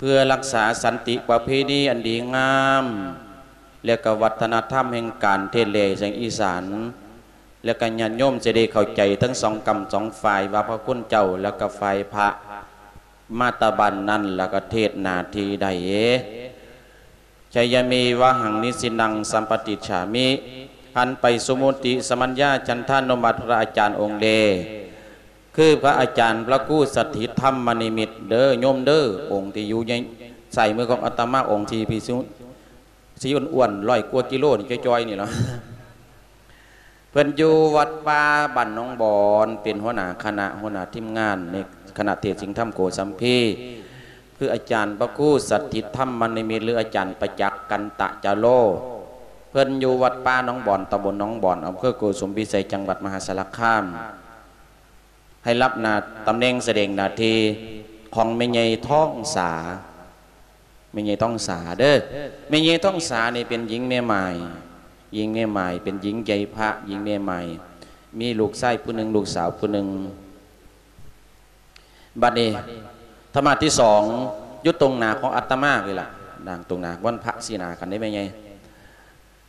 ເພື່ອຮັກສາສັນຕິປະເພນີອັນດີງາມ ແລະກະວັດທະນະທຳແຫ່ງການເທດແລສຽງອີສານ ແລະກະຍາດໂຍມຈະໄດ້ເຂົ້າໃຈທັງສອງກຳສອງຝ່າຍ ວ່າພະຄຸນເຈົ້າ ແລະກະຝ່າຍພະ ມາແຕ່ບ້ານນັ້ນ ແລະກະເທດໜ້າທີ່ໃດ. ຊະຍະເມວະຫັງນິສິນນັງສຳປະຕິດສາມິ ຫັນໄປສຸມຸຕິສະມັນຍາຈັນທານຸມັດພະອາຈານອົງແລ ຄືພະອາຈານພະຄູສະຖິດທຳມະນິມິດເດີໂຍມເດີ ອົງທີ່ຢູ່ໃນຊ້າຍມືຂອງອາດຕະມາ ອົງທີ່ພິສຸ ສີອ້ວນໆ ຮ້ອຍກວ່າກິໂລນີ້ ຈ່ອຍໆ ນີ້ລະ. ເພິ່ນຢູ່ວັດປ່າບ້ານໜອງບອນ ເປັນຫົວໜ້າຄະນະ ຫົວໜ້າທີມງານໃນຄະນະເທດສິງທຳໂກສຳພີ ຄືອາຈານພະຄູສະຖິດທຳມະນິມິດ ຫຼື ອາຈານປະຈັກ ກັນຕະຈາໂລ. ເພິ່ນຢູ່ວັດປ່າໜອງບອນ ຕຳບົນໜອງບອນ ອຳເພີໂກສຸມພິໄສ ຈັງຫວັດມະຫາສາລະຄາມ. ໃຫ້ຮັບໜ້າຕຳແໜ່ງສະແດງໜ້າທີ່ຂອງແມ່ໃຫຍ່ທອງສາ. ແມ່ໃຫຍ່ທອງສາເດີ. ແມ່ໃຫຍ່ທອງສານີ້ເປັນຍິງແມ່ໝ້າຍ, ຍິງແມ່ໝ້າຍ ເປັນຍິງໃຈພະ, ຍິງແມ່ໝ້າຍ ມີລູກຊາຍຜູ້ໜຶ່ງ ລູກສາວຜູ້ໜຶ່ງ. ບັດນີ້ທຳມະທີສອງ ຢູ່ຕົງໜ້າຂອງອາດຕະມານີ້ລະ, ນາງຕົງໜ້າວັນພະສີໜ້າກັນເດ້ແມ່ໃຫຍ່.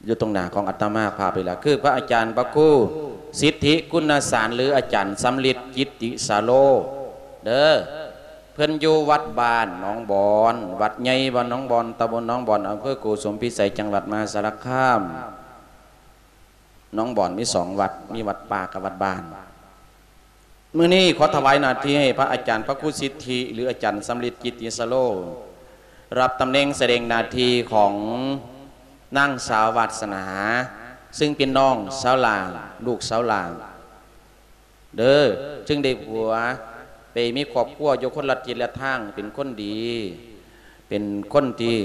ຢູ່ຕົງໜ້າຂອງອາດຕະມາພາບນີ້ລະ ຄືພະອາຈານພະຄູສິດທິຄຸນນະສານ ຫຼື ອາຈານສຳລິດ ກິດຕິສາໂລເດີ. ເພິ່ນຢູ່ວັດບ້ານໜອງບອນ, ວັດໃຫຍ່ບ້ານໜອງບອນ, ຕຳບົນໜອງບອນ, ອຳເພີໂກສຸມພິໄສ, ຈັງຫວັດມະຫາສາລະຄາມ. ໜອງບອນມີສອງວັດ, ມີວັດປ່າກັບວັດບ້ານ. ມື້ນີ້ຂໍຖວາຍໜ້າທີ່ໃຫ້ພະອາຈານພະຄູສິດທິ ຫຼື ອາຈານສຳລິດ ກິດຕິສາໂລ ຮັບຕຳແໜ່ງສະແດງໜ້າທີ່ຂອງນາງສາວວາສະໜາ ຊຶ່ງເປັນນ້ອງສາວຫຼ້າ ລູກສາວຫຼ້າເດີ ຊຶ່ງໄດ້ຜົວໄປມີຄອບຄົວຢູ່ຄົນລະທິດລະທາງ ເປັນຄົນດີ ເປັນຄົນທີ່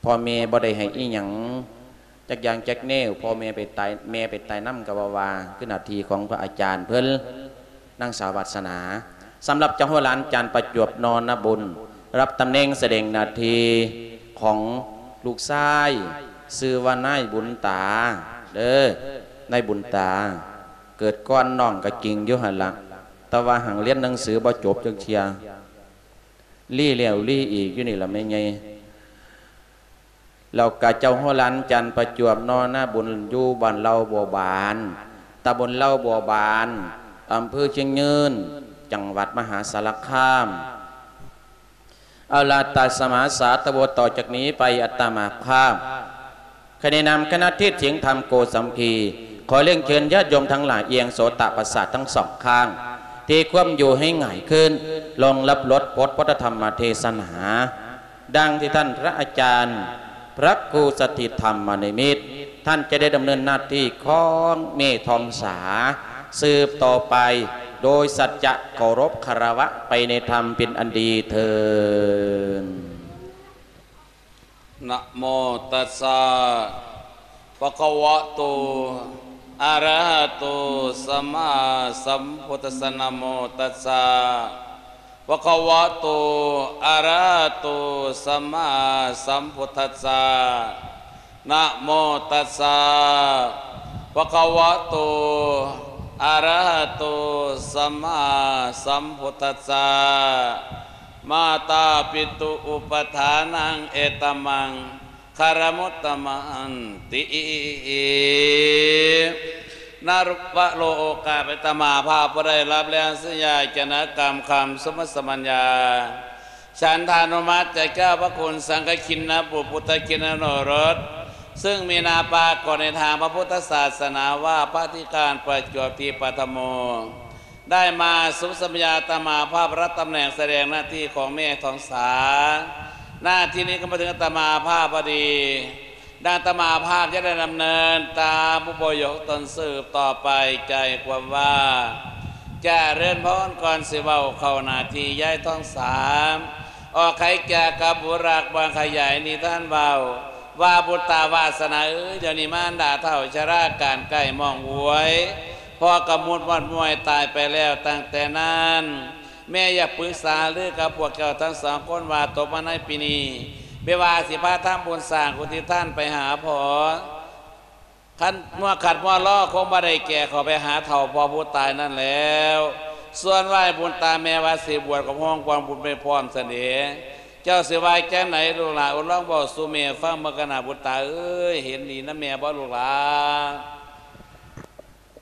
ພໍ່ແມ່ບໍ່ໄດ້ໃຫ້ອີ່ຫຍັງຈັກຢ່າງຈັກແນວ, ພໍ່ແມ່ໄປຕາຍ ແມ່ໄປຕາຍນຳກໍບໍ່ວ່າ ຄືໜ້າທີ່ຂອງພະອາຈານເພິ່ນ ນາງສາວວາສະໜາ. ສຳລັບເຈົ້າຫົວຫຼານ ອາຈານປະຈວບ ນໍນະບຸນ ຮັບຕຳແໜ່ງສະແດງໜ້າທີ່ຂອງລູກຊາຍ ຊື່ວ່ານາຍບຸນຕາເດີ, ນາຍບຸນຕາ ເກີດກ່ອນນ້ອງກໍຈິງຢູ່ຫັ້ນລະ ແຕ່ວ່າຫາກຮຽນໜັງສືບໍ່ຈົບຈັກເທື່ອ. ລີ້ແລ້ວລີ້ອີກຢູ່ນີ້ລະແມ່ໃຫຍ່. ແລ້ວກະເຈົ້າຫົວຫຼານ ອາຈານປະຈວບ ນໍນະບຸນ ຢູ່ບ້ານເຫຼົ່າບົວບານ ຕຳບົນເຫຼົ່າບົວບານ ອຳເພີຊຽງຍືນ ຈັງຫວັດມະຫາສາລະຄາມ. ເອົາລະ ຕັດສະມາ ສາທຸ ຕໍ່ຈາກນີ້ໄປອາດຕະມາພາບ ໃນນາມຄະນະເທດສຽງທຳໂກສຳພີ ຂໍລຽນເຊີນຍາດໂຍມທັງຫຼາຍ ອຽງໂສຕະປະສາດທັງສອງຂ້າງ ທີ່ຄວາມຢູ່ໃຫ້ຫງາຍຂຶ້ນ ລົງຮັບລົດບົດພຸດທະທຳມະເທສະໜາ ດັ່ງທີ່ທ່ານພະອາຈານ ພະຄູສະຖິດທຳມະນິມິດ ທ່ານຈະໄດ້ດຳເນີນໜ້າທີ່ຂອງແມ່ທອງສາ ສືບຕໍ່ໄປ ໂດຍສັດຈະເຄົາລົບຄາລະວະໄປໃນທຳເປັນອັນດີເທີ້ນ. ນະໂມຕັດສະ ພະຄະວະໂຕ ອະລະຫະໂຕ ສຳມາສຳພຸດທັດສະ ນະໂມຕັດສະ ພະຄະວະໂຕ ອະລະຫະໂຕ ສຳມາສຳພຸດທັດສະ ນະໂມຕັດສະ ພະຄະວະໂຕ ອະລະຫະໂຕ ສຳມາສຳພຸດທັດສະ ມາຕາປິຕຸອຸປະຖານັງ ເອຕະມັງ ຄາລະມຸດຕະມັນຕິ ນະລຸວະໂລກາ ເປັນຕະມະພາບຜູ້ໃດຮັບແລ້ວສັນຍາຈະນະກຳຄຳສົມມຸດສະມັນຍາ ສັນທານຸມັດຈາກເຈົ້າພະຄຸນສັງຄະຄິນນະບຸດ ພຸດທະຄິນນະໂອລົດ ຊຶ່ງມີໜ້າປາກົດໃນທາງພະພຸດທະສາສະໜາວ່າ ພະອະທິການປະຈວບທິປະທະໂມ ໄດ້ມາສົມສັນຍາອາດຕະມາພາບ ຮັບຕຳແໜ່ງສະແດງໜ້າທີ່ຂອງແມ່ທອງສາ. ໜ້າທີ່ນີ້ກໍມາເຖິງອາດຕະມາພາບພໍດີ. ດັ່ງອາດຕະມາພາບຈະໄດ້ດຳເນີນຕາມອຸໂບຍົກຕົນສືບຕໍ່ໄປ ໃຈຄວາມວ່າ ຈະເລີນພອນ ກ່ອນຊິເວົ້າເຂົ້າໜ້າທີ່ ຍາຍທອງສາ ອອກໄຂແກ່ກັບບຸດລັກ ບ່ອນຂະຫຍາຍນິທານເວົ້າ ວ່າບຸດຕາວາສະໜາເອີຍ ດຽວນີ້ມານດາເຖົ້າຊະລາການໃກ້ມອງອວຍ ພໍ່ກະມຸດມອດມວຍຕາຍໄປແລ້ວ. ຕັ້ງແຕ່ນັ້ນ ແມ່ຢາກປຶກສາຫາລືກັບພວກເຈົ້າທັງສອງຄົນວ່າ ຕົກມາໃນປີນີ້ ແມ່ວ່າຊິພາທຳບຸນສ້າງກຸທິດທານໄປຫາພໍ່. ຄັນມົວຂັດມົວລໍ ຄົງບໍ່ໄດ້ແກ່ເຂົ້າໄປຫາເຖົ້າພໍ່ຜູ້ຕາຍນັ້ນແລ້ວ. ສ່ວນວ່າອ້າຍບຸນຕາແມ່ວ່າຊິບວດກໍຮ້ອງຄວາມບຸນໄປພ້ອມຊັ້ນເດ. ເຈົ້າຊິວ່າຈັ່ງໃດລູກຫຼານ? ໂອ້ ລອງເວົ້າສູ່ແມ່ຟັງເບິ່ງກັນນາ ບຸນຕາເອີຍ, ເຫັນດີນຳແມ່ບໍ່ລູກຫຼານ?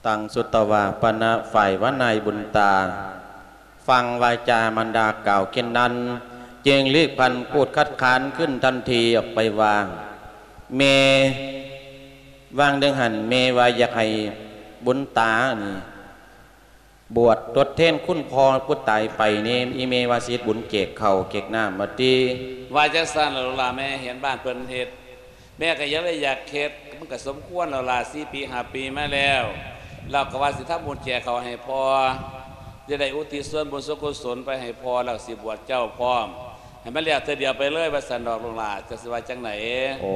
ຕັງສຸດຕະວາປະນະ ຝ່າຍວ່ານາຍບຸນຕາ ຟັງວາຈາມານດາກ່າວເຊັ່ນນັ້ນ ຈຶ່ງລີກພັນພູດຄັດຄ້ານຂຶ້ນທັນທີອອກໄປວ່າ, ແມ່, ຫວ່າງໜຶ່ງຫັ້ນແມ່ວ່າຢາກໃຫ້ບຸນຕານີ້ ບວດທົດແທນຄຸນພໍ່ຜູ້ຕາຍໄປນີ້ ອີ່ແມ່ວ່າຊິເຮັດບຸນແຈກເຂົ້າແຈກນ້ຳວ່າຕິ. ວ່າຈັ່ງຊັ້ນລະລູກຫຼານ, ແມ່ເຫັນບ້ານເພິ່ນເຮັດ ແມ່ກໍຍັງໄດ້ຢາກເຮັດ, ມັນກໍສົມຄວນແລ້ວລະ, ສີ່ປີຫ້າປີມາແລ້ວ ລາວກໍວ່າຊິທຳບຸນແຈກເຂົ້າໃຫ້ພໍ່, ຈະໄດ້ອຸທິດສ່ວນບຸນສ່ວນກຸສົນໄປໃຫ້ພໍ່ ແລ້ວຊິບວດເຈົ້າພ້ອມ. ໃຫ້ມັນແລ້ວເທື່ອດຽວໄປເລີຍວ່າຊັ້ນດອກລູກຫຼານ, ເຈົ້າຊິວ່າຈັ່ງໃດ? ໂອ້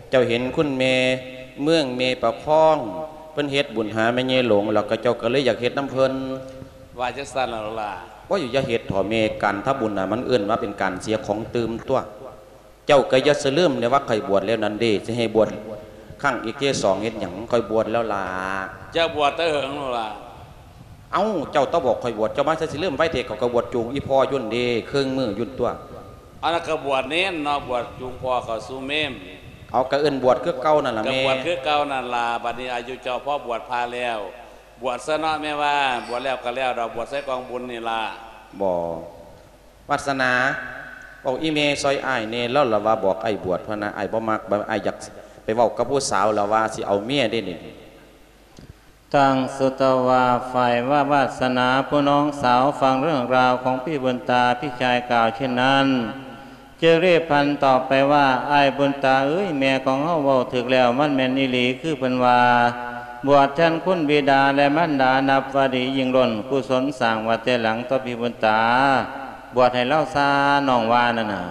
ເຈົ້າເຫັນຄຸນແມ່ເມືອງ ແມ່ປະຄອງ ເພິ່ນເຮັດບຸນຫາແມ່ໃຫຍ່ຫຼົງ ແລ້ວກໍເຈົ້າກໍເລີຍຢາກເຮັດນຳເພິ່ນ. ວ່າຈັ່ງຊັ້ນລະລູກຫຼານ? ໂອ້ຍ ຢ່າເຮັດເຖາະແມ່, ການທຳບຸນນະ ມັນເອີ້ນວ່າເປັນການເສຍຂອງຕື່ມຕົວະ. ເຈົ້າກໍຢ່າຊິລືມເດ້ວ່າຂ້ອຍບວດແລ້ວນັ້ນເດ້, ຊິໃຫ້ບວດຄັ້ງອີກເທື່ອສອງເຮັດຫຍັງ? ຂ້ອຍບວດແລ້ວລະ. ເຈົ້າບວດແຕ່ເຫິງແລ້ວລະ? ເອົ້າ ເຈົ້າຕ້ອງບອກຂ້ອຍບວດ, ເຈົ້າມາໃສຊິລືມໄວແທ້, ຂ້ອຍກໍບວດຈູງອີ່ພໍ່ຢູ່ຫັ້ນເດ້, ເຄິ່ງມື້ຢູ່ຫັ້ນຕົວະ. ເອົາ ລະກໍບວດເນນເນາະ, ບວດຈູງພໍ່ເຂົ້າສູ່ເມນ. ເອົາ ກໍເອີ້ນບວດຄືເກົ່ານັ້ນລະແມ່. ກໍບວດຄືເກົ່ານັ້ນລະ, ບັດນີ້ອາຍຸເຈົ້າພໍບວດພະແລ້ວ, ບວດຊະເນາະແມ່ວ່າ, ບວດແລ້ວກໍແລ້ວດອກ, ບວດໃສ່ກອງບຸນນີ້ລະ. ບໍ່ ວາດສະໜາ ເວົ້າອີ່ແມ່ຊ່ອຍອ້າຍແດ່, ລາວລະວ່າບອກອ້າຍບວດພະນະ, ອ້າຍບໍ່ມັກ, ອ້າຍຢາກໄປເວົ້າກັບຜູ້ສາວ ລາວວ່າຊິເອົາເມຍເດ້ນີ້. ຕັງສຸດຕະວາ ຝ່າຍວ່າວາດສະໜາ ຜູ້ນ້ອງສາວຟັງເລື່ອງລາວຂອງພີ່ບຸນຕາ ພີ່ຊາຍກ່າວເຊັ່ນນັ້ນ ຈຶ່ງຣີບພັນຕອບໄປວ່າ, ອ້າຍບຸນຕາເອີຍ, ແມ່ຂອງເຮົາເວົ້າຖືກແລ້ວ, ມັນແມ່ນອີ່ຫຼີຄືເພິ່ນວ່າ, ບວດແທນຄຸນບິດາ ແລະ ມານດາ ນັບວ່າດີຍິ່ງລົ້ນ, ກຸສົນສ້າງໄວ້ແຕ່ຫຼັງຕໍ່ພີ່ບຸນຕາ, ບວດໃຫ້ລາວຊາ, ນ້ອງວ່ານັ້ນນະ.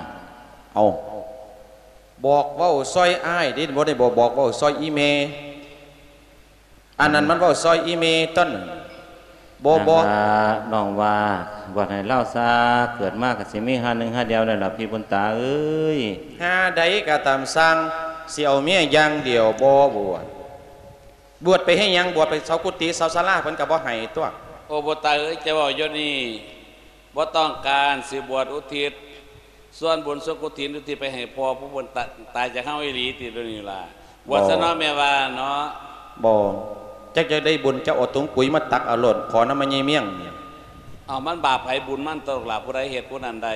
ເອົາ ບອກເວົ້າຊ່ອຍອ້າຍເດ້, ບໍ່ໄດ້ບອກ ບອກເວົ້າຊ່ອຍອີ່ແມ່. ອັນນັ້ນມັນເວົ້າຊ່ອຍອີ່ແມ່ຕົວະ. ບໍ່ ບໍ່ ນັ້ນລະ ນ້ອງວ່າ ບວດໃຫ້ລາວຊາ, ເກີດມາກໍຊິມີຫາໜຶ່ງຫາດຽວນັ້ນລະ ພີ່ບຸນຕາເອີຍ. ຫາໃດກໍຕາມຊ່າງ, ຊິເອົາເມຍຢ່າງດຽວ, ບໍ່ບວດ. ບວດໄປເຮັດຫຍັງ? ບວດໄປເຊົ່າກຸຕິເຊົ່າສາລາ ເພິ່ນກໍບໍ່ໃຫ້ຕົວະ. ໂອ້ ບຸນຕາເອີຍ, ເຈົ້າເວົ້າຢູ່ນີ້ ບໍ່ຕ້ອງການຊິບວດອຸທິດສ່ວນບຸນສ່ວນກຸທິນ ອຸທິດໄປໃຫ້ພໍ່ຜູ້ເພິ່ນຕາຍຈາກເຮົາອີ່ຫຼີຕິດຽວນີ້ລະ? ບວດຊະເນາະແມ່ວ່າເນາະ. ບໍ່ ຈັກຢາກໄດ້ບຸນ ເຈົ້າເອົາຖົງປຸຍມາຕັກເອົາໂລດ, ຂໍນຳແມ່ໃຫຍ່ມຽງ. ເອົາ ມັນບາບໃຜບຸນມັນຕົວະລູກຫຼານ, ຜູ້ໃດເຮັດຜູ້ນັ້ນໄດ້.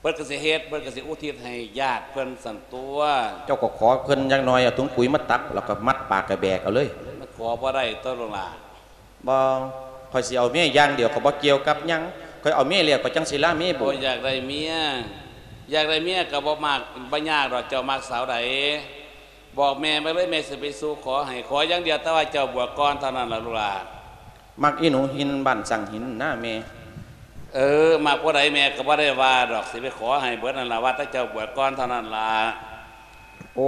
ເພິ່ນກໍຊິເຮັດ, ເພິ່ນກໍຊິອຸທິດໃຫ້ຍາດເພິ່ນຊັ້ນຕົວະ. ເຈົ້າກໍຂໍເພິ່ນຢ່າງໜ້ອຍ ເອົາຖົງປຸຍມາຕັກ ແລ້ວກໍມັດປາກກະແບກເອົາເລີຍ. ມັນຂໍບໍ່ໄດ້ຕົວະລູກຫຼານ. ບໍ່ ຂ້ອຍຊິເອົາເມຍຢ່າງດຽວ, ຂ້ອຍບໍ່ກ່ຽວກັບຫຍັງ. ຂ້ອຍເອົາເມຍແລ້ວ ຂ້ອຍຈັ່ງຊິລາເມຍບຸນ. ໂອ້ ຢາກໄດ້ເມຍ, ຢາກໄດ້ເມຍກໍບໍ່ມັກ, ບໍ່ຍາກດອກ. ເຈົ້າມັກສາວໃດ ບອກແມ່ມາເລີຍ, ແມ່ຊິໄປສູ່ຂໍໃຫ້. ຂໍຢ່າງດຽວ ແຕ່ວ່າເຈົ້າບວດກ່ອນເທົ່ານັ້ນລະລູກຫຼານ. ມັກອີ່ໜູຫີນບ້ານສັງຫີນນະແມ່. ເອີ ມັກຜູ້ໃດແມ່ກໍບໍ່ໄດ້ວ່າດອກ, ຊິໄປຂໍໃຫ້ເບິດນັ້ນລະ, ວ່າແຕ່ເຈົ້າບວດກ່ອນເທົ່ານັ້ນລະ. ໂອ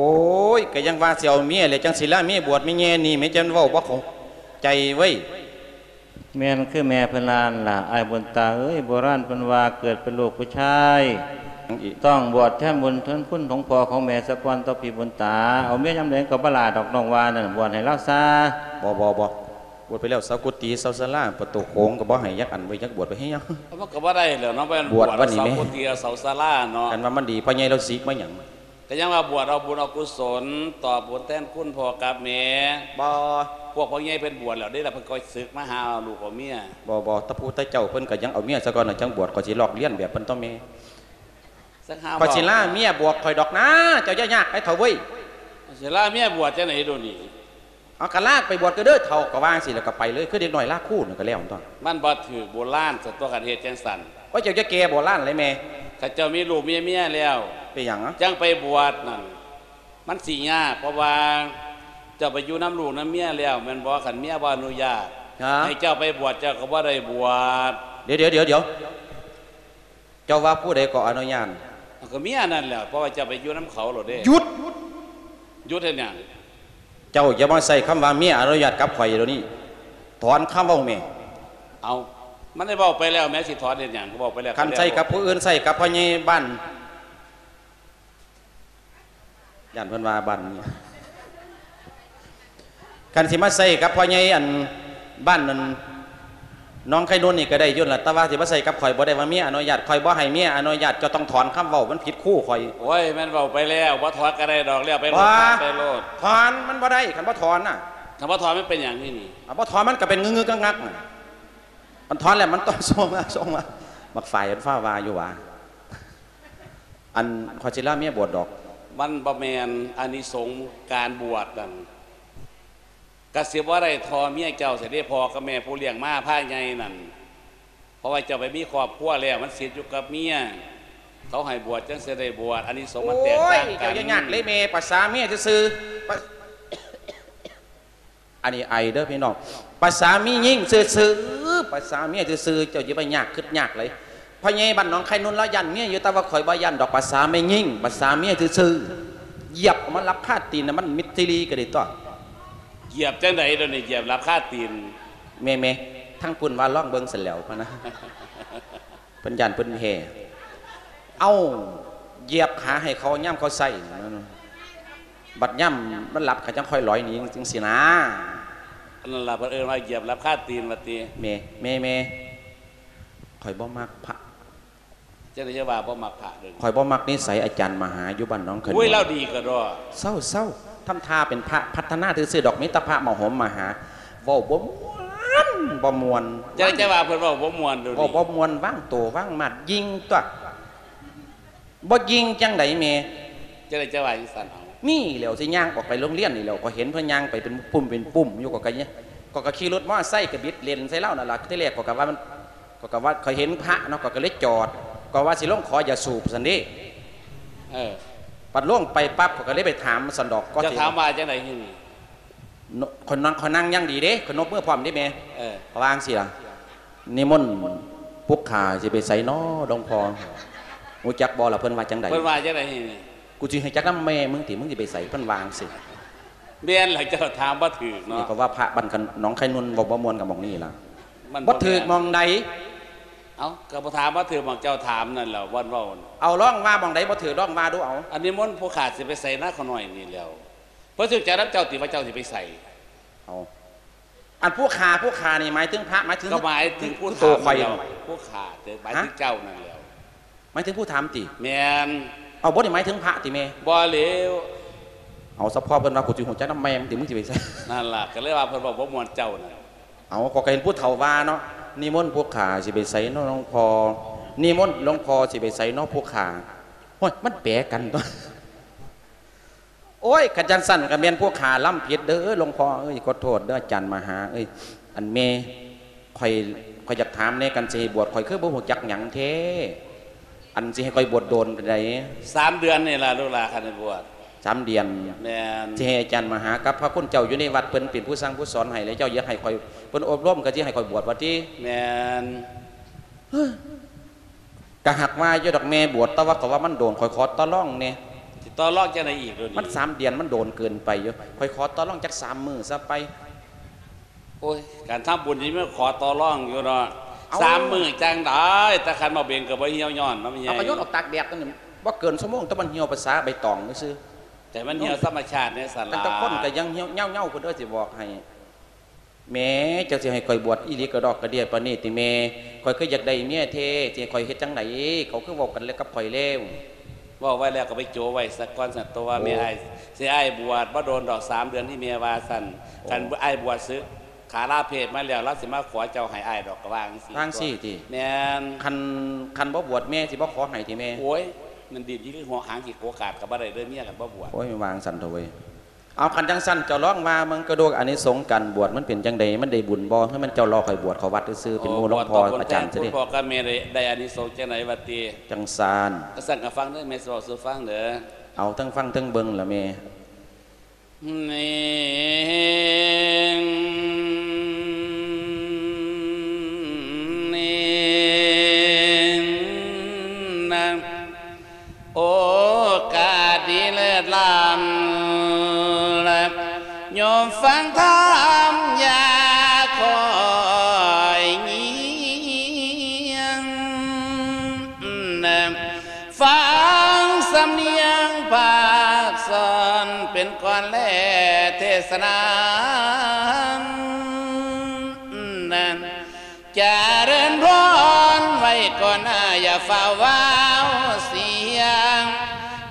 ້ຍ ກໍຍັງວ່າຊິເອົາເມຍແຫຼະ ຈັ່ງຊິລາເມຍບວດ. ແມ່ແຍ່ນີ້ແມ່ຈັ່ງເວົ້າບໍ່ເຂົ້າໃຈເວີຍ. ແມ່ນຄືແມ່ເພິ່ນວ່ານັ້ນລະ ອ້າຍບຸນຕາເອີຍ. ໂບລານເພິ່ນວ່າ ເກີດເປັນລູກຜູ້ຊາຍ ຕ້ອງບວດແທນບຸນແທນຄຸນຂອງພໍ່ຂອງແມ່ສາກ່ອນ ຕໍ່ພີ່ບຸນຕາ. ເອົາເມຍຍາມໃດກໍບໍ່ຫຼ້າດອກ ນ້ອງວ່ານັ້ນ, ບວດໃຫ້ລາວຊາ. ບໍ່ ບໍ່ ບໍ່ ບວດໄປແລ້ວ ເຊົ່າກຸຕິເຊົ່າສາລາ ປະຕູໂຂງກໍບໍ່ໃຫ້ຈັກອັນເວີຍ, ຈັກບວດໄປເຮັດຫຍັງ? ມັນກໍບໍ່ໄດ້ແລ້ວເນາະ, ໄປບວດວັດນີ້ແມ່. ເຊົ່າກຸຕິເຊົ່າສາລາເນາະ. ຄັນວ່າມັນດີ ພໍ່ໃຫຍ່ລາວສິກມາຫຍັງ? ກໍຍັງວ່າບວດເອົາບຸນເອົາກຸສົນ ຕອບບຸນແທນຄຸນພໍ່ກັບແມ່. ບໍ່ ພວກພໍ່ໃຫຍ່ເພິ່ນບວດແລ້ວເດ້ລະ, ເພິ່ນກໍສຶກມາຫາເອົາລູກເອົາເມຍ. ບໍ່ ບໍ່ ຕາຜູ້ຕາເຈົ້າເພິ່ນກໍຍັງເອົາເມຍສາກ່ອນ ຈັ່ງບວດ, ຂ້ອຍຊິລອກລຽນແບບເພິ່ນຕໍ່ແມ່. ຂ້ອຍຊິລາເມຍບວດຂ້ອຍດອກນາ, ເຈົ້າຢ່າຍາກໄປເຖົ້າເວີຍ. ຊິລາເມຍບວດຈັ່ງໃດດຽວນີ້? ເອົາ ກໍລາໄປບວດກໍເດີເຖົ້າ, ກໍວ່າຈັ່ງຊີ້ແລ້ວກໍໄປເລີຍ ຄືເດັກນ້ອຍລາຄູນກໍແລ້ວຕົວະ. ມັນບໍ່ຖືກໂບລານຊັ້ນຕົວະ ຄັນເຮັດຈັ່ງຊັ້ນ. ໂອ້ຍ ເຈົ້າຢ່າແກ່ໂບລານເລີຍແມ່. ຄັນເຈົ້າມີລູກມີເມຍແລ້ວ ເປັນຫຍັງ? ຈັ່ງໄປບວດນັ້ນ ມັນຊິຍາກ, ເພາະວ່າເຈົ້າໄປຢູ່ນຳລູກນຳເມຍແລ້ວແມ່ນບໍ່? ຄັນເມຍບໍ່ອະນຸຍາດ ຮະ? ໃຫ້ເຈົ້າໄປບວດ ເຈົ້າກໍບໍ່ໄດ້ບວດ. ດຽວ ດຽວ ດຽວ ດຽວ ເຈົ້າວ່າຜູ້ໃດກໍອະນຸຍາດ? ເອົາ ກໍເມຍນັ້ນແຫຼະ, ເພາະວ່າເຈົ້າໄປຢູ່ນຳເຂົາໂລດເດ້. ຢຸດ! ຢຸດເຮັດຫຍັງ? ເຈົ້າຢ່າມາໃຊ້ຄຳວ່າເມຍອະນຸຍາດກັບຂ້ອຍດຽວນີ້. ຖອນຄຳເວົ້າແມ່. ເອົາ ມັນໄດ້ເວົ້າໄປແລ້ວແໝ່, ຊິຖອນເຮັດຫຍັງ? ເວົ້າໄປແລ້ວ. ຄັນໃຊ້ກັບຜູ້ອື່ນ, ໃຊ້ກັບພໍ່ໃຫຍ່ບ້ານ. ຢ້ານເພິ່ນວ່າບ້ານນີ້. ຄັນຊິມາໃຊ້ກັບພໍ່ໃຫຍ່ອັນບ້ານນັ້ນ ນ້ອງໄຂ່ນຸນນີ້ກໍໄດ້ຢູ່ລະ ແຕ່ວ່າຊິມາໃສ່ກັບຂ້ອຍບໍ່ໄດ້ ວ່າເມຍອະນຸຍາດ ຂ້ອຍບໍ່ໃຫ້ເມຍອະນຸຍາດ ເຈົ້າຕ້ອງຖອນຄຳເວົ້າ ມັນຜິດຄູຂ້ອຍ. ໂອ້ຍ ແມ່ນເວົ້າໄປແລ້ວ ບໍ່ຖອນກໍໄດ້ດອກ ແລ້ວໄປໂລດ ຖອນໄປໂລດ. ຖອນມັນບໍ່ໄດ້ ຄັນບໍ່ຖອນນະ. ຄັນບໍ່ຖອນມັນເປັນຫຍັງນີ້ນີ້? ຄັນບໍ່ຖອນມັນກໍເປັນງຶກໆງັກໆນະ. ຄັນຖອນແລ້ວມັນຕ້ອງສົ່ງມາ ສົ່ງມາ. ບັກຝ້າຍມັນຟ້າວວ່າຢູ່ຫວາ? ອັນ ຂ້ອຍຊິລາເມຍບວດດອກ. ມັນບໍ່ແມ່ນອານິສົງການບວດນັ້ນ ກະຊິບໍ່ໄດ້ທໍ່ເມຍເຈົ້າຊັ້ນເດ ພໍ່ກັບແມ່ຜູ້ລ້ຽງມາພາໃຫຍ່ນັ້ນ. ເພາະວ່າເຈົ້າໄປມີຄອບຄົວແລ້ວ ມັນສິດຢູ່ກັບເມຍ ເຂົາໃຫ້ບວດຈັ່ງຊິໄດ້ບວດ ອານິສົງມັນແຕກຕ່າງກັນ. ໂອ້ຍ ເຈົ້າຢ່າຍາກເລີຍແມ່ ປະສາເມຍຊື່ໆ ປະ ອັນນີ້ໄອເດີພີ່ນ້ອງ ປະສາມີຍິງຊື່ໆ ປະສາເມຍຊື່ໆ ເຈົ້າຢ່າໄປຍາກຄິດຍາກເລີຍ. ພໍ່ໃຫຍ່ບ້ານໜອງໄຂ່ນຸນລາວຢ້ານເມຍຢູ່ ແຕ່ວ່າຂ້ອຍບໍ່ຢ້ານດອກ ປະສາແມ່ຍິງ ປະສາເມຍຊື່ໆ. ຢຽບມັນລັບຄາຕີນນະ ມັນມິດຊີລີກໍໄດ້ຕົວະ. ຢຽບຈັ່ງໃດດຽວນີ້ ຢຽບລັບຄາຕີນ? ແມ່ໆ ທາງພຸ້ນວ່າລອງເບິ່ງຊັ້ນແຫຼ້ວ ພະນະ ເພິ່ນຢ້ານເພິ່ນແຫ່. ເອົ້າ ຢຽບຂາໃຫ້ເຂົາຍາມເຂົາໃຊ້ ບັດຍາມມັນຫຼັບ ເຂົາຈັ່ງຄ່ອຍຫຼອຍໜີ ຈັ່ງຊີ້ນາ. ອັນນັ້ນລະ ເພິ່ນເອີ້ນວ່າຢຽບລັບຄາຕີນວ່າຕິ. ແມ່ ແມ່ ແມ່ ຂ້ອຍບໍ່ມັກພະ. ຈັ່ງໃດຈະວ່າບໍ່ມັກພະເດີ? ຂ້ອຍບໍ່ມັກນິໄສອາຈານມະຫາຢູ່ບ້ານໜອງຂະໜວນ. ໂອ້ຍ ລາວດີກະດອກ. ເຊົາໆ ທຳທ່າເປັນພະ ພັດທະນາຊື່ໆດອກ ມີແຕ່ພະມາໂຫມມາຫາ ເວົ້າບໍ່ມ່ວນ ບໍ່ມ່ວນ. ຈັ່ງໃດຈະວ່າເພິ່ນເວົ້າບໍ່ມ່ວນໂດ? ເວົ້າບໍ່ມ່ວນ ວາງໂຕວາງມາດ ຍິງຕົວະ. ບໍ່ຍິງຈັ່ງໃດແມ່? ຈັ່ງໃດຈະວ່າຈັ່ງຊັ້ນເອົາ? ນີ້ແຫຼ້ວ ຊິຍ່າງອອກໄປໂຮງຮຽນນີ້ແຫຼ້ວ ຂ້ອຍເຫັນເພິ່ນຍ່າງໄປເປັນປຸ້ມເປັນປຸ້ມຢູ່ ຂ້ອຍກະ ຂ້ອຍກະຂີ່ລົດມໍໄຊກະບິດເລນໃສ່ລາວນັ້ນລະ. ທີແລກຂ້ອຍກະວ່າມັນ ຂ້ອຍກະວ່າຂ້ອຍເຫັນພະເນາະ ຂ້ອຍກະເລີຍຈອດ ຂ້ອຍວ່າຊິລົງຂໍຢາສູບຊັ້ນເດ້. ເອີ ບັດລົງໄປປັບ ຂ້ອຍກະເລີຍໄປຖາມຊັ້ນດອກ. ເຈົ້າຖາມວ່າຈັ່ງໃດ? ຂ້ອຍນັ່ງ ຂ້ອຍນັ່ງຢ່າງດີເດ້ ຂ້ອຍນົບມືພ້ອມເດ້ແມ່. ເອີ ຂ້ອຍວ່າຈັ່ງຊີ້ລະ ນິມົນພວກຂ້າຊິໄປໃສນໍຫຼວງພໍ່? ຮູ້ຈັກບໍ່ລະເພິ່ນວ່າຈັ່ງໃດ? ເພິ່ນວ່າຈັ່ງໃດ? ກູຊິຮູ້ຈັກນຳແມ່ມຶງຕິ ມຶງຊິໄປໃສ? ເພິ່ນວ່າຈັ່ງຊີ້. ແມ່ນລະ ເຈົ້າຖາມບໍ່ຖືກເນາະ. ນີ້ກໍວ່າພະບ້ານໜອງໄຂ່ນຸນເວົ້າບໍ່ມ່ວນກັບໝ່ອງນີ້ລະ. ມັນບໍ່ຖືກໝ່ອງໃດ? ເອົ້າ ກໍບໍ່ຖາມວ່າຖືກໝ່ອງເຈົ້າຖາມນັ້ນແຫຼ້ວ ບ່ອນເວົ້າ. ເອົາ ລອງວ່າໝ່ອງໃດບໍ່ຖືກ ລອງວ່າດູເອົາ. ອັນນິມົນພວກຂ້າຊິໄປໃສນະ ຂ້ານ້ອຍນີ້ແຫຼ້ວ. ເພິ່ນສົນໃຈນຳເຈົ້າຕິວ່າເຈົ້າຊິໄປໃສ? ເອົາ ອັນພວກຂ້າ ພວກຂ້ານີ້ໝາຍເຖິງພະ ໝາຍເຖິງ ກໍໝາຍເຖິງຜູ້ຖາມນັ້ນແຫຼ້ວ. ພວກຂ້າ ໝາຍເຖິງເຈົ້ານັ້ນແຫຼ້ວ. ໝາຍເຖິງຜູ້ຖາມຕິ? ແມ່ນ. ເອົາ ບໍ່ໄດ້ໝາຍເຖິງພະຕິແມ່? ບໍ່ແລ້ວ. ເອົາ ສະເພາະເພິ່ນວ່າ ກູຊິຮູ້ຈັກນຳແມ່ມຶງຕິ ມຶງຊິໄປໃສ? ນັ້ນລະ ກໍເລີຍວ່າເພິ່ນເວົ້າບໍ່ມ່ວນເຈົ້ານັ້ນ. ເອົາ ຂ້ອຍກໍເຫັນຜູ້ເຖົ້າວ່າເນາະ ນິມົນພວກຂ້າຊິໄປໃສນໍຫຼວງພໍ່? ນິມົນຫຼວງພໍ່ຊິໄປໃສນໍພວກຂ້າ? ໂອ້ຍ ມັນແປກັນຕົວະ. ໂອ້ຍ ຄັນຈັ່ງຊັ້ນກໍແມ່ນພວກຂ້າລຳຜິດເດີ ຫຼວງພໍ່ເອີຍ ຂໍໂທດເດີອາຈານມະຫາເອີຍ. ອັນແມ່ ຂ້ອຍ ຂ້ອຍຢາກຖາມແດ່ ຄັນຊິໃຫ້ບວດ ຂ້ອຍຄືບໍ່ຮູ້ຈັກຫຍັງແທ້? ອັນຊິໃຫ້ຂ້ອຍບວດໂດນປານໃດ? ສາມເດືອນນີ້ລະລູກຫຼານ ຄັນໃຫ້ບວດ. ສາມເດືອນ? ແມ່ນ. ຊິໃຫ້ອາຈານມະຫາກັບພະຄຸນເຈົ້າຢູ່ໃນວັດ ເພິ່ນເປັນຜູ້ສັ່ງຜູ້ສອນໃຫ້ ແລ້ວເຈົ້າຢາກໃຫ້ຂ້ອຍ ເພິ່ນອົບຮົມ ກໍຊິໃຫ້ຂ້ອຍບວດວ່າຕິ? ແມ່ນ. ກະຫາກວ່າຢູ່ດອກແມ່ບວດ ແຕ່ວ່າກໍວ່າມັນໂດນ ຂ້ອຍຂໍຕໍ່ລອງແດ່. ຊິຕໍ່ລອງຈັ່ງໃດອີກດຽວນີ້? ມັນສາມເດືອນ ມັນໂດນເກີນໄປຢູ່ ຂ້ອຍຂໍຕໍ່ລອງຈັກສາມມື້ຊະໄປ. ໂອ້ຍ ການທຳບຸນນີ້ມັນຂໍຕໍ່ລອງຢູ່ເນາະ. ເອົ້າ ສາມມື້ຈັ່ງໃດ ແຕ່ຄັນມາເບັງກໍບໍ່ຫ່ຽວຍ້ອນເນາະແມ່ໃຫຍ່. ເອົາ ກໍໂຍນອອກຕາກແດດ ບໍ່ເກີນຊົ່ວໂມງ ແຕ່ມັນຫ່ຽວພາສາໃບຕອງຊື່ໆ. ແຕ່ມັນຫ່ຽວທຳມະຊາດແດ່ຊັ້ນລະ. ແຕ່ຄົນກໍຍັງເຫີ່ຍເຫງົ້າໆ ພຸ້ນເດີ ຊິບອກໃຫ້. ແມ່ ເຈົ້າຊິໃຫ້ຂ້ອຍບວດອີ່ຫຼີກະດອກກະເດຍປານນີ້ຕິແມ່? ຂ້ອຍຄືຢາກໄດ້ເມຍແທ້ ຊິໃຫ້ຂ້ອຍເຮັດຈັ່ງໃດ? ເຂົາຄືເວົ້າກັນແລ້ວກັບຂ້ອຍແລ້ວ. ເວົ້າໄວ້ແລ້ວກໍໄປໂຈະໄວ້ສາກ່ອນຊັ້ນຕົວະ. ໂອ້ ແມ່ ອ້າຍ ຊິໃຫ້ອ້າຍບວດບໍ່ດົນດອກ ສາມເດືອນທີ່ແມ່ວ່າຊັ້ນ. ໂອ້ ຄັນອ້າຍບວດສຶກ ຂາລາເພດມາແລ້ວ ລາວຊິມາຂໍເຈົ້າໃຫ້ອ້າຍດອກ ກໍວ່າຈັ່ງຊີ້. ວ່າຈັ່ງຊີ້ຕິ? ແມ່ນ. ຄັນ ຄັນບໍ່ບວດແມ່ຊິບໍ່ຂໍໃຫ້ຕິແມ່? ໂອ້ຍ ມັນດິ້ນຄືຫົວຫາງຂີ້ໂກກາດກໍບໍ່ໄດ້ເດີເມຍ ຄັນບໍ່ບວດ. ໂອ້ຍ ວ່າຈັ່ງຊັ້ນເຖາະເວີຍ. ເອົາ ຄັນຈັ່ງຊັ້ນເຈົ້າລອງວ່າເບິ່ງກະດູກ ອານິສົງການບວດມັນເປັນຈັ່ງໃດ? ມັນໄດ້ບຸນບໍ່? ຄືມັນເຈົ້າລໍຂ້ອຍບວດເຂົ້າວັດຊື່ໆ ເປັນໝູ່ຫຼວງພໍ່ອາຈານຊະເດ. ພໍ່ກັບແມ່ໄດ້ ໄດ້ອານິສົງຈັ່ງໃດຫວາຕິ? ຈັ່ງຊັ້ນ ກະສັ່ນກະຟັງເດີ ແມ່ຊິເວົ້າສູ່ຟັງເດີ. ເອົາ ເທິງຟັງເທິງເບິ່ງລະແມ່. ໂອກາດດີເລີດລ້ຳ ໂຍມຟັງທຳຢ່າຄ່ອຍງຽງ ຟັງສຳນຽງພາກສອນ ເປັນກ່ອນແລເທດສະນາ ຈາກ ຢ່າຟ້າວເວົ້າສຽງ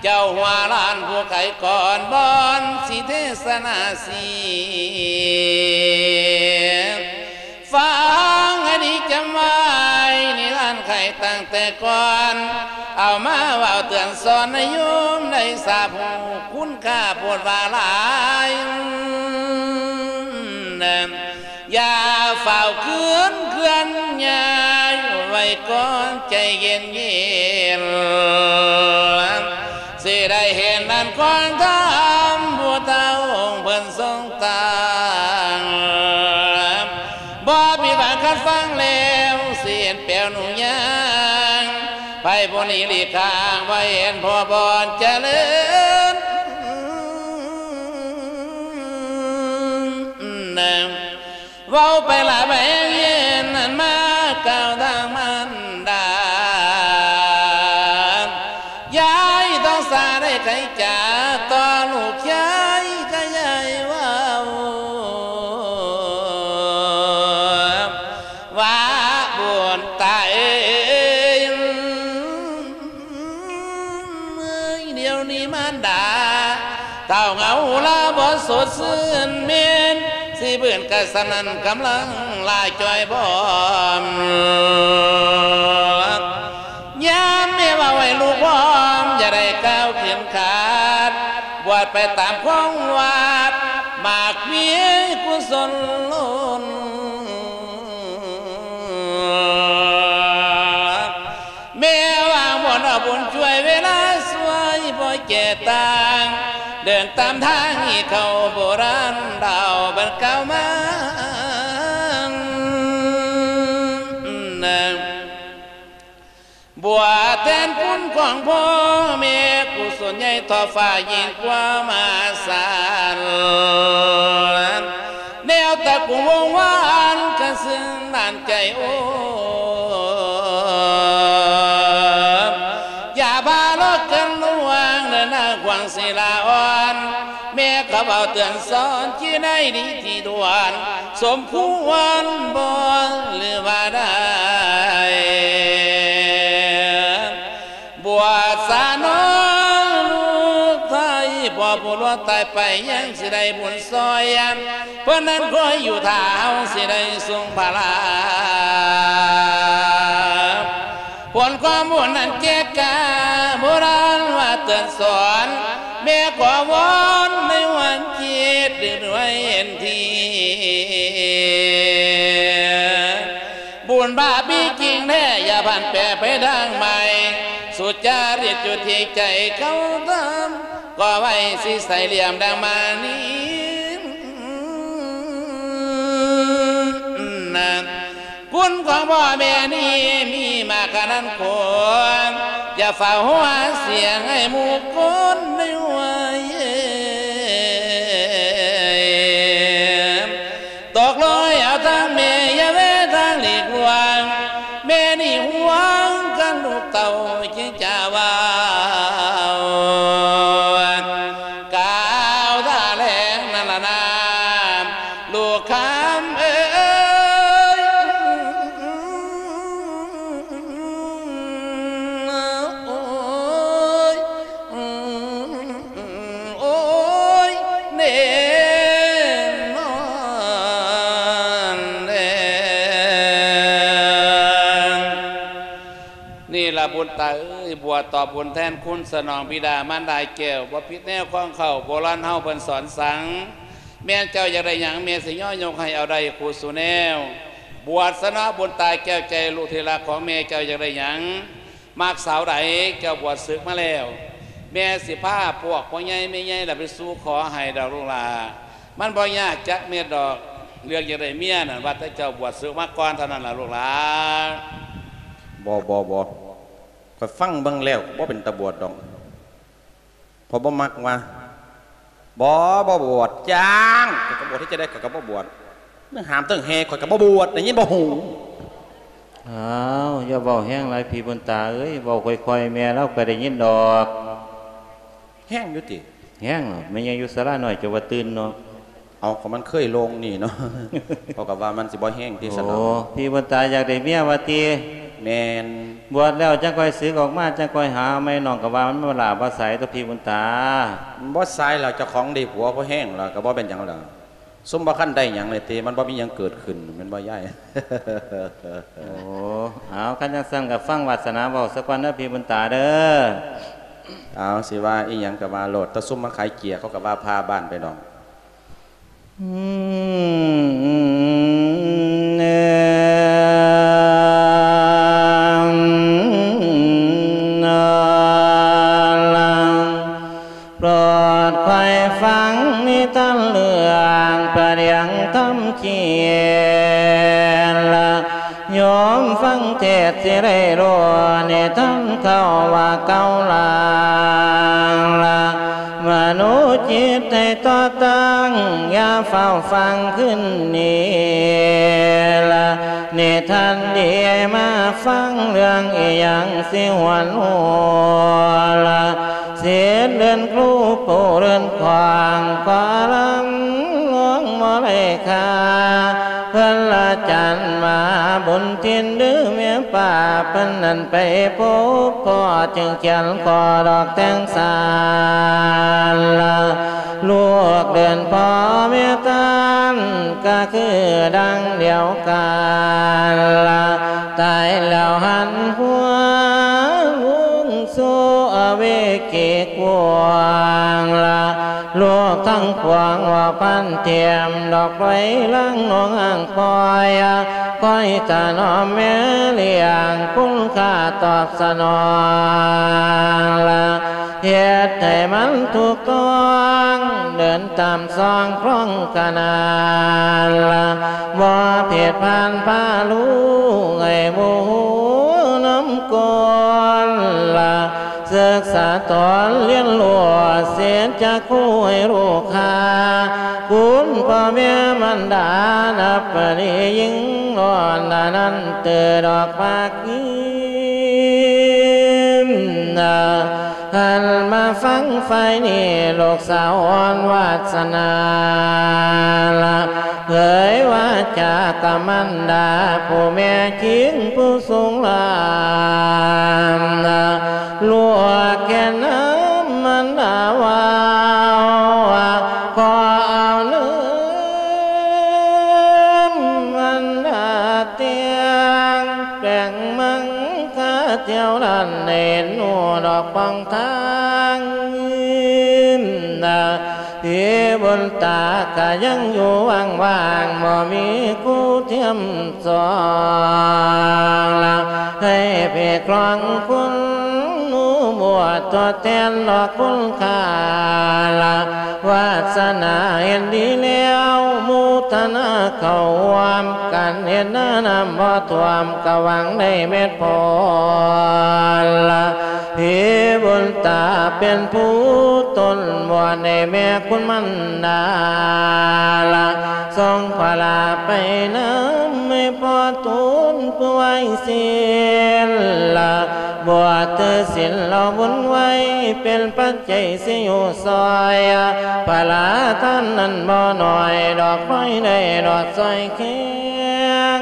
ເຈົ້າຫົວລ້ານຜູ້ໄຂກ່ອນ ບ່ອນຊິເທສະນາສຽງ. ຟັງໃຫ້ດີຈຳໄວ້ ນິທານໄຂຕັ້ງແຕ່ກ່ອນ ເອົາມາເວົ້າເຕືອນສອນໃຫ້ໂຍມໄດ້ຊາບຮູ້ ຄຸນຄ່າໂພດວ່າຫຼາຍ. ຢ່າຟ້າວຄືນເຄື່ອນຍ້າຍ ໄວ້ກ່ອນໃຈເຢັນໆ ຊິໄດ້ເຫັນອັນຄວາມທຳ ຜູ້ເຖົ້າອົງເພິ່ນຊົງຕັ້ງ. ບໍ່ຜິດຫວັງຄັນຟັງແລ້ວ ຊິເຫັນແປວໜູຍ່າງ ໄພຜູ້ນີ້ຫຼີກຫ່າງ ບໍ່ເຫັນພໍ່ບ່ອນຈະເລີນ. ເວົ້າໄປລະແວງເຫັນ ອັນມາກ່າວທາງມານດາ ຍາຍຕ້ອງສາໄດ້ໄຂຈາ ຕໍ່ລູກຊາຍກະຍາຍເວົ້າ ວ່າບຸນຕາເອີຍ ດຽວນີ້ມານດາ ເຕົ້າເຫງົາລາບໍ່ສົດຊື່ນ ແມ່ນຊິບືນກະສະນັ້ນ ກຳລັງລາຈ່ອຍພ້ອມ. ຍາມແມ່ເວົ້າໃຫ້ລູກພ້ອມ ຢ່າໄດ້ກ່າວເຂັມຂັດ ບວດໄປຕາມຂອງວັດ ໝາກມີກຸສົນລົ້ນ. ແມ່ວາງບ່ອນເອົາບຸນຊ່ວຍ ເວລາຊ່ວຍບໍ່ແຈຕ່າງ ເດີນຕາມທາງທີ່ເຂົາໂບລານເລົ່າບັນກ່າວມາ. ບົວແທນຄຸນຂອງພໍ່ແມ່ ກຸສົນໃຫຍ່ທອດຟ້າຍິ່ງກວ່າມະຫາສານ ແນວຕະກຸ່ງວົງວານ ກະເຊິ່ງໜ້າໃຈໂອ້ ຢ່າພາລອກກັນລວງ ເດີນນາງຂວາງສີລາອ່ອນ ແມ່ເຂົາເວົ້າເຕືອນສອນ ທີ່ໃນດີທີ່ດ່ວນ ສົມຄວນບໍ່ ຫຼືວ່າໄດ້ ບວດສານ້ອຍລູກໄທ ພໍ່ຜູ້ຫຼວງຕາຍໄປ ຍັງຊິໄດ້ບຸນຊ່ອຍ ເພິ່ນນັ້ນຄອຍຢູ່ຖ້າ ເຮົາຊິໄດ້ຊົງພາລາ ຜົນຄວາມບຸນນັ້ນແຈກກາ ໂບລານວ່າເຕືອນສອນ ແມ່ຂໍວອນໃນວັນຈິດ ດຶກດ້ວຍເຫັນທີ ບຸນບາບມີຈິງແທ້ ຢ່າຜັນແປໄປທາງໃໝ່ ສຸຈາລິດຢູ່ທີ່ໃຈເຂົາທຳ ກໍໄວ້ຊິໃສ່ຫຼ່ຽມດັ່ງມານີ ຄຸນຂອງພໍ່ແມ່ນີ້ມີມາກຂະໜາດຄວນ ຢ່າຟ້າວຫົວສຽງໃຫ້ໝູ່ຄົນໄດ້ຫວຍ ຕົກລົງເອົາທາງແມ່ ຢ່າແວະທາງຫຼີກລ່ວງ ແມ່ນີ້ຫວງກັນລູກເຕົ້າຈຶ່ງຈະເວົ້າ ກ່າວທ່າແລງນັ້ນລະນາ ລູກຄຳເອີຍ ໂອ້ຍ ໂອ້ຍ ແນ່ນອນແດ່. ນີ້ລະບຸນຕາເອີຍ ບວດຕອບບຸນແທນຄຸນ ສະໜອງບິດາມານດາແກ້ວ ບໍ່ຜິດແນວຄອງເຂົ້າ ໂບລານເຮົາເພິ່ນສອນສັ່ງ ແມ່ນເຈົ້າຢາກໄດ້ຫຍັງ ແມ່ຊິຍໍຍົກໃຫ້ເອົາໄດ້ຄູ່ສູ່ແນວ ບວດສະເນາະບຸນຕາແກ້ວໃຈ ລູກທີ່ຮັກຂອງແມ່ ເຈົ້າຢາກໄດ້ຫຍັງ ມັກສາວໃດ ເຈົ້າບວດສຶກມາແລ້ວ ແມ່ຊິພາພວກພໍ່ໃຫຍ່ແມ່ໃຫຍ່ລະໄປສູ່ຂໍໃຫ້ດອກລູກຫຼ້າ ມັນບໍ່ຍາກຈັກເມັດດອກ ເລື່ອງຢາກໄດ້ເມຍນັ້ນ ວ່າແຕ່ເຈົ້າບວດສຶກມາກ່ອນເທົ່ານັ້ນລະລູກຫຼ້າ. ບໍ່ ບໍ່ ບໍ່ ຂ້ອຍຟັງເບິ່ງແລ້ວບໍ່ເປັນຕາບວດດອກ ຂ້ອຍບໍ່ມັກວ່າ ບໍ່ ບໍ່ບວດ ຈ້າງ ຂ້ອຍກະບວດ ເຮັດຈັ່ງໃດຂ້ອຍກະບໍ່ບວດ ເລື່ອງຫ້າມເຖິງແຮ່ ຂ້ອຍກະບໍ່ບວດ ໄດ້ຍິນບໍ່ຫູ? ອ້າວ ຢ່າເວົ້າແຮງຫຼາຍພີ່ບຸນຕາເອີຍ ເວົ້າຄ່ອຍໆ ແມ່ລາວກະໄດ້ຍິນດອກ. ແຮງຢູ່ຕິ? ແຮງ ແມ່ໃຫຍ່ຢູ່ສາລານ້ອຍ ເຈົ້າວ່າຕື່ນເນາະ. ເອົາ ກໍມັນເຄີຍໂລ່ງນີ້ເນາະ ເຂົາກະວ່າມັນຊິບໍ່ແຮງຕິຊັ້ນເນາະ. ໂອ້ ພີ່ບຸນຕາຢາກໄດ້ເມຍວ່າຕິ? ແມ່ນ ບວດແລ້ວຈັ່ງຄ່ອຍສຶກອອກມາ ຈັ່ງຄ່ອຍຫາໃໝ່. ນ້ອງກໍວ່າມັນບໍ່ຫຼ້າບໍ່ສາຍຕົວະພີ່ບຸນຕາ. ບໍ່ສາຍແລ້ວ ເຈົ້າຂອງໄດ້ຜົວພໍແຮງແລ້ວ ກໍບໍ່ເປັນຫຍັງແລ້ວ. ຊຸມບໍ່ທັນໄດ້ຫຍັງເລີຍຕິ ມັນບໍ່ມີຫຍັງເກີດຂຶ້ນ ແມ່ນບໍ່ຍາຍ? ໂອ້ ເອົາ ຄັນຈັ່ງຊັ້ນກໍຟັງວາດສະໜາເວົ້າສາກ່ອນເດີພີ່ບຸນຕາເດີ. ເອົາ ຊິວ່າອີ່ຫຍັງກໍວ່າໂລດ ແຕ່ຊຸມມາຂາຍເກຍ ເຂົາກໍວ່າພາບ້ານໄປດອກ. ໂປດຄອຍຟັງນິທານເລື່ອງພະດຽງທຳຂຽນລະ ໂຍມຟັງເທດຊິໄດ້ຮູ້ ນິທານເກົ່າວ່າເກົ່າລາງລະ ມະໂນຈິດໃຫ້ຕໍ່ຕັ້ງ ຢ່າຟ້າວຟັງຄືນນີ້ລະ ນິທານດີໃຫ້ມາຟັງ ເລື່ອງອີ່ຫຍັງຊິຫວນຫົວລະ ສິດເດີ່ນຄູຜູ້ເດີ່ນຂວາງ ກໍລຳລວງບໍ່ໄດ້ຄ່າ ເພິ່ນລະຈັນມາບຸນຖິ່ນ ຫຼືແມ່ປ້າເພິ່ນນັ້ນໄປພົບພໍ້ ຈຶ່ງຂຽນຂໍດອກແຕ່ງສານລະ ລູກເດີ່ນພໍ່ແມ່ທ່ານ ກໍຄືດັ່ງດຽວກັນລະ ຕາຍແລ້ວຫັນຫົວ ວງສູ່ອະເວກີກວ້າງລະ ໂລກທັງປວງວ່າພັນທຽມ ດອກໄຟລາງນອງອ່າງຄອຍ ຄອຍຖະໜອມແມ່ລ້ຽງ ຄຸນຄ່າຕອບສະໜອງລະ ເຮັດໃຫ້ມັນຖືກຕ້ອງ ເດີນຕາມຊ່ອງຄອງຂະໜານລະ ບໍ່ຜິດຜ່ານພາລູກໃຫ້ໝູ່ຮູ້ນຳ ກ່ອນລະ ສຶກສາຕອນຮຽນຮູ້ ສິດຈະຄູໃຫ້ຮູ້ຄ່າ ຄຸນພໍ່ແມ່ມັນດາ ນັບປະນີຍິ່ງລ້ອນລະ ນັ້ນເຕີດອກພາກຍິນນະ ຫັນມາຟັງຝ່າຍນີ້ ລູກສາວອ່ອນວາດສະໜາລະ ເຜີຍວາຈາກັບມັນດາ ຜູ້ແມ່ຄິງຜູ້ສູງລານ ລວກແກ່ນຳມັນດາເວົ້າ ຂໍເອົາເນີມມັນດາແຕ່ງ ແປງມັງຄາທ່ຽວລານ ເຫັນໜູດອກປ່ອງທາງ ທີ່ບຸນຕາກະຍັງຢູ່ວ່າງໆ ບໍ່ມີຄູ່ທຽມສອງລະ ໃຫ້ເພກລອງຄຸນໜູບວດ ທົດແທນດອກຄຸນຄ່າລະ ວາດສະໜາເຫັນດີແລ້ວ ໂມທະນາເຂົ້າຮ່ວມ ການເຮັດນານ້ຳບໍ່ຖ້ວມ ກະຫວັງໄດ້ເມັດຜົນລະ ທີ່ບຸນຕາເປັນຜູ້ຕົ້ນບວດໃຫ້ແມ່ຄຸນມັນດາລະ ສົ່ງພະລາໄປນຳໃຫ້ພໍ່ຕູນຜູ້ໄວສິນລະ ບວດຖືສິນລະບຸນໄວ ເປັນປັດໄຈຊິຢູ່ຊ່ອຍ ພະລາທ່ານນັ້ນບໍ່ໜ້ອຍ ດອກໄມ້ໄດ້ດອກຊ່ອຍແຂງ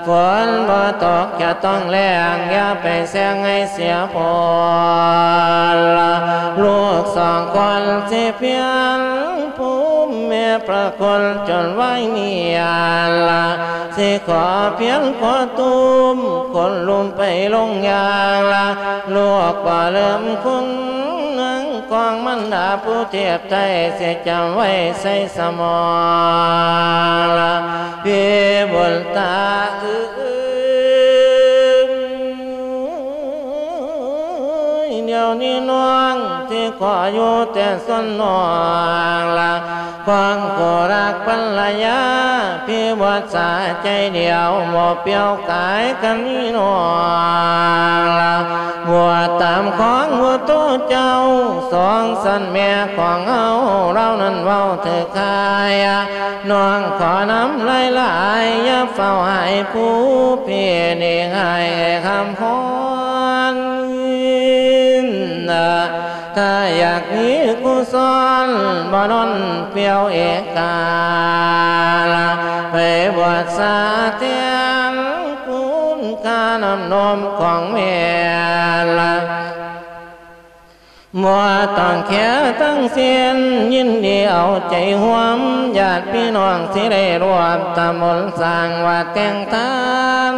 ຝົນບໍ່ຕົກຈະຕ້ອງແລ້ງ ຢ່າໄປແຊງໃຫ້ເສຍຜົນລະ ລູກສອງຄົນຊິພຽນພູມແມ່ພະຄຸນຈົນໄວເມຍລະ ຊິຂໍພຽນຂໍຕູມຄົນລຸ່ມໄປລົງຢ່າງລະ ລູກບໍ່ເລີ່ມຄຸນນາງຂອງມັນດາຜູ້ທຽບໄທ ຊິຈຳໄວ້ໃສ່ສະໝອງລະ ພີ່ບຸນຕາເອີຍ ດຽວນີ້ນ້ອງຊິຂໍຢູ່ແຕ່ສ່ວນນ້ອງລະ ຄວາມຄູ່ລັກພັນລະຍາ ພີ່ບວດສາໃຈດຽວ ບໍ່ປ່ຽວກາຍກັນນີ້ນ້ອງລະ ບວດຕາມຂອງພຸດໂທເຈົ້າ ສອງສັນແມ່ຂອງເຮົາ ລາວນັ້ນເວົ້າຖືກຄາຍ ນ້ອງຂໍນຳຫຼາຍໆ ຢ່າຟ້າວໃຫ້ຜູ້ ພີ່ນີ້ໃຫ້ຄຳພອນ ຖ້າຢາກມີຄູ່ສອນ ບໍ່ນອນປ່ຽວເອກາລະ ໄປບວດສາແທ້ ນ້ຳນົມຂອງແມ່ລະ ບໍ່ຕ້ອງເຄຍທັງສິ້ນ ຍິນດີເອົາໃຈຮ່ວມ ຍາດພີ່ນ້ອງຊິໄດ້ຮ່ວມທຳບຸນສ້າງວັດແຕ່ງທານ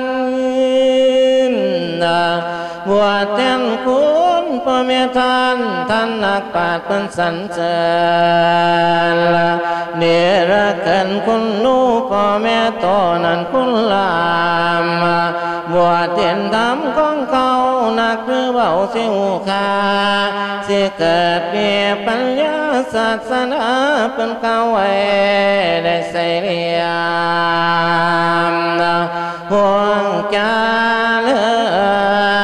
ບວດແທນຄຸນພໍ່ແມ່ທ່ານ ທ່ານນັກປາດເພິ່ນສັນເສີນ ເນລະເກີນຄຸນໜູ ພໍ່ແມ່ໂຕນັ້ນຄຸນລາມ ບວດເຫັນທຳຂອງເຂົາ ນັກຫຼືເວົ້າຊິຮູ້ຄ່າ ຊິເກີດມີປັນຍາ ສາສະໜາເພິ່ນກ່າວໄວ້ ໄດ້ໃສ່ລຽມ ພວງຈາເລີ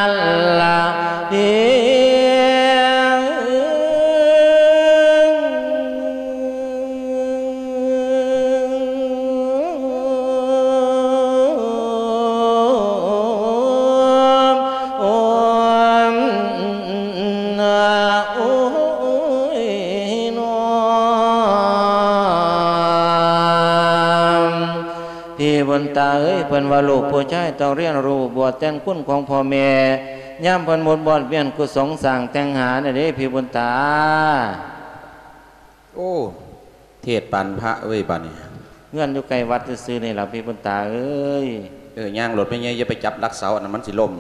ນລະດີ. ພີ່ບຸນຕາເອີຍ ເພິ່ນວ່າລູກຜູ້ຊາຍຕ້ອງຮຽນຮູ້ບວດແທນຄຸນຂອງພໍ່ແມ່ ຍາມເພິ່ນໝົດບອດວຽນກຸສົງສ້າງແຕ່ງຫານະເດ້ ພີ່ບຸນຕາ. ໂອ້ ເທດປານພະເວີຍບາດນີ້ ເຮືອນຢູ່ໃກ້ວັດຊື່ໆນີ້ລະ ພີ່ບຸນຕາເອີຍ. ເອີ ຍ່າງໂລດແມ່ໃຫຍ່ ຢ່າໄປຈັບຫຼັກເສົາ ອັນນັ້ນມັນຊິລົ້ມ.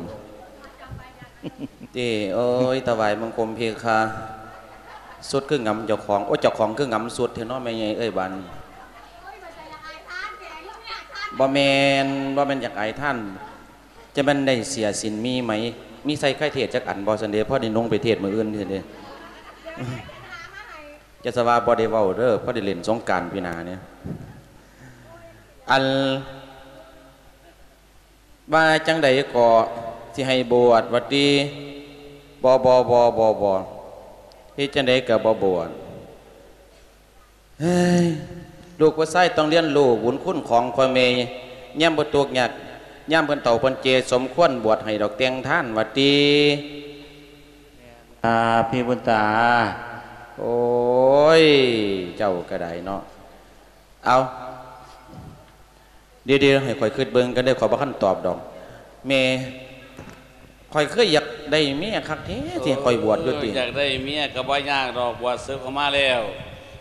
ຕິ ໂອ້ຍ ຖວາຍບັງຄົມເພຄາ. ສຸດຄືງຳເຈົ້າຂອງ ໂອ້ ເຈົ້າຂອງຄືງຳສຸດແທ້ເນາະ ແມ່ໃຫຍ່ເອີຍບາດນີ້. ບໍ່ແມ່ນ ບໍ່ແມ່ນຢາກອາຍທ່ານ ຈະແມ່ນໄດ້ເສຍສິນມີໄໝ ມີໄຊໄຄເທດຈັກອັນບໍ່ຊັ້ນເດ ພໍໄດ້ນຸ່ງໄປເທດມື້ອື່ນຊັ້ນເດ. ຢ່າສະວ່າບໍ່ໄດ້ເວົ້າເດີ ພໍໄດ້ຫຼິ້ນສົງການປີໜ້ານີ້. ອັນ ວ່າຈັ່ງໃດກໍຊິໃຫ້ບວດວ່າຕິ? ບໍ່ ບໍ່ ບໍ່ ບໍ່ ບໍ່ ເຮັດຈັ່ງໃດກໍບໍ່ບວດ. ເຮີ້ຍ ລູກຜູ້ຊາຍຕ້ອງຮຽນຮູ້ບຸນຄຸນຂອງພໍ່ແມ່ ຍາມບໍ່ທຸກຍາກ ຍາມເພິ່ນເຖົ້າເພິ່ນເຈ ສົມຄວນບວດໃຫ້ດອກແຕ່ງທານວ່າຕິ? ອາ ພີ່ບຸນຕາ. ໂອ້ຍ ເຈົ້າກໍໄດ້ເນາະ. ເອົາ ດຽວໆ ໃຫ້ຂ້ອຍຄິດເບິ່ງກັນເດີ ຂ້ອຍບໍ່ທັນຕອບດອກ. ແມ່ ຂ້ອຍເຄີຍຢາກໄດ້ເມຍຄັກແທ້ ຊິໃຫ້ຂ້ອຍບວດຢູ່ຕິ? ເອີ ຢາກໄດ້ເມຍກໍບໍ່ຍາກດອກ ບວດສຶກອອກມາແລ້ວ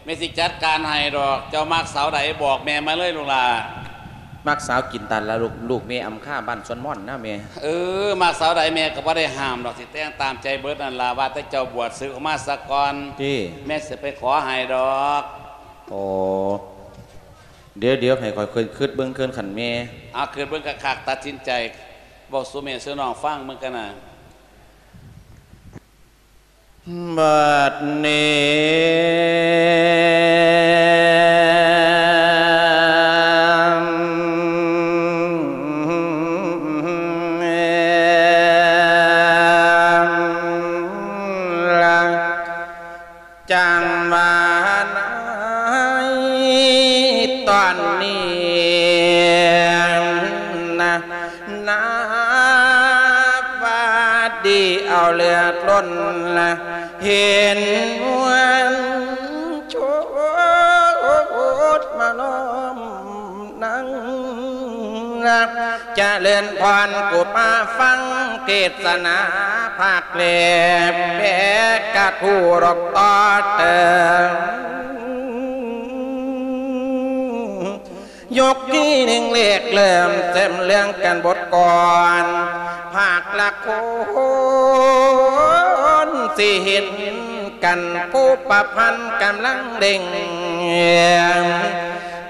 ແມ່ຊິຈັດການໃຫ້ດອກ. ເຈົ້າມັກສາວໃດບອກແມ່ມາເລີຍລູກຫຼ້າ. ມັກສາວກິນຕານລະລູກ ລູກແມ່ອຳຄາບ້ານສວນມ່ອນນະແມ່. ເອີ ມັກສາວໃດແມ່ກໍບໍ່ໄດ້ຫ້າມດອກ ຊິແຕ່ງຕາມໃຈເບິດນັ້ນລະ ວ່າແຕ່ເຈົ້າບວດສຶກອອກມາສາກ່ອນ ຕິ ແມ່ຊິໄປຂໍໃຫ້ດອກ. ໂອ້ ດຽວໆ ໃຫ້ຂ້ອຍຄິດເບິ່ງເທື່ອຄັນແມ່. ເອົາ ຄິດເບິ່ງຄັກໆ ຕັດສິນໃຈ ເວົ້າສູ່ແມ່ສູ່ນ້ອງຟັງເບິ່ງກັນນະ. ບັດນີ້ ຈັ່ງວ່າໃນຕອນນີ້ນະ ນາວາດີເອົາເລືອດລົ້ນນະ ເຫັນນວນໂຊດມາລ້ອມ ນັ່ງ ຈະເລີນພອນ ກູມາຟັງເທດສະໜາ ພາກແລບແບກກະທູດອກຕໍ່ເຕີມ ຍົກທີ່ໜຶ່ງເລກເລີ່ມເສີມເລື່ອງກັນບົດກ່ອນ ພາກລະຄົນ ຊິເຫັນກັນ ຜູ້ປະພັນກຳລັງເລັ່ງ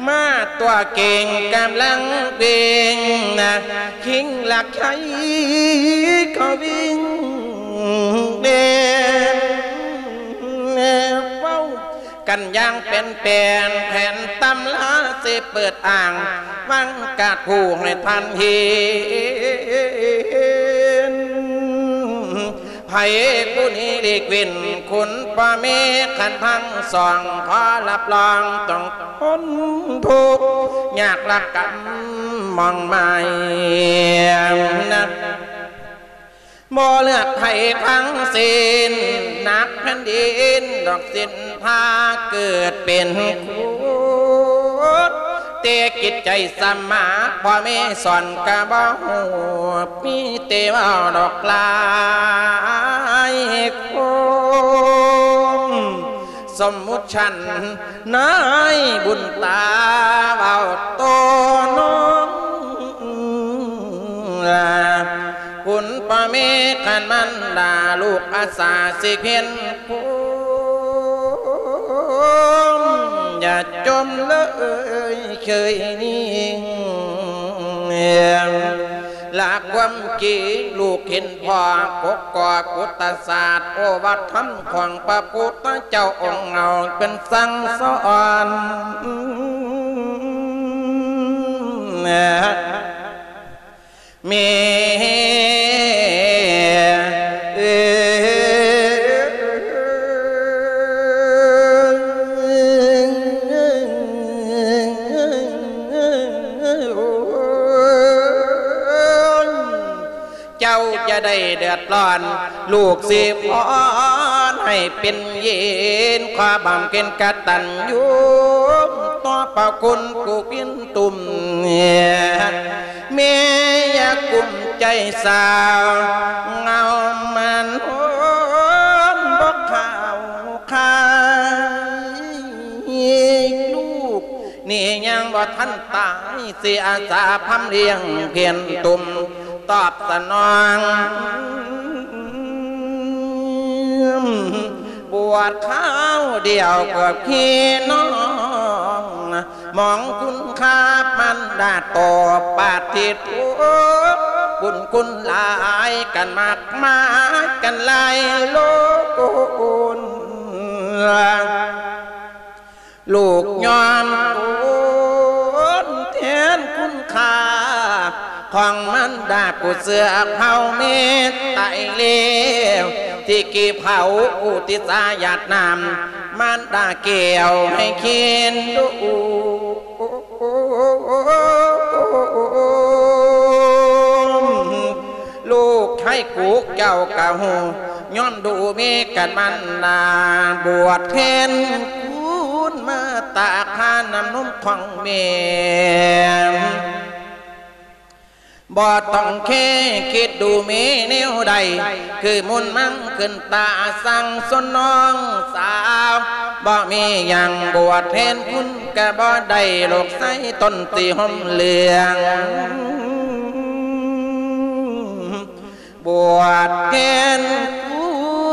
ມາຕົວເກັ່ງກຳລັງເລັ່ງນະ ຄິງລັກໄຄກໍວິ່ງເດ ເວົ້າກັນຢ່າງແປນໆ ແຜນຕຳລາຊິເປີດອ່າງ ວັງກາດຜູ້ໃຫ້ທ່ານເຫັນ ໃຜຜູ້ນີ້ຫຼີກເວັ້ນ ຄຸນພໍ່ແມ່ຄັນທັງສອງ ຂໍຮັບຮອງຕ້ອງທົນທຸກຍາກລະກຳມອງໄມ້ນະ ບໍ່ເລືອກໃຜທັງສິ້ນ ໜັກແຜ່ນດິນດອກສິນພາເກີດເປັນຄຸນ ເຕ ແຕ່ຈິດໃຈສະໝາດ ພໍ່ແມ່ສອນກະບໍ່ຮູ້ ມີແຕ່ເວົ້າດອກຫຼາຍຄົນ ສົມມຸດຊັ້ນນາຍບຸນຕາ ເວົ້າຕໍ່ນ້ອງລາ ຄຸນພໍ່ແມ່ຄັນມັນດາ ລູກອາສາຊິເຫັນ ໂອ້ ຢ່າຈົ່ມເລີຍເຄີຍນິ່ງ ຫຼັກຄວາມຈິງ ລູກເຫັນພໍ່ ກົກກອກພຸດທະສາດ ໂອວາດທຳຂອງພະພຸດທະເຈົ້າອົງເຮົາ ເພິ່ນສັ່ງສອນ ແມ່ ເຈົ້າຢ່າໄດ້ເດືອດຮ້ອນ ລູກຊິພອນໃຫ້ເປັນເຢັນ ຂໍບຳເພັນກະຕັນຍູຕໍ່ພະຄຸນຜູ້ເປັນ ຕຸ່ມ ແມ່ຢ່າກຸ້ມໃຈສາວ ເງົາມັນໂຮມບໍ່ເຂົ້າຄາຍ ລູກນີ້ຍັງບໍ່ທັນຕາຍ ຊິອາສາພຳລ້ຽງພຽນຕຸ່ມ ຕອບສະໜອງ ບວດຄາວດຽວເກືອບຂີ້ນ້ອງ ມອງຄຸນຄ່າມັນດາຕໍ່ປາທິໂທ ບຸນຄຸນຫຼາຍກັນມາກມາຍກັນຫຼາຍໂລນ ລູກຍອມທົນແທນຄຸນຄ່າ ຂອງມັນດາຜູ້ເຊື່ອເຜົ່າແມ່ຕາຍແລ້ວ ທີ່ກີເຜົາອຸທິດສາຢາດນ້ຳ ມັນດາແກ້ວໃຫ້ກິນດູ ລູກໄທກູກເຈົ້າກະຮູ້ ຍ້ອນດູເມກັນມັນນາ ບວດແທນຄຸນມາຕາຄານ້ຳນົມຂອງແມ່ ບໍ່ຕ້ອງເຄຄິດດູເມແນວໃດ ຄືມຸນມັງຂຶ້ນຕາສັ່ງຊົນນ້ອງສາວ ບໍ່ມີຫຍັງບວດແທນຄຸນກະບໍ່ໄດ້ ລູກຊາຍຕົນຊິຫົ່ມເຫຼືອງ ບວດແທນຄຸ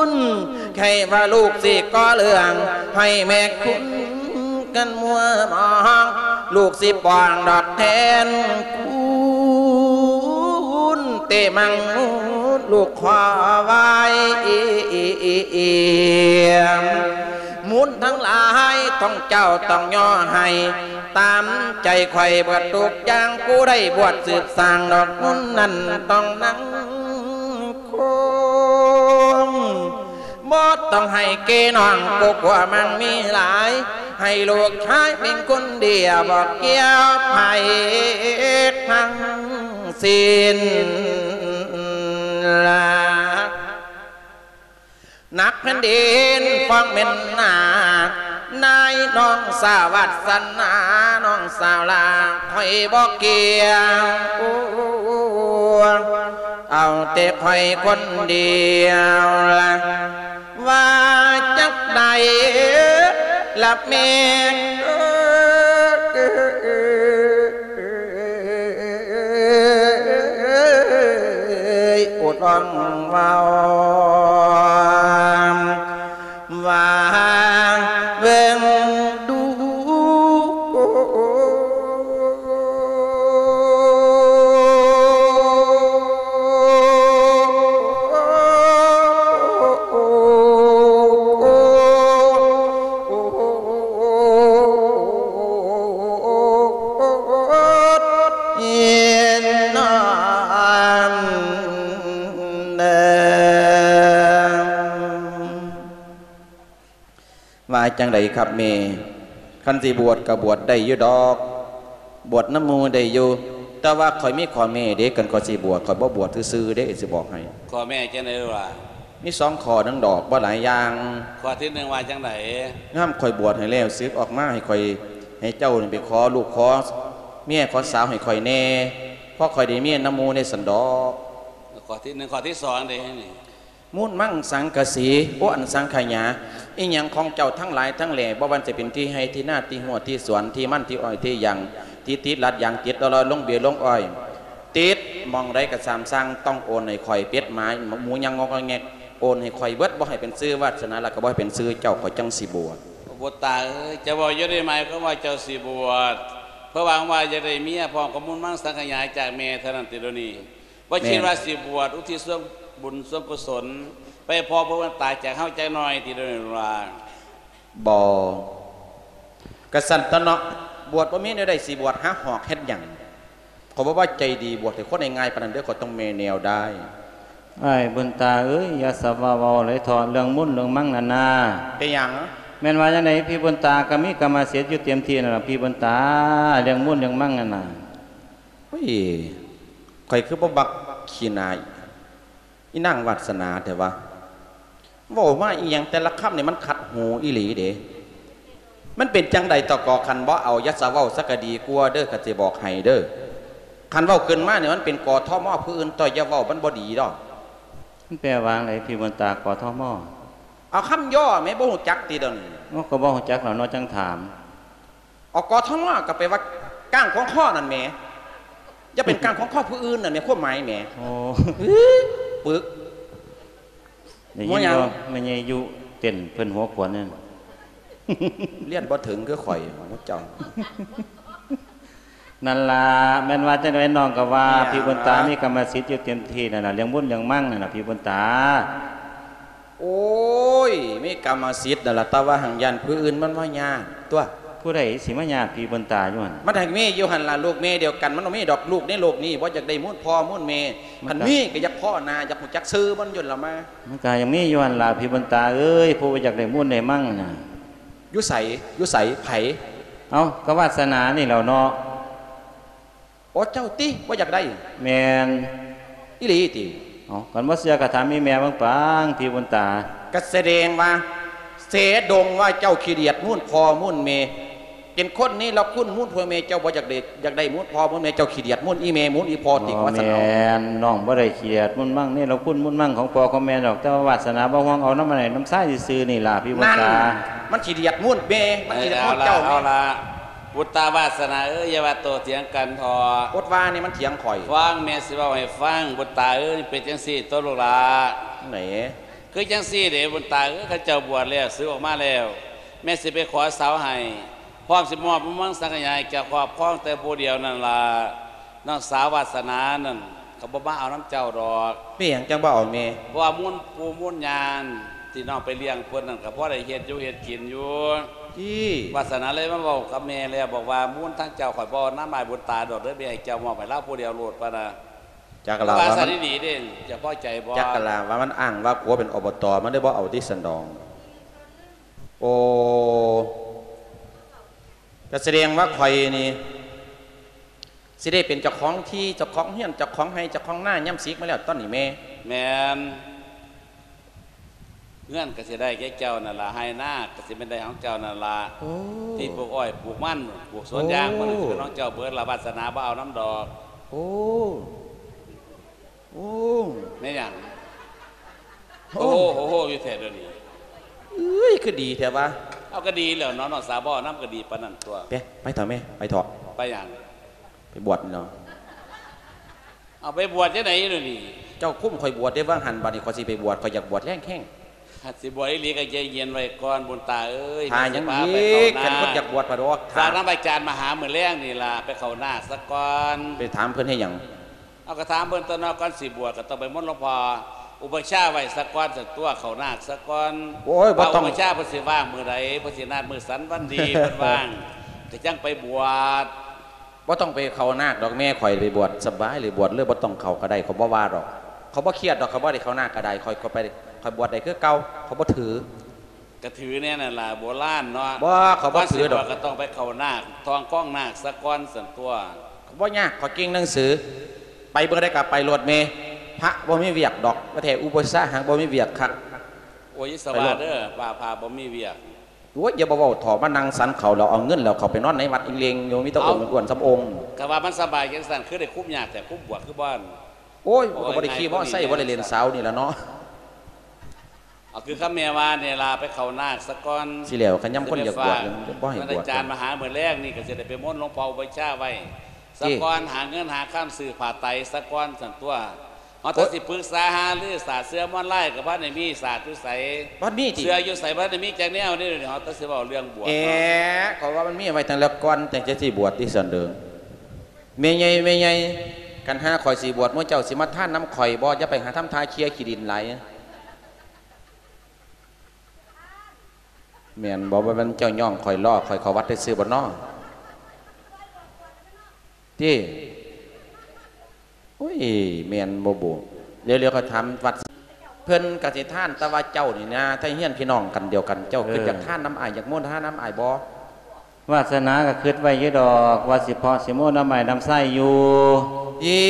ນ ໃຄ່ວ່າລູກຊິກໍ່ເລື່ອງ ໃຫ້ແມ່ຄຸນກັນມົວມອງ ລູກຊິປ້ອງດອກແທນຄຸນ ເຕມັງມຸດລູກຂໍໄວ້ ມຸນທັງຫຼາຍຕ້ອງເຈົ້າຕ້ອງຍໍໃຫ້ ຕາມໃຈຂ້ອຍເບິດທຸກຢ່າງ ຜູ້ໃດບວດສືບສ້າງດອກມຸນນັ້ນຕ້ອງນັ່ງ ຄົງບໍ່ຕ້ອງໃຫ້ເກນ້ອງ ກໍກົວມັນມີຫຼາຍ ໃຫ້ລູກຊາຍເປັນຄົນດຽວ ບໍ່ກ່ຽວໃຜທັງສິ້ນລະ ໜັກແຜ່ນດິນຟ້ອງແມ່ນໜາກ ນາຍນ້ອງສາວາດສະໜາ ນ້ອງສາວລາຂ້ອຍບໍ່ກ່ຽວ ເອົາແຕ່ຂ້ອຍຄົນດຽວລະ ວ່າຈັກໃດລະແມ່ເອີຍ ໂອດຮ້ອງເວົ້າ ວ່າເບິ່ງດູ ວ່າຈັ່ງໃດຄັບແມ່? ຄັນຊິບວດກໍບວດໄດ້ຢູ່ດອກ ບວດນຳໝູ່ໄດ້ຢູ່ ແຕ່ວ່າຂ້ອຍມີຂໍ້ແມ້ເດ້ ຄັນຂ້ອຍຊິບວດ ຂ້ອຍບໍ່ບວດຊື່ໆເດ້ ຊິບອກໃຫ້. ຂໍ້ແມ້ຈັ່ງໃດລະ? ມີສອງຂໍ້ໜຶ່ງດອກ ບໍ່ຫຼາຍຢ່າງ. ຂໍ້ທີໜຶ່ງວ່າຈັ່ງໃດ? ຍາມຂ້ອຍບວດໃຫ້ແລ້ວ ສຶກອອກມາໃຫ້ຂ້ອຍ ໃຫ້ເຈົ້ານີ້ໄປຂໍລູກຂໍ ເມຍຂໍສາວໃຫ້ຂ້ອຍແດ່ ເພາະຂ້ອຍໄດ້ເມຍນຳໝູ່ໃນຊັ້ນດອກ. ຂໍ້ທີໜຶ່ງ ຂໍ້ທີສອງເດ້ນີ້. ມູນມັງສັງກະສີ ໂອ້ ອັນສັງຂະຫຍາ ອີຫຍັງຂອງເຈົ້າທັງຫຼາຍທັງແຫຼ ບໍ່ວ່າຈະເປັນທີ່ໄຮ່ທີ່ນາ ທີ່ຮົ້ວທີ່ສວນ ທີ່ມັນ ທີ່ອ້ອຍທີ່ຢາງ ທີ່ຕິດລັດຢາງ ຕິດລອຍລົງເບ້ຍລົງອ້ອຍ ຕິດໝ່ອງໃດກໍຊ່າງ ຕ້ອງໂອນໃຫ້ຂ້ອຍ ເປັດໝາໝູຫຍັງງອກແງກ ໂອນໃຫ້ຂ້ອຍເບິດ ບໍ່ໃຫ້ເປັນຊື່ວາດສະໜາ ແລ້ວກໍບໍ່ໃຫ້ເປັນຊື່ເຈົ້າ ຂ້ອຍຈັ່ງຊິບວດ. ໂອ້ ບຸດຕາເອີຍ ເຈົ້າເວົ້າຢູ່ໃນໝາຍຄວາມວ່າເຈົ້າຊິບວດ ເພາະຫວັງວ່າຢາກໄດ້ເມຍພ້ອມກັບມູນມັງສັງຂະຫຍາຈາກແມ່ເທົ່ານັ້ນຕິດຽວນີ້? ບໍ່ຄິດວ່າຊິບວດ ແມ່ນ ອຸທິດສ່ວນບຸນສ່ວນກຸສົນ ໄປພໍເພື່ອບຸນຕາຈາກເຮົາຈັກໜ່ອຍຕິດຽວນີ້ລະ? ບໍ່. ກະຊັ້ນຕົວະເນາະ ບວດບໍ່ມີແນວໃດຊິບວດ ຫາຫອກເຮັດຫຍັງ? ຂ້ອຍບໍ່ວ່າໃຈດີບວດໃຫ້ຄົນງ່າຍໆປານນັ້ນເດີ ຂ້ອຍຕ້ອງແມ່ແນວດາຍ. ອ້າຍບຸນຕາເອີຍ ຢ່າສະຫວາເວົ້າຫຼາຍເຖາະ ເລື່ອງມູນເລື່ອງມັງນັ້ນນາ. ເປັນຫຍັງ? ແມ່ນວ່າຈັ່ງໃດ ພີ່ບຸນຕາກໍມີກຳມະສິດຢູ່ເຕັມທີ່ນັ້ນລະ ພີ່ບຸນຕາ ເລື່ອງມູນເລື່ອງມັງນັ້ນນາ. ໂອ້ຍ ຂ້ອຍຄືບໍ່ມັກຂີ້ໜ້າອີນາງວາດສະໜາແທ້ວະ. ເວົ້າມາອີ່ຫຍັງແຕ່ລະຄຳນີ້ມັນຂັດຫູອີ່ຫຼີເດ. ມັນເປັນຈັ່ງໃດຕໍ່ກໍ ຄັນບໍ່ເອົາຢ່າສະເວົ້າຊະກະດີກວ່າເດີ ຂ້າຊິບອກໃຫ້ເດີ. ຄັນເວົ້າຂຶ້ນມານີ້ມັນເປັນ ກທມ ຜູ້ອື່ນຕໍ່ຢ່າເວົ້າ ມັນບໍ່ດີດອກ. ມັນແປວ່າຈັ່ງໃດ ພີ່ບຸນຕາ ກທມ? ເອົາຄຳຫຍໍ້ແໝ່ ບໍ່ຮູ້ຈັກຕິດຽວນີ້? ໂອ້ ກໍບໍ່ຮູ້ຈັກແລ້ວເນາະ ຈັ່ງຖາມ. ອອກ ກທມ ກໍແປວ່າກ້າງຂອງຄໍນັ້ນແໝ່ ຢ່າເປັນກ້າງຂອງຄໍຜູ້ອື່ນນັ້ນແໝ່ ຄວາມໝາຍແໝ່. ໂອ້ ປຶກ ໄດ້ຍິນບໍ່ ແມ່ໃຫຍ່ຢູ່ເຕັ້ນເພິ່ນຫົວຂວັນນັ້ນ ຮຽນບໍ່ເຖິງຄືຂ້ອຍ ໝູ່ເຈົ້າ. ນັ້ນລະ ແມ່ນວ່າຈັ່ງໃດ ນ້ອງກໍວ່າ ພີ່ບຸນຕາມີກຳມະສິດຢູ່ເຕັມທີ່ນັ້ນລະ ເລື່ອງບຸນເລື່ອງມັງນັ້ນລະ ພີ່ບຸນຕາ. ໂອ້ຍ ມີກຳມະສິດນັ້ນລະ ແຕ່ວ່າຫັ້ນຢ້ານຜູ້ອື່ນມັນມາຍາດຕົວະ. ຜູ້ໃດຊິມາຍາດພີ່ບຸນຕາຢູ່ຫັ້ນ? ມັນໃຫ້ມີຢູ່ຫັ້ນລະ ລູກແມ່ດຽວກັນ ມັນບໍ່ມີດອກ ລູກໃນໂລກນີ້ບໍ່ຢາກໄດ້ມູນພໍ່ມູນແມ່. ຄັນມີກໍຢາກພໍ້ໜ້າ ຢາກຮູ້ຈັກຊື່ມັນຢູ່ລະມາ. ມັນກໍຍັງມີຢູ່ຫັ້ນລະ ພີ່ບຸນຕາເອີຍ ຜູ້ບໍ່ຢາກໄດ້ມູນໄດ້ມັງນະ. ຢູ່ໃສ? ຢູ່ໃສ? ໃຜ? ເອົ້າ ກໍວາດສະໜານີ້ແຫຼ້ວເນາະ. ໂອ້ ເຈົ້າຕິ ບໍ່ຢາກໄດ້? ແມ່ນ. ອີ່ຫຼີຕິ? ເອົ້າ ຄັນບໍ່ເຊື່ອກໍຖາມອີ່ແມ່ເບິ່ງປາງ ພີ່ບຸນຕາ. ກໍສະແດງວ່າ ເສດົງວ່າເຈົ້າຂີ້ດຽດມູນພໍ່ມູນແມ່ ເປັນຄົນນີ້ລະຄຸນມູນພໍ່ແມ່ເຈົ້າ ບໍ່ຢາກໄດ້ ຢາກໄດ້ມູນພໍ່ມູນແມ່ ເຈົ້າຂີ້ດຽດມູນອີ່ແມ່ມູນອີ່ພໍ່ຕິ ວ່າຊັ້ນເອົາ. ແມ່ນ ນ້ອງບໍ່ໄດ້ຂີ້ດຽດມູນມັງ ນີ້ລະຄຸນມູນມັງຂອງພໍ່ຂອງແມ່ດອກ ແຕ່ວ່າວາດສະໜາບໍ່ຫ່ວງ ເອົານຳອັນໃດ ນຳຊາຍຊື່ໆນີ້ລະ ພີ່ບຸນຕາ. ມັນຂີ້ດຽດມູນແມ່ ມັນຂີ້ດຽດມູນເຈົ້າ. ເອີ ເອົາລະ ເອົາລະ ບຸດຕາວາດສະໜາເອີຍ ຢ່າວ່າໂຕ້ຖຽງກັນເຖາະ. ອົດວ່ານີ້ ມັນຖຽງຂ້ອຍ. ຟັງແມ່ຊິເວົ້າໃຫ້ຟັງ ບຸດຕາເອີຍ ເປັນຈັ່ງຊີ້ໂຕລູກຫຼ້າ. ຈັ່ງໃດ? ຄືຈັ່ງຊີ້ເດ້ບຸນຕາເອີຍ ເຂົາເຈົ້າບວດແລ້ວ ສຶກອອກມາແລ້ວ ແມ່ຊິໄປຂໍສາວໃຫ້ ພ້ອມຊິມອບມຸງມັງສັງຂະຫຍາໃຫ້ເຈົ້າຄອບຄອງແຕ່ຜູ້ດຽວນັ້ນລະ. ນ້ອງສາວວາດສະໜານັ້ນ ເຂົາບໍ່ມາເອົານຳເຈົ້າດອກ. ເປັນຫຍັງຈັ່ງບໍ່ເອົາແມ່? ເພາະວ່າມູນປູ່ມູນຍ່າທີ່ນ້ອງໄປລ້ຽງເພິ່ນນັ້ນ ກໍພໍໄດ້ເຮັດຢູ່ເຮັດກິນຢູ່. ຕິ ວາດສະໜາເລີຍມາເວົ້າກັບແມ່ແລ້ວ ບອກວ່າ ມູນທາງເຈົ້າຂ້ອຍບໍ່ເອົານຳອ້າຍບຸນຕາດອກເດີ ແມ່ໃຫ້ເຈົ້າມອບໃຫ້ລາວຜູ້ດຽວໂລດ ປານນະ. ຈັກລະວ່າ ວ່າມັນ ວ່າຊັ້ນອີ່ຫຼີເດ້ ເຈົ້າພໍໃຈບໍ່? ຈັກລະວ່າມັນອ້າງວ່າຜົວເປັນ ອບຕ ມັນເລີຍບໍ່ເອົາຕິຊັ້ນດອກ. ໂອ້ ກໍສະແດງວ່າຂ້ອຍນີ້ ຊິໄດ້ເປັນເຈົ້າຂອງທີ່ ເຈົ້າຂອງເຮືອນ ເຈົ້າຂອງໄຮ່ ເຈົ້າຂອງນາ ຍາມສິກມາແລ້ວຕອນນີ້ແມ່. ແມ່ນ. ເຮືອນກໍຊິໄດ້ແກ່ເຈົ້ານັ້ນລະ ໄຮ່ນາກໍຊິແມ່ນໄດ້ຂອງເຈົ້ານັ້ນລະ. ໂອ້ ທີ່ປູກອ້ອຍ ປູກມັນ ປູກສວນຢາງ ໂອ້ ມັນກໍຊິເປັນຂອງເຈົ້າເບິດລະ ວາດສະໜາບໍ່ເອົານຳດອກ. ໂອ້ ໂອ້ ແມ່ນຫຍັງ? ໂອ້ ໂອ້ໂຫ ໂອ້ໂຫ ຢູ່ແທ້ດຽວນີ້. ເອີຍ ຄືດີແທ້ວະ. ເອົາ ກໍດີແລ້ວເນາະ ນ້ອງສາວບໍ່ເອົານຳກໍດີປານນັ້ນຕົວະ. ໄປ ໄປເຖາະແມ່ ໄປເຖາະ. ໄປຫຍັງ? ໄປບວດນີ້ເນາະ. ເອົາ ໄປບວດຈັ່ງໃດດຽວນີ້? ເຈົ້າຄຸມຂ້ອຍບວດເດ້ຫວ່າງຫັ້ນ ບາດນີ້ຂ້ອຍຊິໄປບວດ ຂ້ອຍຢາກບວດແຮງໆ. ຄັນຊິບວດອີ່ຫຼີກໍໃຈເຢັນໄວ້ກ່ອນ ບຸນຕາເອີຍ. ຖ້າຫຍັງອີກ? ຄັນຄົນຢາກບວດພະດອກ ຝາກນຳອາຈານມະຫາມື້ແລງນີ້ລະ ໄປເຂົ້ານາກສາກ່ອນ. ໄປຖາມເພິ່ນເຮັດຫຍັງ? ເອົາ ກໍຖາມເພິ່ນຕົວະເນາະ ກ່ອນຊິບວດກໍຕ້ອງໄປມົນຫຼວງພໍ່ ອຸປະຊາໄວ້ສາກ່ອນຊັ້ນຕົວະ ເຂົ້ານາກສາກ່ອນ. ໂອ້ຍ ບໍ່ຕ້ອງ ວ່າອຸປະຊາເພິ່ນຊິວ່າງມື້ໃດ ເພິ່ນຊິນັດມື້ສັນວັນດີ ເພິ່ນວ່າງ ກໍຈັ່ງໄປບວດ. ບໍ່ຕ້ອງໄປເຂົ້ານາກດອກແມ່ ຂ້ອຍໄປບວດສະບາຍເລີຍ ບວດເລີຍ ບໍ່ຕ້ອງເຂົ້າກໍໄດ້ ຂ້ອຍບໍ່ວ່າດອກ. ຂ້ອຍບໍ່ຄຽດດອກ ຂ້ອຍບໍ່ໄດ້ເຂົ້ານາກກໍໄດ້ ຂ້ອຍກໍໄປ ຂ້ອຍບວດໄດ້ຄືເກົ່າ ຂ້ອຍບໍ່ຖື. ກະຖືແນວນັ້ນລະ ໂບລານເນາະ. ບໍ່ ຂ້ອຍບໍ່ຖືດອກ. ກ່ອນຊິບວດກໍຕ້ອງໄປເຂົ້ານາກ ທ່ອງຄອງນາກສາກ່ອນຊັ້ນຕົວະ. ບໍ່ຍາກ ຂ້ອຍເກັ່ງໜັງສື ໄປເບິ່ງໄດ້ກໍໄປໂລດແມ່. ພະບໍ່ມີວຽກດອກ ວ່າແທ້ ອຸປະຊາຫາກບໍ່ມີວຽກຄັກ. ໂອ້ຍ ຢ່າສະຫວາເດີ ວ່າພະບໍ່ມີວຽກ. ໂອ້ຍ ຢ່າບໍ່ເວົ້າເຖາະ ມານັ່ງສັນເຂົ້າແລ້ວເອົາເງິນແລ້ວເຂົ້າໄປນອນໃນວັດອີ່ເລີງຢູ່ ມີແຕ່ອົງອ້ວນໆສ່ຳອົງ. ກະວ່າມັນສະບາຍຈັ່ງຊັ້ນ ຄືໄດ້ຄຸມຍາກແທ້ ຄຸມບວດຄືບໍ່? ໂອ້ຍ ກະບໍ່ໄດ້ຂີ່ມໍເຕີໄຊ ບໍ່ໄດ້ຫຼິ້ນສາວນີ້ລະເນາະ. ເອົາຄືຄຳແມ່ວ່ານີ້ລະ ໄປເຂົ້ານາກສາກ່ອນ ຊິແລ້ວ ຄັນຍາມຄົນຢາກບວດ ຊິໄປຝາກ ບໍ່ໃຫ້ບວດ ອາຈານມະຫາມື້ແລງນີ້ ກະຊິໄດ້ໄປມົນຫຼວງພໍ່ອຸປັດຊາໄວ້ສາກ່ອນ ຫາເງິນຫາຄຳຊື້ຜ້າໄຕສາກ່ອນຊັ້ນຕົວະ. ເຮົາ ໂອ້ຍ ແຕ່ຊິປຶກສາຫາລືສາດເສືອມອນລາຍ ກະບໍ່ໄດ້ມີສາດຢູ່ໃສ ບໍ່ມີຕິ ເສືອຢູ່ໃສ ບໍ່ໄດ້ມີຈັກແນວນີ້. ເຮົາແຕ່ຊິເວົ້າເລື່ອງບວດ ເອີ ເນາະ ເພາະວ່າມັນມີໄວ້ຕັ້ງແຕ່ກ່ອນ ຕັ້ງແຕ່ຊິບວດຕິຊັ້ນເດີ. ແມ່ໃຫຍ່ ແມ່ໃຫຍ່ ຄັນຫາຂ້ອຍຊິບວດ ໝູ່ເຈົ້າຊິມາທານນຳຂ້ອຍບໍ່? ຢ່າໄປຫາທຳທ່າເຄຍຂີ້ດິນຫຼາຍ. ແມ່ນບໍ່? ບໍ່ແມ່ນເຈົ້າຍ້ອງຂ້ອຍລໍ້ຂ້ອຍເຂົ້າວັດຊື່ໆບໍ່ນໍ? ຕິ ໂອ້ຍ ແມ່ນບໍ່ບຸ? ດຽວໆ ຂ້ອຍຖາມວັດ ເພິ່ນກະຊິທານ ແຕ່ວ່າເຈົ້ານີ້ນາ ໄທຮຽນພີ່ນ້ອງກັນດຽວກັນ ເຈົ້າ ເອີ ຄຶດຢາກທານນຳອ້າຍ ຢາກໂມທະນານຳອ້າຍບໍ່? ວາສະໜາກະຄຶດໄວ້ຢູ່ດອກ ວ່າຊິເພາະຊິໂມນຳອ້າຍນຳຊາຍຢູ່. ເອີ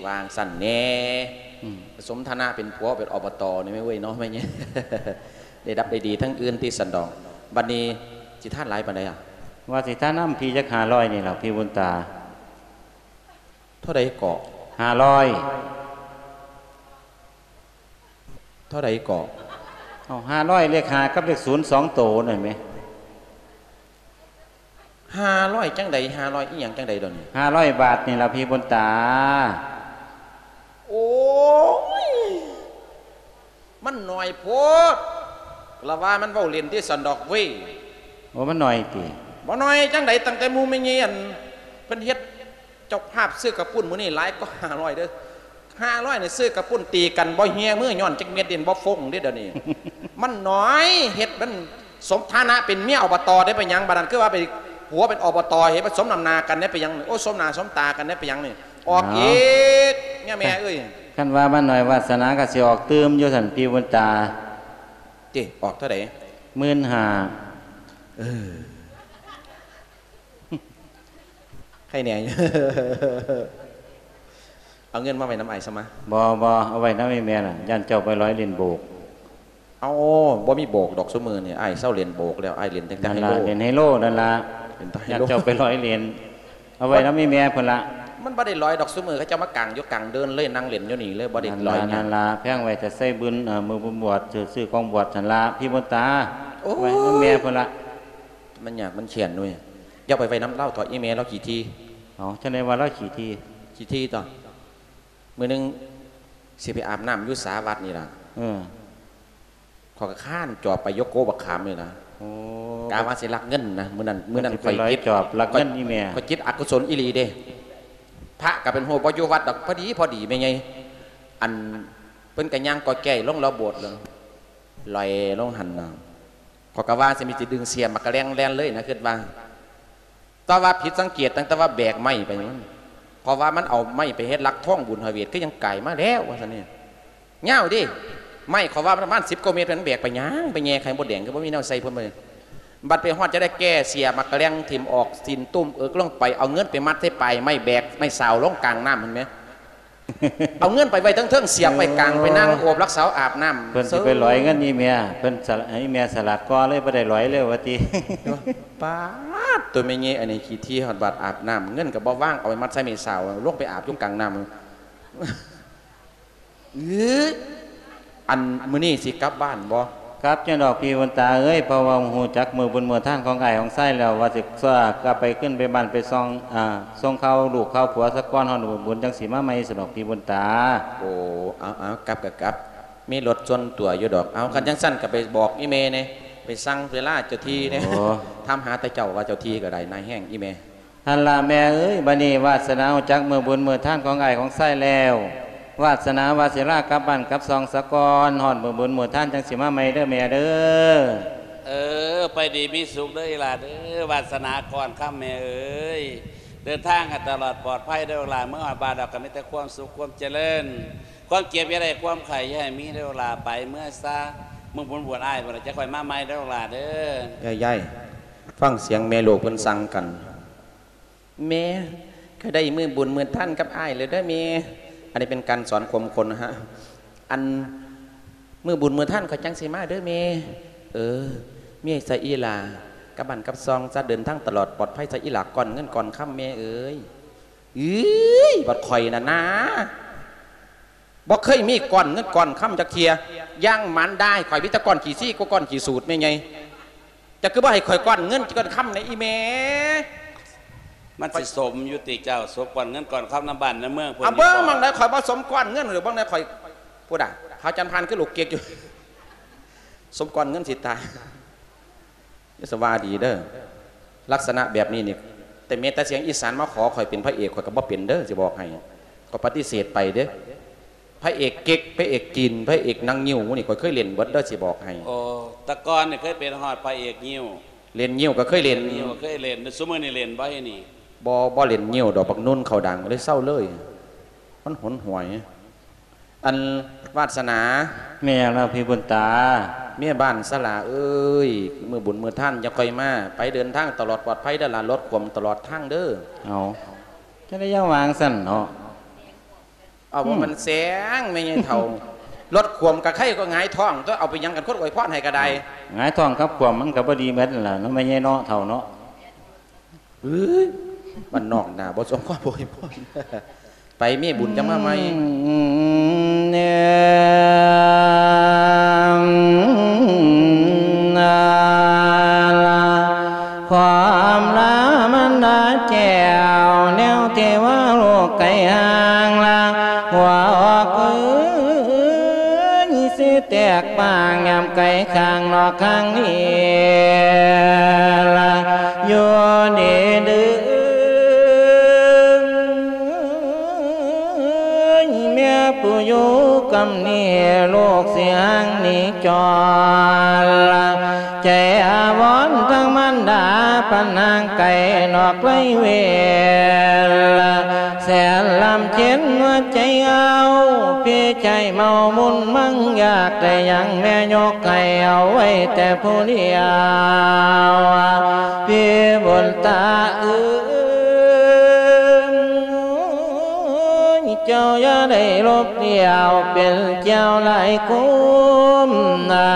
ວ່າຈັ່ງຊັ້ນແດ່. ອືມ ສົມຖານະເປັນຜົວເປັນ ອບຕ ນີ້ແມ່ເວີ້ຍເນາະ ແມ່ນຫຍັງ ໄດ້ດັບໄດ້ດີທາງອື່ນຕິຊັ້ນດອກ. ບັດນີ້ຊິທານຫຼາຍປານໃດອະ? ວ່າຊິທານນຳພີ່ຈັກຫ້າຮ້ອຍນີ້ແຫຼະ ພີ່ບຸນຕາ. ເທົ່າໃດເກາະ? ຫ້າຮ້ອຍ. ເທົ່າໃດເກາະ? ເອົາ ຫ້າຮ້ອຍ ເລກຫ້າກັບເລກສູນສອງໂຕນັ້ນແໝ. ຫ້າຮ້ອຍ ຈັ່ງໃດ? ຫ້າຮ້ອຍ ອີ່ຫຍັງ? ຈັ່ງໃດດຽວນີ້? ຫ້າຮ້ອຍບາດນີ້ລະ ພີ່ບຸນຕາ. ໂອ້ຍ ມັນໜ້ອຍໂພດ ລະວ່າມັນເວົ້າຫຼິ້ນຕິຊັ້ນດອກເວີ້ຍ. ໂອ້ ມັນໜ້ອຍຕິ? ບໍ່ໜ້ອຍຈັ່ງໃດ ຕັ້ງແຕ່ໝູ່ແມ່ໃຫຍ່ ອັນ ເພິ່ນເຮັດເຈົ້າພາບຊື້ກະປຸ້ນມື້ນີ້ຫຼາຍກວ່າຫ້າຮ້ອຍເດີ້. ຫ້າຮ້ອຍນີ້ຊື້ກະປຸ້ນຕີກັນບໍ່ເຫ່ຍມືຍ້ອນຈັກເມັດເດ້ ບໍ່ຟົງເດ້ດຽວນີ້. ມັນໜ້ອຍ ເຮັດມັນສົມຖານະເປັນເມຍ ອບຕ ໄດ້ໄປຫຍັງ? ບາດນັ້ນຄືວ່າໄປຜົວເປັນ ອບຕ ເຮັດມັນສົມນຳໜ້າກັນໄດ້ໄປຫຍັງ? ໂອ້ ສົມໜ້າສົມຕາກັນໄດ້ໄປຫຍັງນີ້? ອອກອີກ ເມຍແມ່ເອີຍ. ຄັນວ່າມັນໜ້ອຍວາສະໜາກະຊິອອກຕື່ມຢູ່ຊັ້ນ ພີ່ບຸນຕາ. ຕິ ອອກເທົ່າໃດ? ໝື່ນຫ້າ. ເອີ ໃຄແນ່ຢູ່ ເອົາເງິນມາໄວ້ນຳອ້າຍຊະມາ. ບໍ່ ບໍ່ ເອົາໄວ້ນຳອີ່ແມ່ລະ ຢ້ານເຈົ້າໄປລອຍຫຼິ້ນໂບກ. ເອົາ ບໍ່ມີໂບກດອກ ຊຸມື້ນີ້ອ້າຍເຊົາຫຼິ້ນໂບກແລ້ວ ອ້າຍຫຼິ້ນແຕ່ໄຮໂລ. ນັ້ນລະ ຫຼິ້ນໄຮໂລນັ້ນລະ ຢ້ານເຈົ້າໄປລອຍຫຼິ້ນ. ເອົາໄວ້ນຳອີ່ແມ່ພຸ້ນລະ. ມັນບໍ່ໄດ້ລອຍດອກ ຊຸມື້ເຂົາເຈົ້າມາກາງຢູ່ກາງເດີ່ນເລີຍ ນັ່ງຫຼິ້ນຢູ່ນີ້ເລີຍ ບໍ່ໄດ້ລອຍຫຍັງ. ນັ້ນລະ ແພງໄວ້ແຕ່ໃສ່ບຸນ ເອີ ມື້ບຸນບວດ ຊື້ຂອງບວດຫັ້ນລະ ພີ່ບຸນຕາ. ໂອ້ຍ ໄວ້ນຳແມ່ພຸ້ນລະ. ມັນຍາກມັນແຄ້ນເວີ້ຍ. ຢ່າໄປໄວ້ນຳລາວເຖາະ ອີ່ແມ່ລາວຂີ້ຖີ່. ເອົາ ຈັ່ງໃດວ່າລາວຂີ້ຖີ່? ຂີ້ຖີ່ຕົວະ. ມື້ໜຶ່ງຊິໄປອາບນ້ຳຢູ່ສາວັດນີ້ລະ. ເອີ ຂ້ອຍກະຄານຈອບໄປ ໂຍໂກບັກຂາມນີ້ລະ. ໂອ້ ກະວ່າຊິລັກເງິນນະ ມື້ນັ້ນ ມື້ນັ້ນຂ້ອຍຈິດ ຈອບລັກເງິນອີ່ແມ່. ຂ້ອຍຈິດອະກຸສົນອີ່ຫຼີເດ້. ພະກະເປັນຮູ້ ບໍ່ຢູ່ວັດດອກ. ພໍດີ ພໍດີແມ່ໃຫຍ່ ອັນ ເພິ່ນກະຍ່າງກ່ອຍແກ່ຍລົງລອບໂບດເລີຍ ລອຍລົງຫັ້ນນະ. ຂ້ອຍກະວ່າຊິມີຊິດຶງເສຍໝາກກະແລ້ງແລ່ນເລີຍນະ ຄິດວ່າ. ແຕ່ວ່າຜິດສັງເກດຕັ້ງແຕ່ວ່າແບກໄມ້ໄປ. ເພາະວ່າມັນເອົາໄມ້ໄປເຮັດຫຼັກທອງບຸນພະເວດ ຄືຍັງກາຍມາແລ້ວວ່າຊັ້ນນີ້. ຍາວເດ້ ໄມ້ ເຂົາວ່າມັນປະມານສິບກວ່າເມັດ ມັນແບກໄປຫຍັງ? ໄປແຍ່ໄຂ່ມົດແດງ ຄືບໍ່ມີແນວໃສ່ເພິ່ນ. ບັດໄປຮອດຈະໄດ້ແກ່ເສຍໝາກກະແລ້ງຖິ້ມອອກ ຊີ້ນຕຸ້ມເອິກລົງໄປ ເອົາເງິນໄປມັດໃສ່ປາຍໄມ້ ແບກໄມ້ຊາວລົງກາງນ້ຳຫັ້ນແໝ. ເອົາເງິນໄປໄວ້ເທິງໆ ສຽບໄວ້ກາງ ໄປນັ່ງໂອບລັກສາວອາບນ້ຳ. ເພິ່ນຊິໄປຫຼອຍເງິນອີ່ແມ່ ເພິ່ນສະ ອີ່ແມ່ສະຫຼາດກວ່າເລີຍ ບໍ່ໄດ້ຫຼອຍເລີຍວ່າຕິ. ປາດ ໂຕແມ່ໃຫຍ່ອັນນີ້ຂີ້ຖີ່ ຮອດບາດອາບນ້ຳ ເງິນກະບໍ່ວາງ ເອົາໄປມັດໃສ່ແມ່ສາວ ລົງໄປອາບຢູ່ກາງນ້ຳ. ເອີ ອັນມື້ນີ້ຊິກັບບ້ານບໍ່? ກັບຈັ່ງດອກພີ່ບຸນຕາເອີຍ ເພາະວ່າຮູ້ຈັກມື້ບຸນມື້ທານຂອງອ້າຍຂອງຊາຍແລ້ວ ວ່າຊິກັບໄປ ຂຶ້ນໄປບ້ານໄປສ່ອງ ອາ ສົ່ງຂ່າວລູກຂ່າວຜົວສາກ່ອນ ຮອດມື້ບຸນຈັ່ງຊິມາໃໝ່ຊັ້ນດອກພີ່ບຸນຕາ. ໂອ້ ເອົາ ເອົາ ກັບກະກັບ ມີລົດສ່ວນຕົວຢູ່ດອກ. ເອົາ ຄັນຈັ່ງຊັ້ນກະໄປບອກອີ່ແມ່ແດ່ ໄປສັ່ງເວລາເຈົ້າທີ່ແດ່. ໂອ້ ຖາມຫາແຕ່ເຈົ້າວ່າເຈົ້າທີ່ກະໄດ້ນາຍແຮງອີ່ແມ່. ຫັ້ນລະແມ່ເອີຍ ບາດນີ້ວາດສະໜາຮູ້ຈັກມື້ບຸນມື້ທານຂອງອ້າຍຂອງຊາຍແລ້ວ ວາດສະໜາວ່າຊິລາກັບບ້ານກັບຊ່ອງສາກ່ອນ ຮອດມື້ບຸນມື້ທານຈັ່ງຊິມາໃໝ່ເດີແມ່ເດີ. ເອີ ໄປດີມີສຸກເດີອີ່ຫຼ້າເດີ ວາດສະໜາກ່ອນຄຳແມ່ເອີຍ. ເດີນທາງໃຫ້ຕະຫຼອດປອດໄພເດີລູກຫຼານ ເມືອຮອດບ້ານແລ້ວກະມີແຕ່ຄວາມສຸກຄວາມຈະເລີນ ຄວາມເຈັບຢ່າໄດ້ ຄວາມໄຂ້ຢ່າໃຫ້ມີເດີລູກຫຼານ. ໄປເມືອຊະ ມື້ບຸນບວດອ້າຍພຸ້ນລະ ຈະຄ່ອຍມາໃໝ່ເດີລູກຫຼານເດີ. ຍາຍໆ ຟັງສຽງແມ່ລູກເພິ່ນສັ່ງກັນ. ແມ່ ຂ້ອຍໄດ້ມື້ບຸນມື້ທານກັບອ້າຍແລ້ວເດີແມ່. ອັນນີ້ເປັນການສອນຄວາມຄົນນະຮະ. ອັນ ມື້ບຸນມື້ທານຂ້ອຍຈັ່ງຊິມາເດີແມ່. ເອີ ມີໃສ່ອີ່ຫຼ້າ ກັບບ້ານກັບຊ່ອງຊະ ເດີນທາງຕະຫຼອດປອດໄພຊະອີ່ຫຼ້າ ກ້ອນເງິນກ້ອນຄຳແມ່ເອີຍ. ເອີຍ ບັດຂ້ອຍນັ້ນນາ ບໍ່ເຄີຍມີກ້ອນເງິນກ້ອນຄຳຈັກເທື່ອ. ຢ່າງມານດາຂ້ອຍມີແຕ່ກ້ອນຂີ້ຊີກັບກ້ອນຂີ້ສູດແມ່ໃຫຍ່. ເຈົ້າຄືບໍ່ໃຫ້ຂ້ອຍກ້ອນເງິນກ້ອນຄຳແດ່ອີ່ແມ່? ມັນຊິສົມຢູ່ຕິເຈົ້າ ສົມກ້ອນເງິນກ້ອນຄຳນຳບ້ານນຳເມືອງເພິ່ນ. ເອົາເບິ່ງ ຢູ່ບໍ່? ໝ່ອງໃດຂ້ອຍບໍ່ສົມກ້ອນເງິນ ຫຼື ເບິ່ງໃດຂ້ອຍ ພຸ້ນນະ ພະຈັນພານຄືລູກເກັກຢູ່ ສົມກ້ອນເງິນຊິຕາຍ. ຢ່າສະວ່າດີເດີ ລັກສະນະແບບນີ້ນີ້ ແຕ່ແມ່ນແຕ່ສຽງອີສານມາຂໍຂ້ອຍເປັນພະເອກ ຂ້ອຍກໍບໍ່ເປັນເດີ ຊິບອກໃຫ້ ຂ້ອຍປະຕິເສດໄປເດ້. ພະເອກເກັກ ພະເອກຈີນ ພະເອກໜັງງິ້ວໝູ່ນີ້ ຂ້ອຍເຄີຍຫຼິ້ນເບິດເດີ ຊິບອກໃຫ້. ໂອ້ ແຕ່ກ່ອນນີ້ເຄີຍເປັນຮອດພະເອກງິ້ວ ຫຼິ້ນງິ້ວກໍເຄີຍຫຼິ້ນ. ງິ້ວເຄີຍຫຼິ້ນ ແຕ່ຊຸມື້ນີ້ຫຼິ້ນບໍ່? ນີ້ ບໍ່ ບໍ່ຫຼິ້ນງິ້ວດອກ ບັກນຸ່ນເຂົາດັງ ເລີຍເຊົາເລີຍ ມັນຫົນຫວຍ. ອັນ ວາດສະໜາ. ແມ່ນແລ້ວພີ່ບຸນຕາ. ເມຍບ້ານສະຫຼາເອີຍ ມື້ບຸນມື້ທານຢ່າຄ່ອຍມາ ໄປເດີນທາງຕະຫຼອດປອດໄພເດີລະ ລົດຂວມຕະຫຼອດທາງເດີ. ເອົາ ຈັ່ງໃດຢ່າວ່າຈັ່ງຊັ້ນເນາະ. ເອົາ ບໍ່ແມ່ນແສງແມ່ໃຫຍ່ເຖົ້າ ລົດຂວມກະໄຄກໍຫງາຍທ້ອງຕົວະ ເອົາໄປຫຍັງກັນ ຄົນອວຍພອນໃຫ້ກະໄດ້. ຫງາຍທ້ອງກັບຂວມມັນກະບໍ່ດີເໝິດຫັ້ນລະເນາະ ແມ່ໃຫຍ່ເນາະ ເຖົ້າເນາະ. ເອີຍ ບ້ານນອກໜ້າບໍ່ສົມຄວາມອວຍພອນ. ໄປມີບຸນຈັ່ງມາໃໝ່. ຄວາມລາມັນດາແກ້ວ ແນວທີ່ວ່າລູກໄກຫ່າງລາ ຫົວອອກເອີຍ ຊິແຕກປາງຍາມໄກຂ້າງນອກຂ້າງນີ້ລະ ຢູ່ດີເດີ ແມ່ຜູ້ຢູ່ກຳນີ້ ລູກຊິຫ່າງໜີຈອນລະ ໃຈອາວອນທາງມານດາ ປານຫ່າງໄກນອກໄລເວລາ ແສນລຳເຄັນຫົວໃຈເອົາ ພີ່ໃຈເມົາມຸນມັງຢາກໄດ້ຫຍັງ ແມ່ຍົກໃຫ້ເອົາໄວ້ແຕ່ຜູ້ດຽວ ພີ່ບຸນຕາເອີຍ ເຈົ້າຢ່າໄດ້ລົບລ້ຽວ ເປັນແກ້ວຫຼາຍຄຸ້ມນາ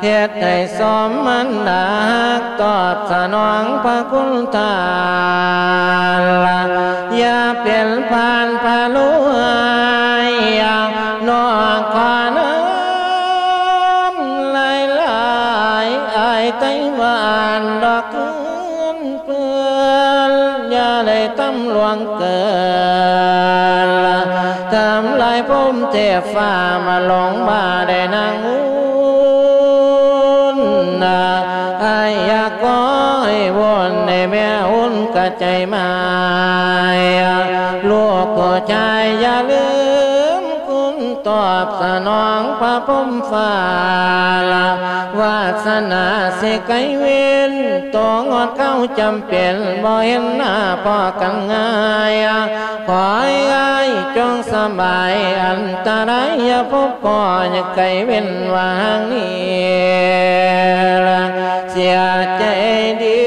ເຮັດໃຫ້ສົມມັນດາຮັກ ຕອບສະໜອງພະຄຸນທ່ານລະ ຢ່າເປັນພານພະໂລຫາຍ ນ້ອງຂໍນຳຫຼາຍໆ ອ້າຍໄຕ້ຫວານດອກຄືນເພື່ອນ ຢ່າໄດ້ຕຳຫຼວງເກີນ ທຳລາຍພົມເທບຟ້າມາລົງມາໄດ້ນາງອຸ່ນ ອ້າຍຢາກຂໍໃຫ້ວົນໃຫ້ແມ່ອຸ່ນກະໃຈໝາຍ ລູກຜູ້ຊາຍຢ່າລືມ ຄຸນຕອບສະໜອງພະພົມຟ້າລະ ວາດສະໜາຊິໄກເວັນ ໂຕງອດເກົ່າຈຳເປັນ ບໍ່ເຫັນໜ້າພໍ້ກັນງ່າຍ ຂໍໃຫ້ອ້າຍຈົ່ງສະບາຍ ອັນຕະລາຍຢ່າພົບພໍ້ ຢ່າໄກເວັນວ່າງນີ້ລະ ເສຍໃຈເດີ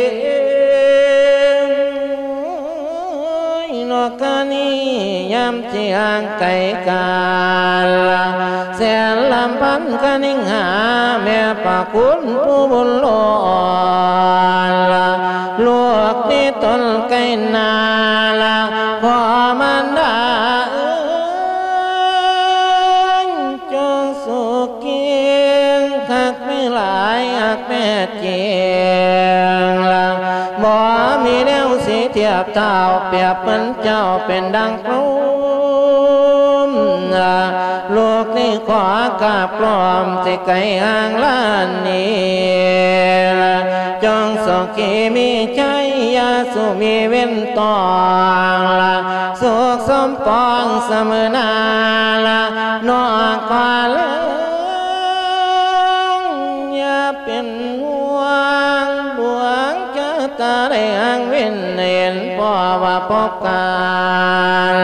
ນອກກະນີ້ຍາມ ທີ່ຫ່າງໄກກັນ ແສນລຳພັນຄະນິງຫາ ແມ່ພະຄຸນຜູ້ບຸນຫຼວງ ລູກນີ້ຕົນໄກນາ ພໍ່ມານດາເອີຍ ຈົ່ງສຸກເກງ ຮັກແມ່ຫຼາຍ ຮັກແມ່ຈິງ ບໍ່ມີແນວຊິທຽບ ທ້າວປຽບເໝືອນເຈົ້າເປັນດັ່ງພົມ ລູກນີ້ຂໍກາບກລອມ ຊິໄກຫ່າງລານນີ້ ຈົ່ງສຸຂີມີໄຊ ຢ່າສູ່ມີເວນຕ້ອງ ສຸກສົມປອງສະເໝີໜ້າ ນ້ອງຂໍເລີຍ ຢ່າເປັນຫ່ວງ ດວງຊະຕາໄດ້ຫາງເວັນ ເຫັນພໍ້ວ່າພົບກັນ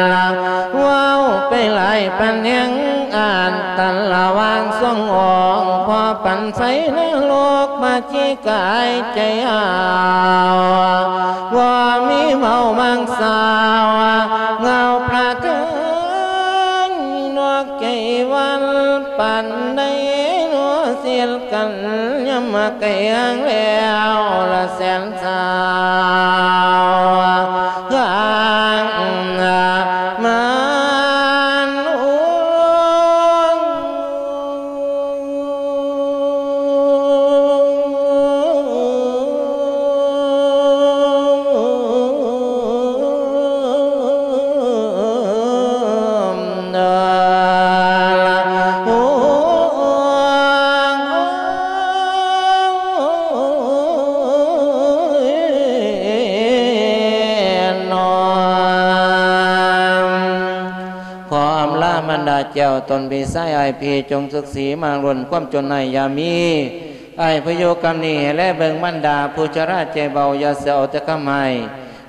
ເວົ້າໄປຫຼາຍປານແຮງອານ ຕັນລະຫວ່າງສອງອົງ ພໍປັນໄຟນະລົກມາຈີກາຍໃຈເຮົາ ບໍ່ມີເວົ້າມັງສາວ ເງົາພະເທີງນອກໃຈວັນ ປານໃດເນາະ ສິດກັນຍາມມາແກງແລ້ວລະແສນສາວ ທາງມານ ຂໍອຳລາບັນດາເຈົ້າ ຕົນພີ່ຊາຍອ້າຍພີ່ ຈົ່ງສຸກສີມາກລ້ນ ຄວາມຈົນໃຫ້ຢ່າມີ ອ້າຍຜູ້ຢູ່ກຳນີ້ ແລເບິ່ງບັນດາຜູ້ຊະລາໃຈເບົາ ຢ່າເຊື່ອເອົາແຕ່ຄຳໃຫ້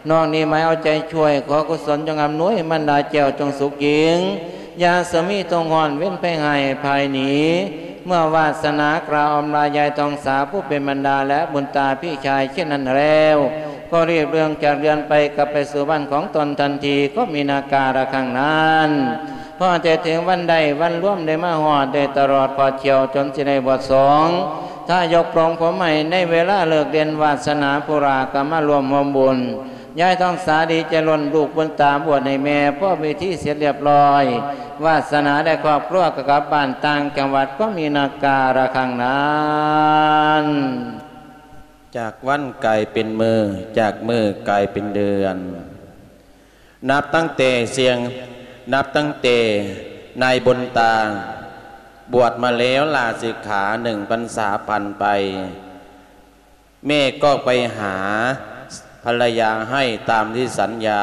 ນ້ອງນີ້ໝາຍເອົາໃຈຊ່ວຍ ຂໍກຸສົນຈົ່ງອຳນວຍ ບັນດາແກ້ວຈົ່ງສຸກຍິ່ງ ຢ່າສະມີທຸກຮ້ອນ ເວັນໄພຮ້າຍພາຍໜີ ເມື່ອວາດສະໜາກະອຳລາຍາຍທອງສາ ຜູ້ເປັນບັນດາ ແລະບຸນຕາພີ່ຊາຍເຊັ່ນນັ້ນແລ້ວ ກໍລີບເລື່ອງຈາກເຮືອນໄປ ກັບໄປສູ່ບ້ານຂອງຕົນທັນທີ ກໍມີນາກາລະຄັ້ງນັ້ນ ພໍແຕ່ເຖິງວັນໄດ້ວັນລວມ ໄດ້ມາຮອດ ໄດ້ຕະຫຼອດຂອດຂຽວ ຈົນຊິໄດ້ບວດສອງ ຖ້າຍົກປອງຜົມໃຫ້ໃນເວລາເລີກເດັ່ນ ວາດສະໜາຜູ້ລາກະມາລວມຮ່ວມບຸນ ຍາຍທອງສາດີໃຈລົ້ນ ລູກບຸນຕາບວດໃຫ້ແມ່ ພໍເວທີເສັດລຽບຮ້ອຍ ວາດສະໜາໄດ້ຄອບຄົວກະກັບບ້ານຕ່າງຈັງຫວັດ ກໍມີນາກາລະຄັ້ງນັ້ນ ຈາກວັນກາຍເປັນມື້ ຈາກມື້ກາຍເປັນເດືອນ ນັບຕັ້ງແຕ່ສຽງ ນັບຕັ້ງແຕ່ນາຍບຸນຕາບວດມາແລ້ວ ລາສິກຂາ ໜຶ່ງພັນສາຜ່ານໄປ ແມ່ກໍໄປຫາພັນລະຍາໃຫ້ຕາມທີ່ສັນຍາ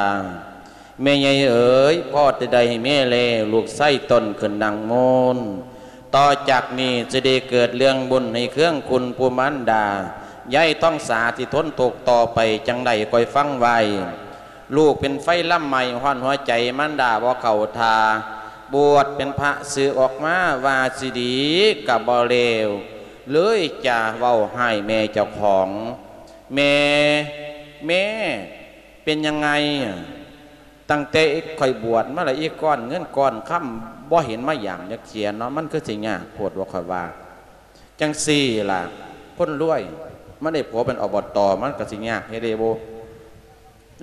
ແມ່ໃຫຍ່ເອີຍ ພໍແຕ່ໄດ້ໃຫ້ແມ່ແລ ລູກຊາຍຕົນຂຶ້ນນັ່ງໂມນ ຕໍ່ຈາກນີ້ຈະໄດ້ເກີດເລື່ອງບຸນໃຫ້ເຄືອງຄຸນຜູ້ມານດາ ຍາຍທອງສາທີ່ທົນທຸກຕໍ່ໄປຈັ່ງໃດ ຄອຍຟັງໄວ້ ລູກເປັນໄຟລຳໄໝ້ ຮ້ອນຫົວໃຈມານດາບໍ່ເຂົ້າທ່າ ບວດເປັນພະສຶກອອກມາວ່າຊິດີກະບໍ່ແລ້ວ ເລີຍຈະເວົ້າຮ້າຍແມ່ເຈົ້າຂອງ ແມ່ ແມ່ ເປັນຫຍັງໄງ? ຕັ້ງແຕ່ຂ້ອຍບວດມາລະ ອີກກ້ອນເງິນກ້ອນຄຳບໍ່ເຫັນມາຢາມຈັກເທື່ອເນາະ ມັນຄືຊິຍາກໂພດບໍ່ ຂ້ອຍວ່າ ຈັ່ງຊີ້ລະ ຄົນລວຍ ມັນໄດ້ຜົວເປັນ ອບຕ ມັນກະຊິຍາກເຮັດເດ້ບໍ່?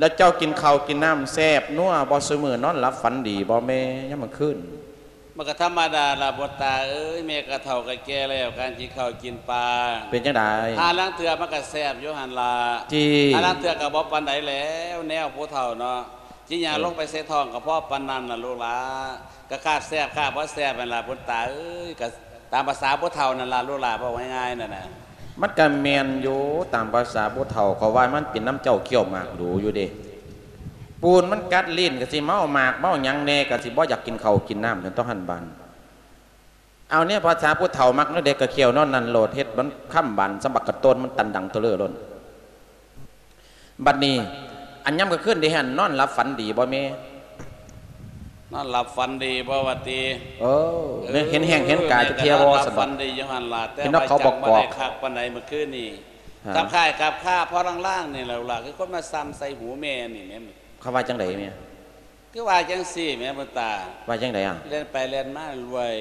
ແລ້ວເຈົ້າກິນເຂົ້າກິນນ້ຳແຊບນົວບໍ່? ຊຸມື້ນອນຫຼັບຝັນດີບໍ່ແມ່ ຍາມກາງຄືນ? ມັນກະທຳມະດາລະບຸນຕາເອີຍ ແມ່ກະເຖົ້າກະແກ່ແລ້ວ ການກິນເຂົ້າກິນປາ ເປັນຈັ່ງໃດ? ຫາລາງເທື່ອມັນກະແຊບຢູ່ຫັ້ນລະ ຕິ ຫາລາງເທື່ອກະບໍ່ປານໃດແລ້ວ ແນວຜູ້ເຖົ້າເນາະ ຊິຍ່າງລົງໄປໃສ່ທ້ອງກະພໍປານນັ້ນລະລູກຫຼາ ກະຄາບແຊບຄາບບໍ່ແຊບຫັ້ນລະບຸນຕາເອີຍ ກະຕາມພາສາຜູ້ເຖົ້ານັ້ນລະລູກຫຼາ ເວົ້າງ່າຍໆນັ້ນນະ. ມັນກະແມ່ນຢູ່ ຕາມພາສາຜູ້ເຖົ້າ ເຂົາວ່າມັນເປັນນຳເຈົ້າ ຂ້ຽວໝາກດູຢູ່ເດ້ ປູນມັນກັດລີ້ນກະຊິເມົາໝາກເມົາຫຍັງແນ່ ກະຊິບໍ່ຢາກກິນເຂົ້າກິນນ້ຳ ຈັ່ງຕ້ອງຫັ້ນບາດ ເອົາແນວພາສາຜູ້ເຖົ້າມັກແນວໃດກະຂ້ຽວແນວນັ້ນໂລດ ເຮັດມັນຄຳບານສຳບັກກະໂຕນ ມັນຕັນດັງເທີເລີໂລດ. ບັດນີ້ ອັນຍາມກາງຄືນໄດ້ຫັ້ນ ນອນຫຼັບຝັນດີບໍ່ແມ່? ນອນຫຼັບຝັນດີບໍ່ວ່າຕິ? ເອີ ເອີ ເຫັນແຮງເຫັນກາຍຈັກເທື່ອບໍ່? ແມ່ກະນອນຫຼັບຝັນດີຢູ່ຫັ້ນລະ ແຕ່ວ່າຈັ່ງບໍ່ໄດ້ຄັກປານໃດມື້ຄືນນີ້ ກັບຄ້າຍກັບຄາພໍລາງໆນີ້ແຫຼະ ຄືຄົນມາສ່ຳໃສ່ຫູແມ່ນີ້ແມ່. ເຂົາວ່າຈັ່ງໃດແມ່? ຄືວ່າຈັ່ງຊີ້ແໝ່ບຸນຕາ. ວ່າຈັ່ງໃດອະ? ແລ່ນໄປແລ່ນມາລວຍ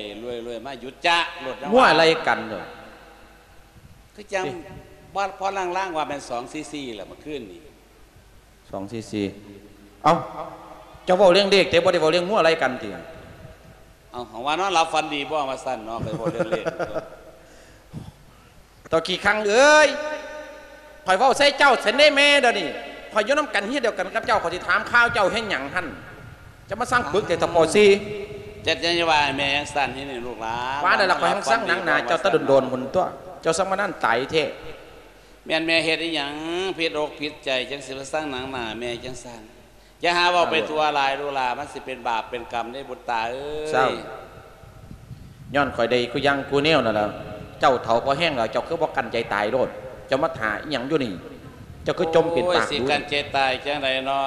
ໆໆ ມາຢຸດຈະໂລດ ງົວໄລ່ກັນໂລດ ຄືຈັ່ງ ເອີ ພໍລາງໆວ່າແມ່ນສອງສີ່ສີ່ແຫຼະ ມື້ຄືນນີ້ ສອງສີ່ສີ່. ເອົ້າ ເຈົ້າເວົ້າເລື່ອງເລກແຕ່ບໍ່ໄດ້ເວົ້າເລື່ອງງົວໄລ່ກັນຕິ? ເອົ້າ ເຮົາວ່ານອນຫຼັບຝັນດີບໍ່ວ່າຊັ້ນເນາະ ໄປເວົ້າເລື່ອງເລກ. ເຖົ້າຂີ້ຄັງເອີຍ ຂ້ອຍເວົ້າໃສ່ເຈົ້າຊັ້ນເດ້ແມ່ ດຽວນີ້ຂ້ອຍຢູ່ນຳກັນເຮືອນດຽວກັນກັບເຈົ້າ ຂ້ອຍຊິຖາມຂ່າວເຈົ້າເຮັດຫຍັງຫັ້ນ? ຈະມາສັ່ງປຶກແຕ່ຕະປໍສີ່ ເຈັດ ຢ່າວ່າໃຫ້ແມ່ຈັ່ງຊັ້ນເດນີ້ລູກຫຼານ ວ່າແລ້ວລະ ຂ້ອຍຫັ້ນສັ່ງໜັງໜາເຈົ້າແຕ່ດົນໆພຸ້ນຕົວະ ເຈົ້າສັ່ງມານັ້ນຕາຍແທ້. ແມ່ນແມ່ເຮັດອີ່ຫຍັງຜິດອົກຜິດໃຈ ຈັ່ງຊິມາສັ່ງໜັງໜາແມ່ຈັ່ງຊັ້ນ? ຢ່າຫາເວົ້າໄປທົ່ວຫຼາຍລູກຫຼານ ມັນຊິເປັນບາບເປັນກຳເດ້ບຸດຕາເອີຍ. ເຊົາ ຍ້ອນຂ້ອຍໄດ້ຄູ່ຢ່າງຄູ່ແນວນັ້ນລະ ເຈົ້າເຖົ້າພໍແຮງແລ້ວ ເຈົ້າຄືບໍ່ກັ້ນໃຈຕາຍໂລດ? ເຈົ້າມາຖ້າອີ່ຫຍັງຢູ່ນີ້? ເຈົ້າຄືຈົ່ມເປັນປາກດູ? ໂອ້ຍ ຊິກັ້ນໃຈຕາຍຈັ່ງໃດເນາະ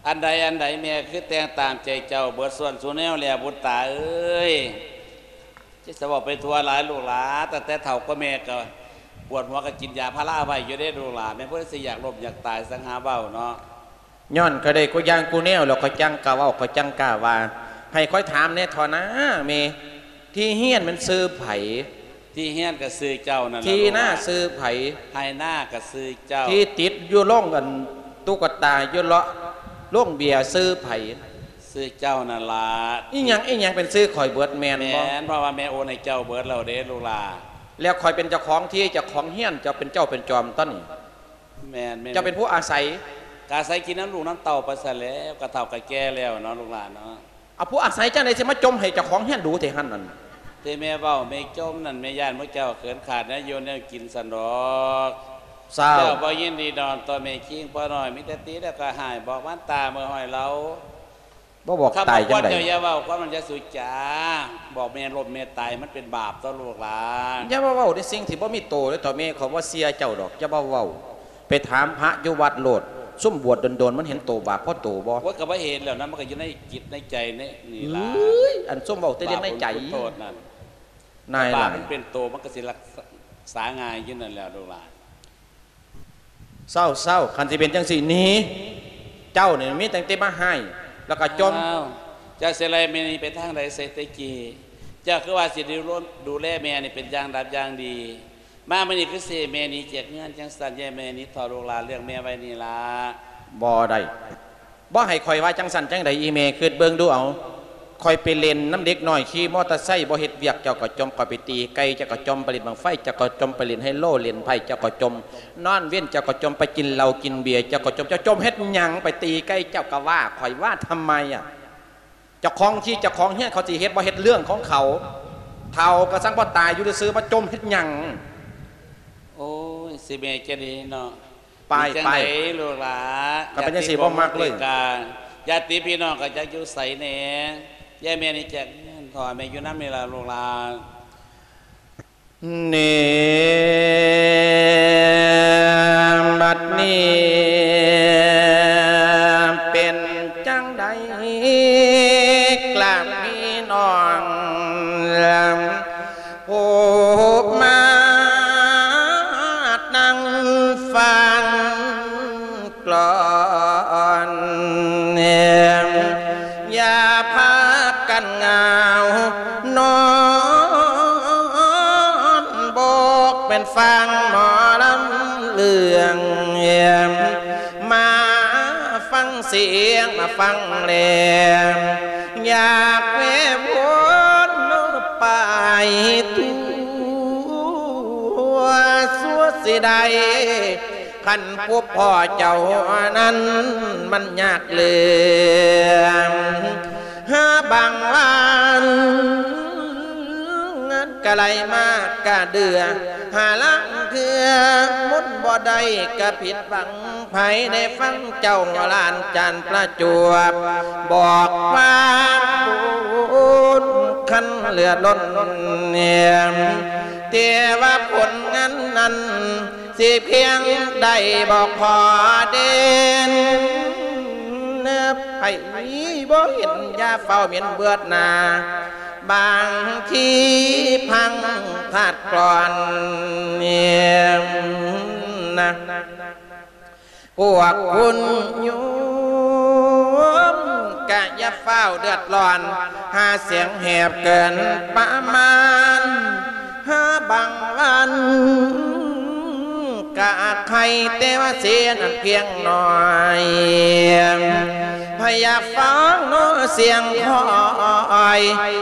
ອັນໃດອັນໃດແມ່ຄືແຕ່ງຕາມໃຈເຈົ້າເບິດສ່ວນສູ່ແນວແລ້ວບຸດຕາເອີຍ. ຈະເວົ້າໄປທົ່ວຫຼາຍລູກຫຼານ ຕັ້ງແຕ່ເຖົ້າກວ່າແມ່ກະປວດຫົວກະກິນຢາພາລາໄວ້ຢູ່ເດ້ລູກຫຼານ ແມ່ນຜູ້ໃດຊິຢາກລົ້ມຢາກຕາຍ ສັງຫາເວົ້າເນາະ. ຍ້ອນຂ້ອຍໄດ້ຄູ່ຢ່າງຄູ່ແນວແລ້ວ ຂ້ອຍຈັ່ງກ້າເວົ້າ ຂ້ອຍຈັ່ງກ້າວ່າ ໃຫ້ຂ້ອຍຖາມແດ່ເຖາະນາແມ່ ທີ່ຮຽນແມ່ນຊື່ໃຜ? ທີ່ເຮືອນກໍຊື່ເຈົ້ານັ້ນລະ ທີ່ນາຊື່ໃຜ? ໄຮ່ນາກໍຊື່ເຈົ້າ. ທີ່ຕິດຢູ່ໂລງອັນຕຸກກະຕາຢູ່ເລາະໂລງເບຍຊື່ໃຜ? ຊື່ເຈົ້ານັ້ນລະ. ອີ່ຫຍັງ ອີ່ຫຍັງເປັນຊື່ຂ້ອຍເບິດແມ່ນບໍ່? ແມ່ນ ເພາະວ່າແມ່ໂອນໃຫ້ເຈົ້າເບິດແລ້ວເດ້ລູກຫຼານ. ແລ້ວຂ້ອຍເປັນເຈົ້າຂອງທີ່ ເຈົ້າຂອງເຮືອນ ເຈົ້າເປັນເຈົ້າເປັນຈອມຕອນນີ້. ແມ່ນໆ ເຈົ້າເປັນຜູ້ອາໄສ. ກະອາໄສກິນນຳລູກນຳເຕົ້າໄປຊັ້ນແຫຼະ ກະເຖົ້າກະແກ່ແລ້ວເນາະລູກຫຼານເນາະ. ເອົາ ຜູ້ອາໄສຈັ່ງໃດຊິມາຈົ່ມໃຫ້ເຈົ້າຂອງເຮືອນດູແທ້ຫັ້ນນັ້ນ? ແຕ່ແມ່ເວົ້າແມ່ຈົ່ມນັ້ນ ແມ່ຢ້ານໝູ່ເຈົ້າເຂີນຂາດແນວຢູ່ແນວກິນຊັ້ນດອກ. ເຈົ້າ ເຈົ້າບໍ່ຍິນດີນອນຕໍ່ແມ່ຄີງພໍ່ນ້ອຍ ມີແຕ່ຕີແລ້ວກໍຮ້າຍ ບອກມານຕາເມື່ອຫ້ອຍເລົ່າ. ບໍ່ບອກຕາຍຈັ່ງໃດ? ເຈົ້າຢ່າເວົ້າຄວາມນັ້ນ ຢ່າສູ່ຈາ ບອກແມ່ລົ້ມແມ່ຕາຍ ມັນເປັນບາບຕໍ່ລູກຫຼານ. ຢ່າມາເວົ້າໃນສິ່ງທີ່ບໍ່ມີໂຕເດີ ເຖົ້າແມ່ ຂ້ອຍບໍ່ເຊື່ອເຈົ້າດອກ ຢ່າມາເວົ້າ. ໄປຖາມພະຢູ່ວັດໂລດ ຊຸມບວດດົນໆ ມັນເຫັນໂຕບາບພໍໂຕບໍ່? ໂອ້ຍ ກໍບໍ່ເຫັນແລ້ວນະ ມັນກໍຢູ່ໃນຈິດໃນໃຈນີ້ ນີ້ລະ. ເອີຍ ອັນຊຸມເວົ້າແຕ່ເລື່ອງໃນໃຈ ບາບບຸນຄຸນໂທດນັ້ນ ນາຍຫຼາຍ ບາບມັນເປັນໂຕ ມັນກໍຊິລັກສາງ່າຍຢູ່ນັ້ນແຫຼະລູກຫຼານ. ເຊົາໆ ຄັນຊິເປັນຈັ່ງຊີ້ ໜີ ເຈົ້ານີ້ມີຕັ້ງແຕ່ມາຮ້າຍ ແລ້ວກໍຈົ່ມ. ອ້າວ ເຈົ້າຊິໄລ່ແມ່ນີ້ໄປທາງໃດ ເສດແຕ່ກີ້ ເຈົ້າຄືວ່າຊິດູ ດູແລແມ່ນີ້ເປັນຢ່າງດັບຢ່າງດີ ມາມື້ນີ້ຄືຊິໃຫ້ແມ່ໜີຈາກເຮືອນຈັ່ງຊັ້ນ ຢ່າໃຫ້ແມ່ໜີເຖາະ ລູກຫຼານ ເລື່ອງແມ່ໄວ້ນີ້ລະ. ບໍ່ໄດ້ ບໍ່ໃຫ້ຂ້ອຍວ່າຈັ່ງຊັ້ນຈັ່ງໃດ ອີ່ແມ່ ຄິດເບິ່ງດູເອົາ. ຂ້ອຍໄປຫຼິ້ນນຳເດັກນ້ອຍຂີ່ມໍເຕີໄຊ ບໍ່ເຮັດວຽກ ເຈົ້າກໍຈົ່ມ. ຂ້ອຍໄປຕີໄກ່ ເຈົ້າກໍຈົ່ມ. ໄປຫຼິ້ນບັ້ງໄຟ ເຈົ້າກໍຈົ່ມ. ໄປຫຼິ້ນໄຮໂລ ຫຼິ້ນໄພ້ ເຈົ້າກໍຈົ່ມ. ນອນເວັນ ເຈົ້າກໍຈົ່ມ. ໄປກິນເຫຼົ້າກິນເບຍ ເຈົ້າກໍຈົ່ມ. ເຈົ້າຈົ່ມເຮັດຫຍັງ? ໄປຕີໄກ່ ເຈົ້າກໍວ່າຂ້ອຍວ່າທຳໄມອະ? ເຈົ້າຂອງທີ່ເຈົ້າຂອງເຮືອນເຂົາຊິເຮັດບໍ່ເຮັດເລື່ອງຂອງເຂົາ. ເຖົ້າກໍສັງບໍ່ຕາຍຢູ່ຊື່ໆ ມາຈົ່ມເຮັດຫຍັງ? ໂອ້ຍ ຊິແມ່ນຈັ່ງໃດເນາະ. ໄປ ເປັນຈັ່ງໃດ ໄປ ລູກຫຼານ? ກໍເປັນຈັ່ງຊີ້ ບໍ່ມັກເລີຍ. ຍາດຕິພີ່ນ້ອງກໍຈັກຢູ່ໃສແດ່? ຍາຍແມ່ນີ້ແຈກເງິນ ພໍ່ແມ່ຢູ່ນຳນີ້ລະລູກຫຼານ. ນີ້ ບັດນີ້ເປັນຈັ່ງໃດ ກະມີນ້ອງ ຜູ້ມານັ່ງຟັງກລອນ ຢ່າພາກັນຫງາວນອນ ບົກແມ່ນຟັງໝໍລຳເລື່ອງ ມາຟັງສຽງ ມາຟັງແລງ ຢາກແວ່ວອນໄປທົ່ວ ຊົ່ວຊິໄດ້ ຄັນພົບພໍ້ເຈົ້ານັ້ນມັນຍາກເຫຼືອ ຫາບາງວັນ ເງິນກະໄຫຼມາກະເດືອ ຫາລາງເທື່ອໝູນບໍ່ໄດ້ກະຜິດຫວັງ ໃຜໄດ້ຟັງເຈົ້າຫຼານຈານປະຈວບ ບອກວ່າບຸນຄັນເຫຼືອລົ້ນ ແຕ່ວ່າຜົນງານນັ້ນ ຊິພຽງໄດ້ບໍ່ພໍເດັ່ນ ໃຜບໍ່ເຫັນຢ່າຟ້າວເໝັນເບືອດໜ້າ ບາງທີພັງທາດກ່ອນນະ ພວກຄຸນໂຍມກະຢ່າຟ້າວເດືອດຮ້ອນ ຫາສຽງແຫບເກີນປະມານ ຫາບາງວັນກະອາດໄຄ ແຕ່ວ່າເສຍນັ້ນພຽງໜ້ອຍ ພະຍາຟັງເນາະສຽງຄອຍ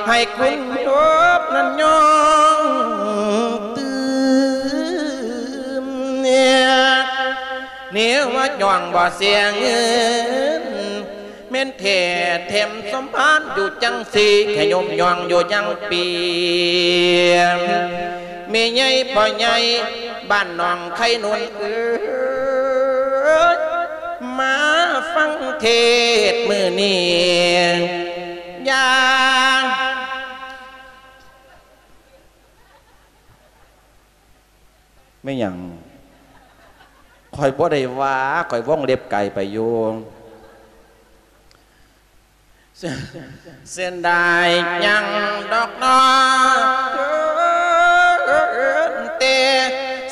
ໃຫ້ຄຸນໂຍມນັ້ນຍ້ອງຕື່ມ ແນວວ່າຍ້ອງບໍ່ເສຍເງິນ ແມ່ນແທ້ແຖມສົມພານຢູ່ຈັ່ງຊີ້ ແຄ່ຍົມຍ້ອງຢູ່ຍັງປີ ແມ່ໃຫຍ່ພໍ່ໃຫຍ່ບ້ານໜອງໄຄໜູນເອີຍ ມາຟັງເທດມື້ນີ້ ຢ່າ ແມ່ນຫຍັງ? ຂ້ອຍບໍ່ໄດ້ວ່າ ຂ້ອຍວົງເລັບໄກໄປຢູ່. ເສຍດາຍຫຍັງດອກເນາະ ແຕ່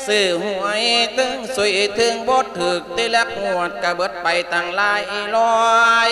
ຊື້ຫວຍເຖິງສຸຍເຖິງບໍ່ຖືກ ແຕ່ລະງວດກະເບິດໄປຕັ້ງຫຼາຍຮ້ອຍ.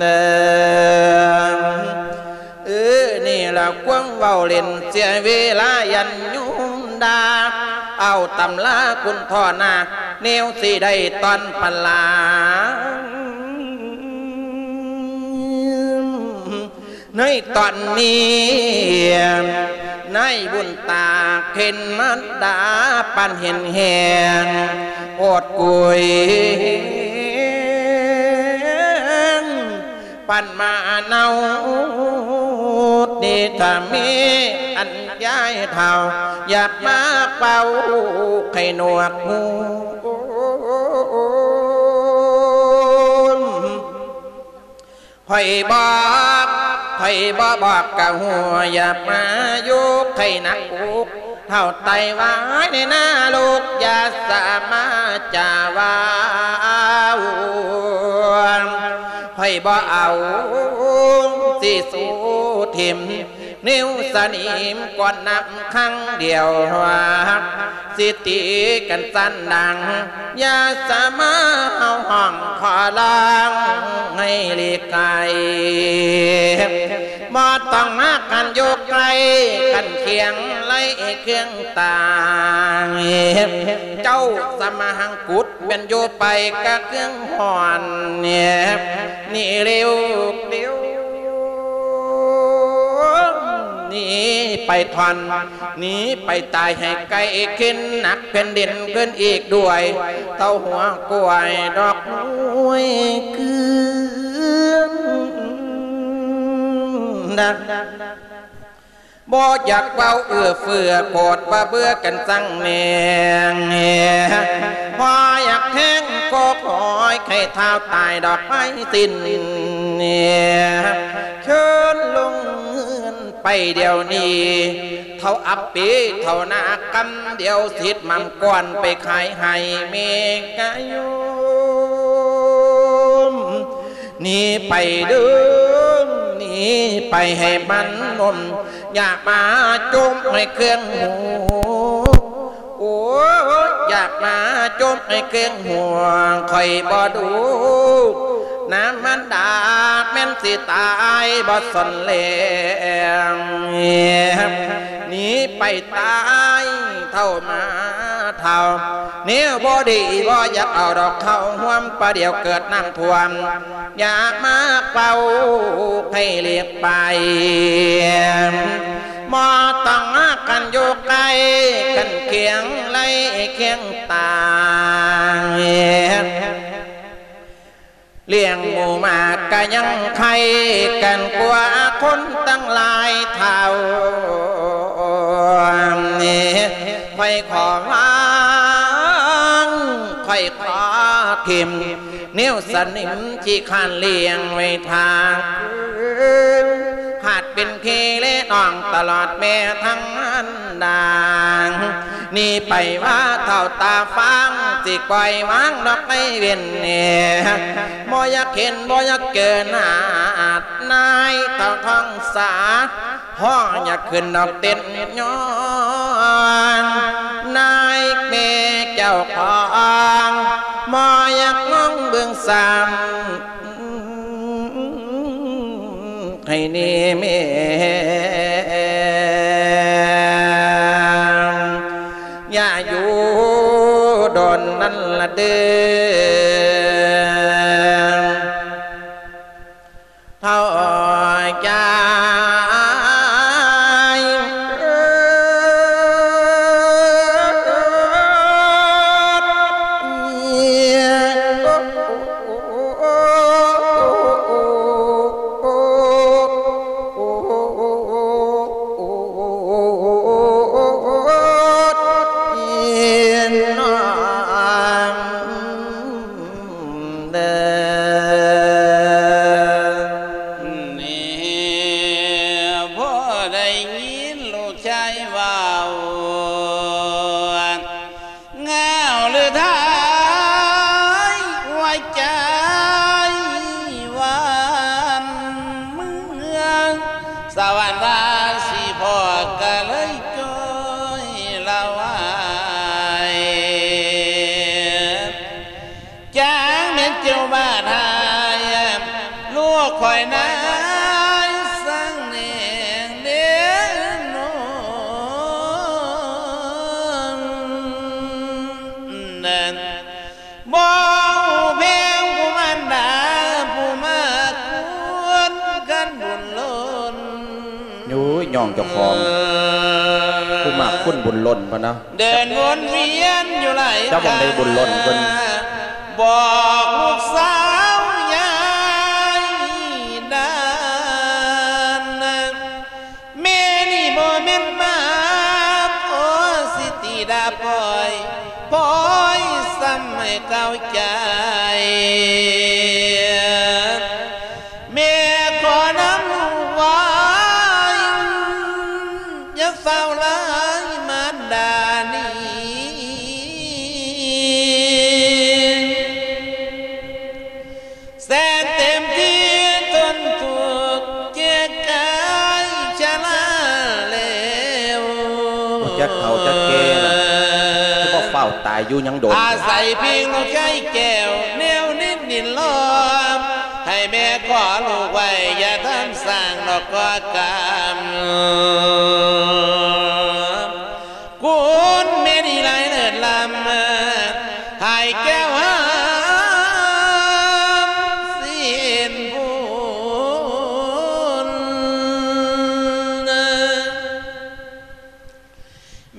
ເອີ ນີ້ລະຄວາມເວົ້າຫຼິ້ນເສຍເວລາ ຢ້ານໂຍມດ່າ ເອົາຕຳລາຄຸນທໍ່ນາ ແນວຊິໄດ້ຕອນປະລາ ໃນຕອນນີ້ ນາຍບຸນຕາເຂັນມາດາ ປານເຫັນແຮງໂອດກຸຍ ປັນມາເນົາ ນີ້ຖ້າມີອັນຍາຍເຖົ້າ ຢາກມາເປົ່າໄຂ້ໜວກຫູ ຂ້ອຍບອກ ຂ້ອຍບໍ່ບອກກະຮູ້ ຢ່າມາຢູ່ໃກ້ໜັກອົກ ເຖົ້າໄຕວາຍໃນນະລົກ ຢ່າສາມາຈາເວົ້າ ຂ້ອຍບໍ່ເອົາ ຊິສູ້ຖິ້ມ ນິ້ວສະໜິມກ່ອນນຳຄັ້ງດຽວ ຊິຕີກັນຊັ້ນດັງ ຢ່າສາມາເຮົາຮ້ອງຂໍລາງໃຫ້ຫຼີກໄກ ບໍ່ຕ້ອງມາກັນຢູ່ໃກ້ ກັນຄຽງໄລ່ເຄື່ອງຕ່າງ ເຈົ້າສະມາຫັງກຸດ ແມ່ນຢູ່ໄປກະເຄື່ອງຮ້ອນ ໜີເລັວ ເລັວ ໜີໄປທ່ອນ ໜີໄປຕາຍໃຫ້ໄກ ເຂັນໜັກແຜ່ນດິນຂຶ້ນອີກດ້ວຍ ເຕົ້າຫົວກ້ວຍດອກຮວຍເກືອນນະ ບໍ່ຢາກເວົ້າເອື້ອເຟື້ອ ໂກດວ່າເບື່ອກັນຈັ່ງແນງ ບໍ່ຢາກແທງຄອຄອຍ ໃຫ້ທ້າວຕາຍດອກໄມ້ສິ້ນ ເຊີນລົງເຮືອນໄປດຽວນີ້ ເຖົ້າອັບປີ ເຖົ້ານາກຳ ດຽວສິດໝ່ຳກ່ອນ ໄປຂາຍໃຫ້ແມ່ກະໂຍມ ໜີໄປເດີ ໜີໄປໃຫ້ມັນໜົມ ຢ່າມາຈົມໃຫ້ເຄື່ອງຫູ ໂອ້ຍ ຢ່າມາຈົມໃຫ້ເຄື່ອງຫູ ຂ້ອຍບໍ່ດູ ນາງມານດາແມ່ນຊິຕາຍບໍ່ສົນແລງ ໜີໄປຕາຍເຖົ້າມາເຖົ້າ ແນວບໍ່ດີບໍ່ຢາກເອົາດອກເຂົ້າຮ່ວມ ປະດຽວເກີດນ້ຳຖ້ວມ ຢ່າມາເປົ່າໃຫ້ຫຼີກໄປ ບໍ່ຕ້ອງມາກັນຢູ່ໃກ້ ກັນຄຽງໄລ່ຄຽງຕ່າງ ລ້ຽງໝູໝາກະຍັງໄຄກັນກວ່າຄົນຕັ້ງຫຼາຍເທົ່າ ຂ້ອຍຂໍວາງ ຂ້ອຍຂໍຖິ້ມ ແນວສະໜິມຂີ້ຄ້ານລ້ຽງໄວ້ທາງຄືນ ຫາກເປັນພີ່ແລະນ້ອງຕະຫຼອດແມ່ທັງອັນດາ ໜີໄປວ່າເຖົ້າຕາຟາງ ຊິປ່ອຍວາງດອກໄມ້ເວັ້ນແນ່ ບໍ່ຢາກເຫັນບໍ່ຢາກເຈີໜ້າອາດນາຍເຖົ້າທອງສາ ພໍຢາກຂຶ້ນດອກເຕັ້ນຍ້ອນ ນາຍແມ່ເຈົ້າຂອງ ບໍ່ຢາກມອງເບິ່ງຊ້ຳ ໃຫ້ນີ້ແມ່ ຢ່າຢູ່ດົນນັ້ນລະເດີ. ໄດ້ຍິນລູກຊາຍເວົ້າ ງາວຫຼືໄທ ຫົວໃຈຫວັ່ນເມືອງ ສະຫວັນວ່າຊິພໍ້ກໍເລີຍຈ່ອຍລະວາຍ. ຈາກແມ່ນເຈົ້າບ້ານຫາຍ ລູກຂ້ອຍນາຍສັງແນງເດນອງ ບໍ່ຮູ້ແພງຜູ້ມານດາ ຜູ້ມາກຄຸນກັນບຸນລົ້ນ. ໂອ້ຍ ຍ້ອງເຈົ້າຂອງ ຜູ້ມາກຄຸນບຸນລົ້ນ ເພິ່ນນະ ເດີນວົນວຽນຢູ່ຫຼາຍ ເຈົ້າບໍ່ໄດ້ບຸນລົ້ນເພິ່ນ ບອກລູກສາວຍາຍດານ ແມ່ນີ້ບໍ່ແມ່ນມາພໍຊິຕິດາປອຍ ປອຍຊ້ຳໃຫ້ເກົ້າໃຈ ແມ່ຂໍນຳລູກໄວ້ ຢ່າຟ້າວລາຍມານດານີ້ ແສນເຕັມທີ່ທົນທຸກ ເຈັບກາຍຊະລາແລ້ວ ຈັກເຖົ້າຈັກແກ່ລະ ຄືບໍ່ຟ້າວຕາຍຢູ່ຫຍັງດົນ ອາໄສພຽງລູກຊາຍແກ້ວ ແນວນິດນິນລອມ ໃຫ້ແມ່ຂໍລູກໄວ້ ຢ່າທຳສ້າງດອກກໍກຳ ຄຸນແມ່ນີ້ຫຼາຍເລີດລ້ຳ ຫາຍແກ້ວຫາມສິນບຸນ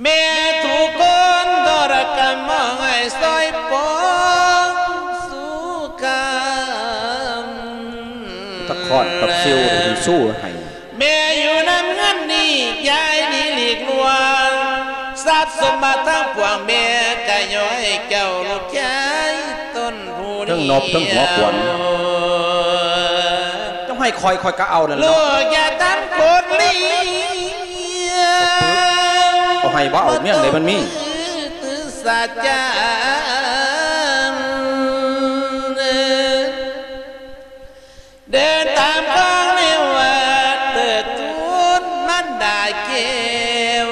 ແມ່ທຸກຄົນທໍລະກຳ ມອງໃຫ້ຊ່ອຍປົງສຸຂຳ ຕະຄອນຕະຄິວທີ່ສູ້ໃຫ້ ແມ່ຢູ່ນຳເຮືອນນີ້ ຍາຍນີ້ຫຼີກລ່ວງ ຊັບສົມບັດທັງປວງ ແມ່ກະຍ້ອຍເຈົ້າລູກຊາຍຕົນຜູ້ດຽວ ເທິງນົບເທິງຫົວຂວັນ ເຈົ້າໃຫ້ຂ້ອຍ ຂ້ອຍກະເອົານັ້ນ ລູກຢ່າທຳກົດລີ ເອົາໃຫ້ບໍ່ເອົາ ເມືອງໃດມັນມີ ສາຈັນ ເດີນຕາມຄອງໃນວັດ ເຕີດທູນມັນດາແກ້ວ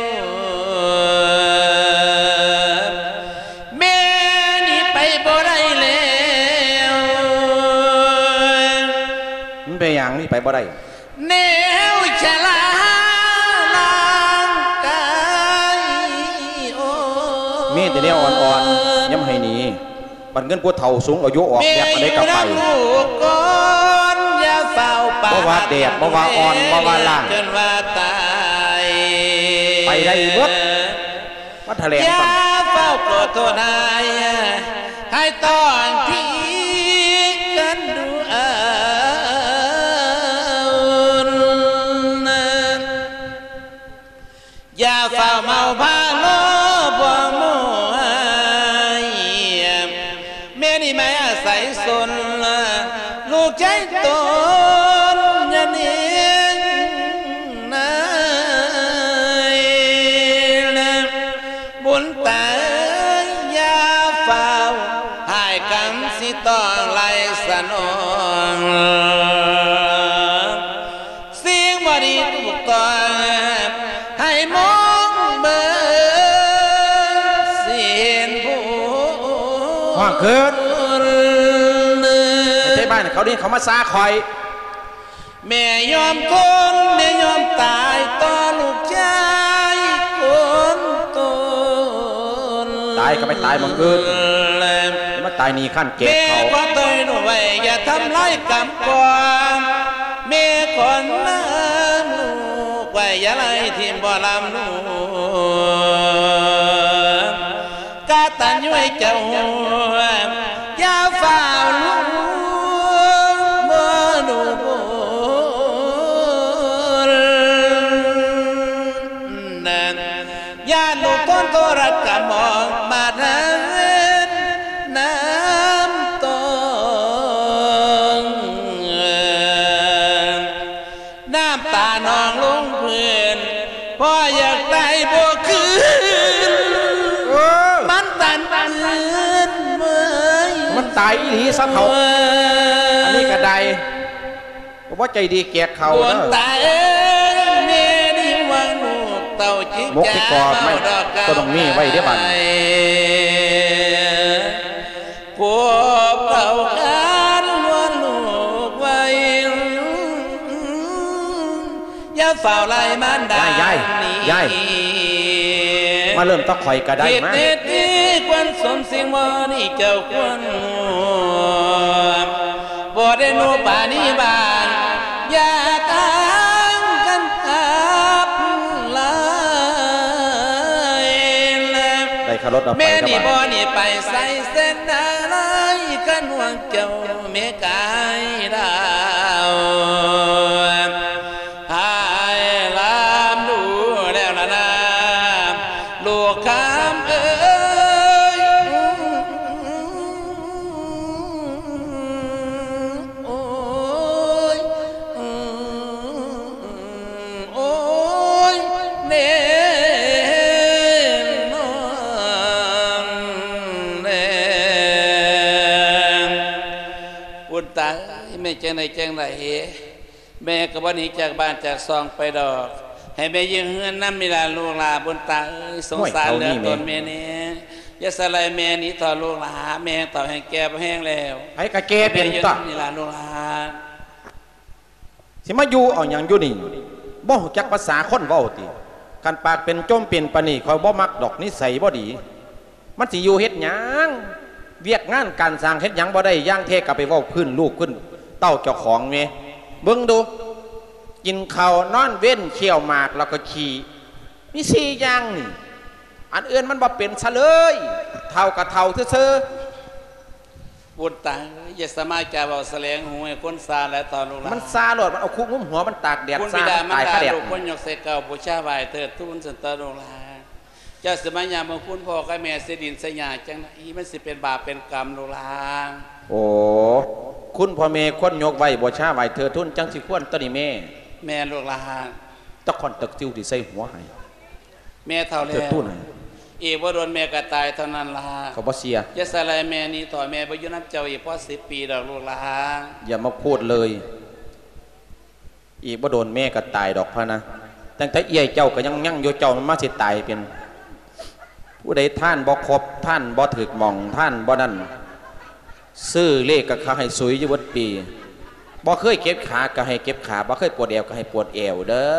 ແມ່ນີ້ໄປບໍ່ໄດ້ແລ້ວ ມັນເປັນຫຍັງນີ້ໄປບໍ່ໄດ້ ແນວຊະລາຮ່າງກາຍ ໂອ້ ມີແຕ່ແນວອ່ອນໆ ຍາມໃຫ້ໜີ ບັດເງິນຜູ້ເຖົ້າສູງອາຍຸອອກແບບອັນໃດກໍໄປ ແມ່ຢູ່ນຳລູກກ່ອນ ຢ່າຟ້າວປາດ ບໍ່ວ່າແດດ ບໍ່ວ່າອ່ອນ ບໍ່ວ່າລ້າງ ຈົນວ່າຕາຍ ໄປໄດ້ເບິດ ມາຖະແຫຼງ ຢ່າຟ້າວໂກດໂທດຮ້າຍ ໃຫ້ຕ້ອງທີ່ກັນດູເອົາ ຢ່າຟ້າວເມົາພາໂລ ພວກໝູ່ອ້າຍ ແມ່ນີ້ມາອາໄສຊົນ ລູກຊາຍຕົນຍາເນງນາຍ ບຸນຕາຢ່າຟ້າວ ຫາຍກຳຊິຕ້ອງໄລ່ສະໜອງ ສິ່ງບໍ່ດີຖືກຕ້ອງ ໃຫ້ມອງເບິ່ງຊິເຫັນຜົນ ຮ້ອງຂຶ້ນ ໃຫ້ໄທບ້ານເຂົາໄດ້ເຂົ້າມາຊາຂ້ອຍ ແມ່ຍອມທົນ ແມ່ຍອມຕາຍຕໍ່ລູກຊາຍຄົນຕົນ ຕາຍກໍໄປຕາຍໝ່ອງອື່ນ ຢ່າມາຕາຍໜີ້ຄັນແກ່ເຂົາ ແມ່ຂໍຕ່ອຍໜູໄວ້ ຢ່າທຳລາຍກຳກອງ ແມ່ຂໍນຳລູກໄວ້ ຢ່າໄລ່ຖິ້ມບໍ່ລຳລູກ ກະຕັນຍູໃຫ້ເຈົ້າຮູ້ ຢ່າຟ້າວລວງບໍ່ດູບຸນ ຢ້ານລູກຄົນໂທລະກຳມອງ ບາດຫາເງິນນ້ຳຕອງ ນ້ຳຕານອງລົງພື້ນ ບໍ່ຢາກຕາຍບໍ່ຄືນ ເອີ ມັນຕັນຄືນເມີຍ ມັນຕາຍອີ່ຫຼີຊະເຖົ້າ ເອີ ອັນນີ້ກະໄດ້ ບໍ່ໃຈດີແຈກເຂົ້າເດີ ຕາຍເອີຍ ແມ່ນີ້ຫວັງລູກເຕົ້າຈິກ ໝົກທີ່ກອບໄມ້ ຈະເວົ້າດອກ ກໍຕ້ອງມີໄວ້ເດ້ບາດນີ້ ພວກເຂົາການວ່າລູກໄວ ຢ່າຟ້າວໄລ່ມານດາ ຍາຍ ຍາຍ ມາເລີ່ມຕະຂ້ອຍກະໄດ້ ເຮັດມາ ເຮັດດີຄວນສົມສິ່ງບໍ່ນີ້ເຈົ້າຄວນຮູ້ ບໍ່ໄດ້ໜູປານີບ້ານ ຢ່າທາງກັນທັບລາຍ ໄດ້ຄ່າລົດເອົາໄປ ແມ່ນີ້ ກັບ ບໍ່ນີ້ໄປໃສເສັ້ນນາລາຍ ຄັນຫວງເຈົ້າແມ່ກາຍດາວ ຫາຍລາມດູແລ້ວລະນາ ລູກຄຳເອີຍ ໂອ້ຍ ໂອ້ຍ ແນ່ນອນແນ່ ບຸນຕາເອີຍ ແມ່ນຈັ່ງໃດຈັ່ງໃດ ແມ່ກໍບໍ່ໜີຈາກບ້ານຈາກຊ່ອງໄປດອກ ໃຫ້ແມ່ຢູ່ເຮືອນນຳນີ້ລະລູກຫຼາ ບຸນຕາເອີຍ ສົງສານເຫຼືອຕົນແມ່ແນ່ ຢ່າສະໄຫຼແມ່ໜີເຖາະລູກຫຼາ ແມ່ເຖົ້າແຮງແກ່ແຮງແລ້ວ ໃຜກະແກ່ເປັນຕົວະ ແມ່ຢູ່ນຳນີ້ລະລູກຫຼາ ຊິມາຢູ່ເອົາຫຍັງຢູ່ນີ້ ບໍ່ຮູ້ຈັກພາສາຄົນເວົ້າຕິ ຄັນປາກເປັນຈົ່ມເປັນປານນີ້ ຂ້ອຍບໍ່ມັກດອກ ນິໄສບໍ່ດີ. ມັນຊິຢູ່ເຮັດຫຍັງ ວຽກງານການສ້າງເຮັດຫຍັງບໍ່ໄດ້ ຢ່າງແທ້ກໍໄປເວົ້າພື້ນລູກພື້ນເຕົ້າເຈົ້າຂອງແມ້ ເບິ່ງດູ ກິນເຂົ້ານອນເວັນ ຄ້ຽວໝາກແລ້ວກໍຂີ້ ມີສີ່ຢ່າງນີ້ ອັນອື່ນມັນບໍ່ເປັນຊະເລີຍ ເຖົ້າກໍເຖົ້າຊື່ໆ ບຸນຕາ ຢ່າສາມາດຈະເວົ້າສະແຫຼງຫູໃຫ້ຄົນຊາແລະເຖາະລູກຫຼານ ມັນຊາໂລດ ມັນເອົາຄຸງຸ້ມຫົວ ມັນຕາກແດດ ຄຸນບິດາມານດາ ຕາຍຄາແດດ ລູກຄົນຍົກໃສ່ເກົ້າ ບູຊາໄຫວ້ເທີດທູນສັນຕົວະລູກຫຼານ ເຈົ້າຊິມາຫຍ້ຳເອົາຄຸນພໍ່ກັບແມ່ເສຍດິນເສຍຫຍ້າຈັ່ງໃດ ມັນຊິເປັນບາບເປັນກຳລູກຫຼານ ໂອ້ ຄຸນພໍ່ແມ່ຄວນຍົກໄຫວ້ ບູຊາໄຫວ້ເທີດທູນ ຈັ່ງຊິຄວນຕົວະນີ້ແມ່ ແມ່ນລູກຫຼານ ຕະຂ້ອນຕະຊິວທີ່ໃສ່ຫົວໃຫ້ ແມ່ເຖົ້າແລ້ວ ເທີດທູນ ອີກບໍ່ດົນແມ່ກໍຕາຍເທົ່ານັ້ນລະ ຂ້ອຍບໍ່ເຊື່ອ ຢ່າສະໄຫຼແມ່ໜີເຖາະ ແມ່ບໍ່ຢູ່ນຳເຈົ້າອີກພໍສິບປີດອກລູກຫຼານ ຢ່າມາພູດເລີຍ ອີກບໍ່ດົນແມ່ກໍຕາຍດອກພະນະ ຕັ້ງແຕ່ເອື້ອຍເຈົ້າກໍຍັງຍັງຢູ່ ເຈົ້າມັນມາຊິຕາຍເປັນ ຜູ້ໃດທານບໍ່ຄົບ ທານບໍ່ຖືກໝ່ອງ ທານບໍ່ນັ້ນ ຊື້ເລກກໍເຂົາໃຫ້ສຸຍຢູ່ເບິດປີ ບໍ່ເຄີຍເຈັບຂາກໍໃຫ້ເຈັບຂາ ບໍ່ເຄີຍປວດແອວກໍໃຫ້ປວດແອວເດີ້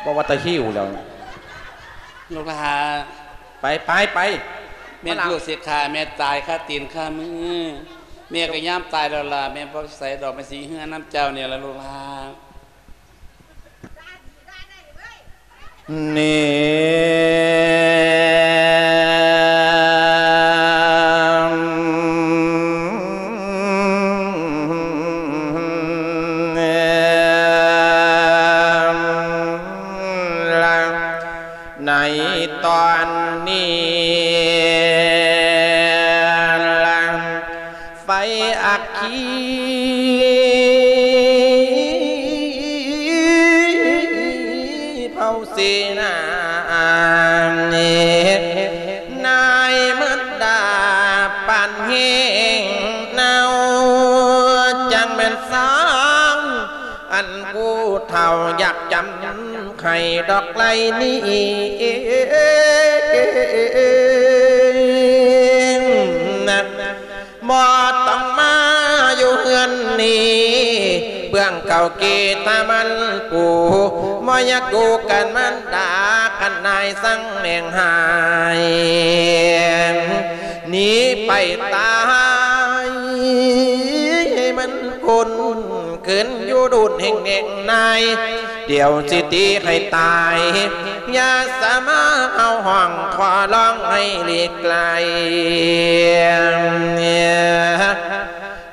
ບໍ່ວ່າແຕ່ຫິ້ວແລ້ວ ລູກຫຼານ ໄປ ໄປ ໄປ ແມ່ນລູກຊິຂ້າແມ່ຕາຍຄາຕີນຄາມື ແມ່ກໍຍາມຕາຍແລ້ວລະ ແມ່ບໍ່ໄປໃສດອກ ແມ່ຊິເຮືອນນຳເຈົ້ານີ້ລະລູກຫຼານ ນີ້ ໃນຕອນນີ້ລະ ໄຟອັກຄີເຜົາເສນາ ນາຍມັດດາປານແຫ້ງເນົ່າ ຈັ່ງແມ່ນສາວ ອັນຜູ້ເຖົ້າຢາກຈຳໃຫ້ດອກໄລ່ນີ້ ບໍ່ຕ້ອງມາຢູ່ເຮືອນນີ້ ເບື້ອງເກົ່າກີຕາມັນປູ ບໍ່ຢາກຢູ່ກັນມັນດາ ຄັນນາຍສັ່ງແມ່ງຫາຍ ໜີໄປຕາຍ ໃຫ້ມັນຄົນ ຄືນຢູ່ດຸນແຫ່ງແໜງນາຍ ດຽວຊິຕີໃຫ້ຕາຍ ຢ່າສາມາເອົາຫ້ອງຂໍຮ້ອງໃຫ້ຫຼີກໄກ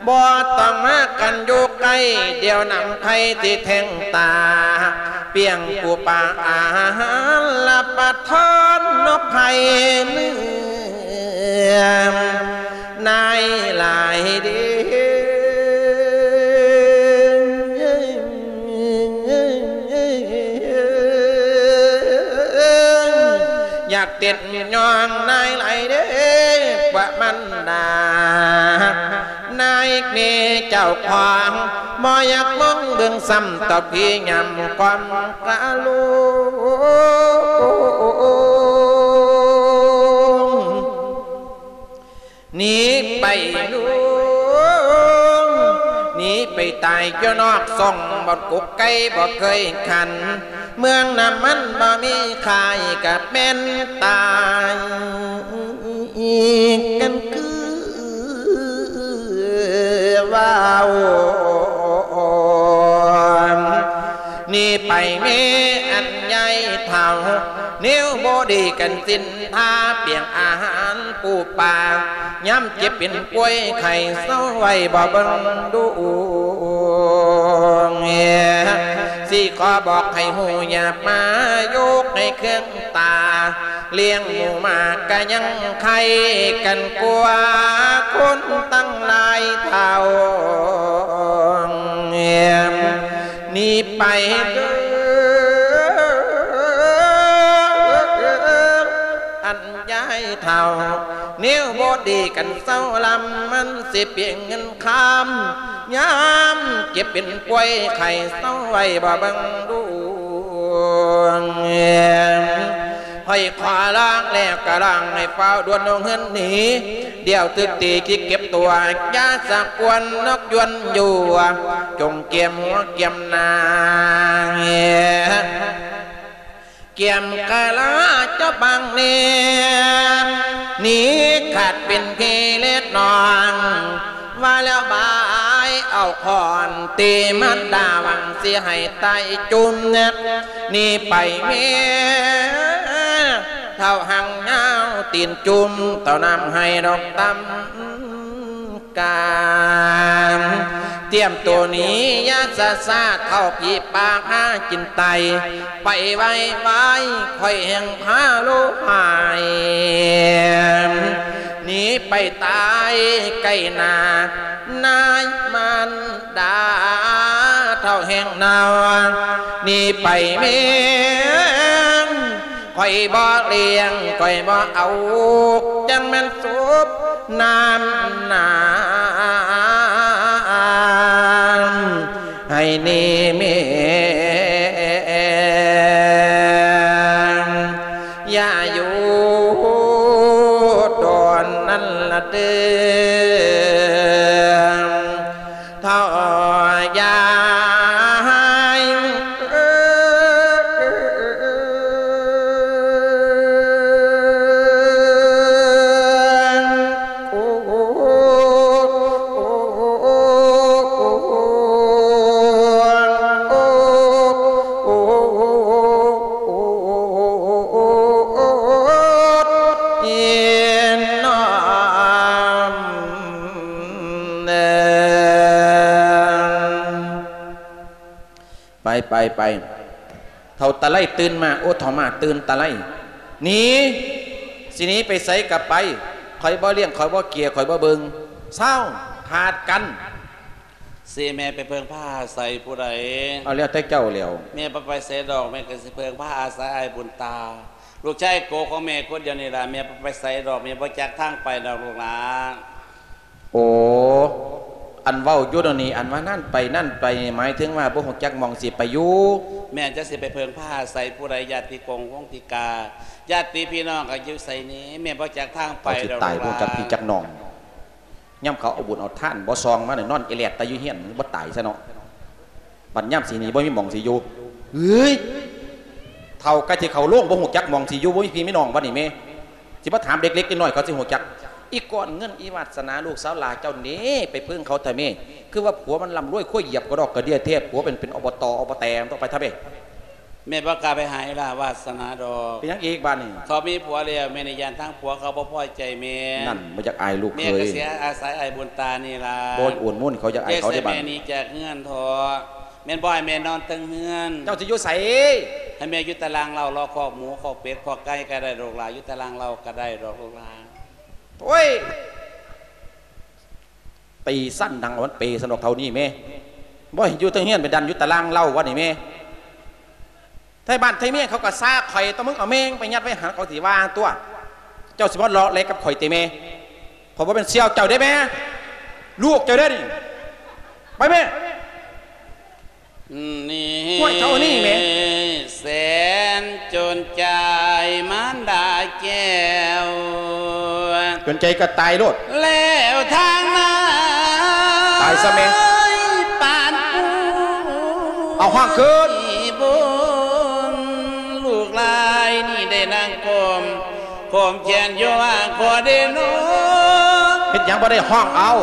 ບໍ່ຕ້ອງມາກັນຢູ່ໃກ້ ດຽວນຳໄພຊິແທງຕາ ປ່ຽງປູປາອາຫານລະປະທານນົກໄພເໜືອ ນາຍຫຼາຍເດ. ເຕັ້ນຍ້ອງນາຍຫຼາຍເດ້ ພວກມັນນາ ນາຍແມ່ເຈົ້າຂອງ ບໍ່ຢາກມອງເບິ່ງຊ້ຳ ຕໍ່ພີ່ຍາມຄວາມກະລຸງ. ໜີໄປລຸງ ໜີໄປຕາຍຢູ່ນອກຊ່ອງ ບ່ອນກົກໄກ່ບໍ່ເຄີຍຂັນ ເມືອງນ້ຳມັນບໍ່ມີຂາຍ ກະແມ່ນຕາຍກັນຄືວ່າໂອ ໜີໄປແມ່ອັນຍາຍເຖົ້າ ແນວບໍ່ດີກັນສິນທາ ປຽງອາຫານປູປາ ຍາມເຈັບເປັນປ່ວຍໄຂ້ເຊົາໄວ້ບໍ່ເບິ່ງດູ ຊິຂໍບອກໃຫ້ຮູ້ ຢ່າມາຍົກໃຫ້ເຄືອງຕາ ລ້ຽງໝູໝາກະຍັງໄຄກັນກວ່າ ຄົນຕັ້ງຫຼາຍເທົ່າ ໜີໄປເດີ ອັນຍາຍເຖົ້າ ແນວບໍ່ດີກັນເຊົາລຳ ມັນຊິປ່ຽງເງິນຄຳ ຍາມເຈັບເປັນປ່ວຍໄຂ້ເຊົາໄວ້ບໍ່ເບິ່ງດູ ຂ້ອຍຂໍລາແລ້ວກະລາໃຫ້ຟ້າວດ່ວນລົງເຮືອນໜີ ດຽວຖືກຕີຂີ້ເກັບຕົວ ຢ່າສະກວນນົກຢວນຢູ່ ຈົ່ງກຽມຫົວກຽມໜ້າ ກຽມກະລາເຈົ້າບາງແນ່ ໜີຂາດເປັນພີ່ເລັດນ້ອງ ວ່າແລ້ວບາຍເອົາຄ້ອນຕີມາດາ ຫວັງຊິໃຫ້ຕາຍຈຸ່ມ ໜີໄປແມ່ເຖົ້າຫາງຍາວຕີນຈຸ່ມ ເຕົ້ານ້ຳໃຫ້ດອກຕຳກາ ຕຽມໂຕໜີຢ່າຊ້າໆ ເຖົ້າຜີປາກຫາກິນໄຕ ໄປໄວໆ ຂ້ອຍແຮ່ງພາໂລຫາຍ ໜີໄປຕາຍໃກ້ໜ້າ ນາຍມານດາເຖົ້າແຮ່ງເນົ່າ ໜີໄປແມ່ ຂ້ອຍບໍ່ລ້ຽງ ຂ້ອຍບໍ່ເອົາ ຈັ່ງແມ່ນສົບນ້ຳນາ ໃຫ້ໜີແມ່ນ ຢ່າຢູ່ດົນນັ້ນລະເດີ ເຖົ້າຍາຍ. ໄປ ໄປ ໄປ ເຖົ້າຕາໄລຕື່ນມາ ໂອ ເຖົ້າມາຕື່ນຕາໄລ ໜີ ຊິໜີໄປໃສກະໄປ ຂ້ອຍບໍ່ລ້ຽງ ຂ້ອຍບໍ່ເກຍ ຂ້ອຍບໍ່ເບິ່ງ ເຊົາ ຂາດກັນ. ຊິແມ່ໄປເພິ່ງພາອາໄສຜູ້ໃດ? ເອົາແລ້ວແຕ່ເຈົ້າແລ້ວ. ແມ່ບໍ່ໄປໃສດອກ ແມ່ກະຊິເພິ່ງພາອາໄສອ້າຍບຸນຕາ ລູກຊາຍໂກຂອງແມ່ຄົນດຽວນີ້ລະ ແມ່ບໍ່ໄປໃສດອກ ແມ່ບໍ່ຈັກທາງໄປດອກລູກຫຼາ. ໂອ ອັນເວົ້າຢູ່ດຽວນີ້ ອັນວ່ານັ້ນໄປນັ້ນໄປນີ້ ໝາຍເຖິງວ່າບໍ່ຮູ້ຈັກໝ່ອງຊິໄປຢູ່. ແມ່ນ ຈັກຊິໄປເພິ່ງພາອາໄສຜູ້ໃດ ຍາດຕິກົງວົງຕິກາ ຍາດຕິພີ່ນ້ອງກະຢູ່ໃສນີ້ ແມ່ບໍ່ຈັກທາງໄປດອກ ເຂົາຊິຕາຍ ລູກຫຼາ ບໍ່ຈັກພີ່ຈັກນ້ອງ. ຍາມເຂົາເອົາບຸນເອົາທານບໍ່ຊ່ອງມານີ້ ນອນອີແຫຼດຕາຍຢູ່ເຮືອນ ບໍ່ຕາຍຊະເນາະ. ບັດຍາມຊິໜີບໍ່ມີໝ່ອງຊິຢູ່ ເອີຍ ເຖົ້າໃກ້ຊິເຂົ້າໂລງ ບໍ່ຮູ້ຈັກໝ່ອງຊິຢູ່ ບໍ່ມີພີ່ມີນ້ອງ ບັດນີ້ແມ່ ຊິມາຖາມເດັກໆນ້ອຍໆ ເຂົາຊິຮູ້ຈັກ? ອີກອນເງິນ ອີວາດສະໜາ ລູກສາວຫຼ້າເຈົ້າເດ້ ໄປເພິ່ງເຂົາແທ້ແມ່ ຄືວ່າຜົວມັນລ່ຳລວຍ ຄວາຍຢຽບກະດອກກະເດຍແທ້ ຜົວເປັນ ເປັນ ອບຕ ອບແຕ ຕ້ອງໄປທະເບ. ແມ່ບໍ່ກ້າໄປຫາອີຫຼ້າວາດສະໜາດອກ. ເປັນຫຍັງອີກບາດນີ້? ເຂົາມີຜົວແລ້ວ ແມ່ນີ້ຢ້ານທາງຜົວເຂົາບໍ່ພໍໃຈແມ່. ນັ້ນ ບໍ່ຢາກອາຍລູກເຂີຍ ແມ່ກະເສຍອາໄສອ້າຍບຸນຕານີ້ລະ. ບໍ່ໂອນໂມນ ເຂົາຢາກອາຍເຂົາເດ້ບາດນີ້. ແມ່ໜີຈາກເຮືອນເຖາະ ແມ່ນບໍ່ໃຫ້ແມ່ນອນເທິງເຮືອນ. ເຈົ້າຊິຢູ່ໃສ? ໃຫ້ແມ່ຢູ່ຕາລ່າງເລົ້າ ເລາະຄອກໝູ ຄອກເປັດ ຄອກໄກ່ກະໄດ້ລູກຫຼ້າ ຢູ່ຕາລ່າງເລົ້າກະໄດ້ດອກລູກຫຼ້າ. ໂອ້ຍ ຕີຊັ້ນດັງເອົາມັນເປຊັ້ນດອກເທົ່ານີ້ແມ່ ບໍ່ໃຫ້ຢູ່ເທິງເຮືອນ ໄປດັນຢູ່ຕາລ່າງເລົ້າວັດນີ້ແມ່. ໄທບ້ານໄທເມືອງເຂົາກໍຊາຂ້ອຍ ຕົວະ ມຶງເອົາແມງໄປຍັດໄວ້ຫັ້ນ ເຂົາຊິວ່າຕົວະ. ເຈົ້າຊິມາເລາະແລະກັບຂ້ອຍຕິແມ່? ຂ້ອຍບໍ່ແມ່ນສ່ຽວເຈົ້າເດ້ແມ່ ລູກເຈົ້າເດ້ນີ້. ໄປແມ່. ນີ້ ຫ້ວຍ ເທົ່ານີ້ແມ່ ແສນຈົນໃຈມານດາແກ້ວ ຈົນໃຈກໍຕາຍໂລດ ແລ້ວທາງນາ ຕາຍຊະແມ່ ປານປູ ເອົາ ຮ້ອງຄືນ ບຸນ ລູກຫຼາຍນີ້ໄດ້ນັ່ງກົ້ມ ກ້ອມແຂນຢູ່ວ່າຂໍໄດ້ນອນ ເຮັດຫຍັງບໍ່ໄດ້ ຮ້ອງເອົາ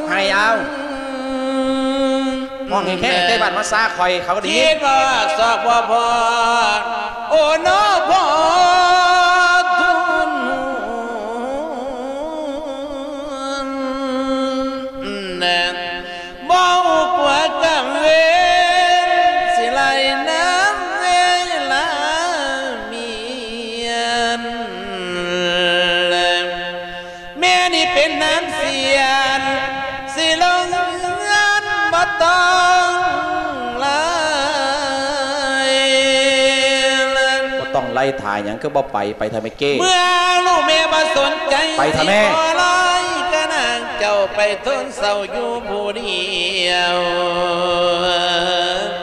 ໄຫ້ເອົາ ຮ້ອງແຮງໆ ໃກ້ບ້ານມາຊາຂ້ອຍ ເຂົາກໍໄດ້ຍິນ ຄິດວ່າຊອກບໍ່ພໍ ໂອ້ ນອ ພໍທຸນ ບໍ່ຮູ້ກົວກັບເວນ ຊິໄລ່ນຳເວລາມຽນ ແມ່ນີ້ເປັນນາງສຽນ ຊິລົງເຮືອນບໍ່ຕ້ອງໄລ່ ບໍ່ຕ້ອງໄລ່ ຖ້າຫຍັງຄືບໍ່ໄປ ໄປເຖາະແມ່ເກ້ ເມື່ອລູກແມ່ບໍ່ສົນໃຈ ໄປເຖາະແມ່ ຊິຂໍລາຍກະນາງ ເຈົ້າໄປທົນເສົ້າຢູ່ຜູ້ດຽວ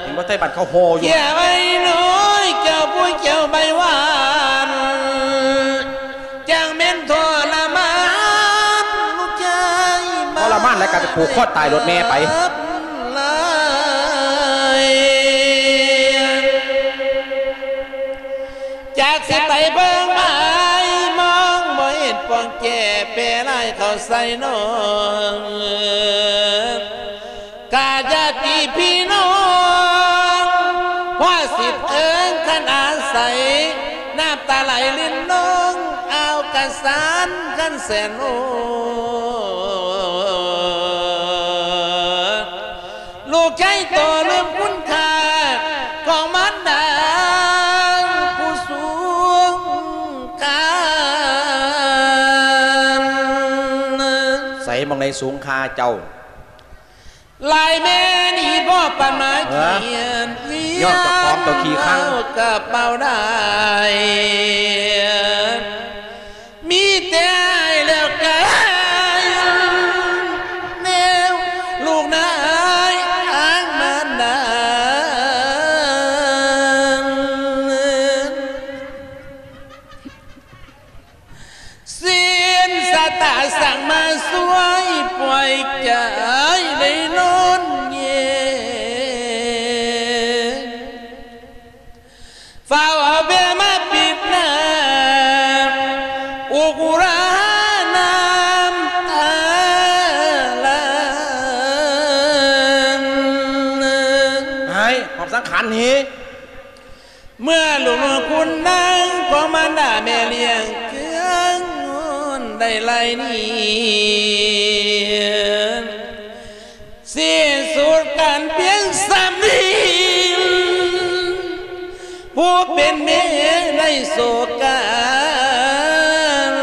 ເຫັນບໍ່ ໄທບ້ານເຂົາໂຫ່ຢູ່ ເຈົ້າໄອ້ນ້ອຍ ເຈົ້າຜູ້ເຈົ້າໃບຫວານ ຈັ່ງແມ່ນທໍລະມານລູກຊາຍ ທໍລະມານແລ້ວກໍໄປຜູກຄໍຕາຍໂລດແມ່ໄປ ຫຼາຍ ຈັກຊິໄປເບິ່ງໄປມອງ ບໍ່ເຫັນປອງແຈ້ແປລາຍເຂົ້າໃສ່ນ້ອງ ກະຍາດຕິພີ່ນ້ອງ ພາສິດເອີງຄັນອາໄສ ນ້ຳຕາໄຫຼລິນລົງ ອາວກະສານຄັນແສນໂອ ລູກໃຫຍ່ໂຕລືມຄຸນຄ່າ ຂອງມານດາຜູ້ສູງຄ່າ ໃສໝ່ອງໃດສູງຄ່າເຈົ້າ ຫຼາຍແມ່ນີ້ບໍ່ປານມາຂຽນ ເອີ ຍ້ອນເຈົ້າຂອງເຈົ້າຂີ້ຄັງ ກະເປົ່າໄດ້ ມີແຕ່ອ້າຍແລ້ວກະແນວລູກນາຍທາງມານດາ ສິນຊະຕາສັ່ງມາຊ່ວຍ ປ່ອຍໃຈໄດ້ນອນເຢັນ ຟ້າວເອົາແພມາປິດໜ້າ ອຸກອຸຣານ້ຳຕາຫຼາງ ໃຫ້ຄວາມສຳຄັນນີ້ ເມື່ອລູກນ້ອຍຄຸນນາງ ຂອງມານດາແມ່ລ້ຽງເຄືອງງອນໄດ້ໄລ່ໜີ ສິ້ນສຸດການພຽງສ່ຳນີ້ ຜູ້ເປັນແມ່ໄດ້ໂສການ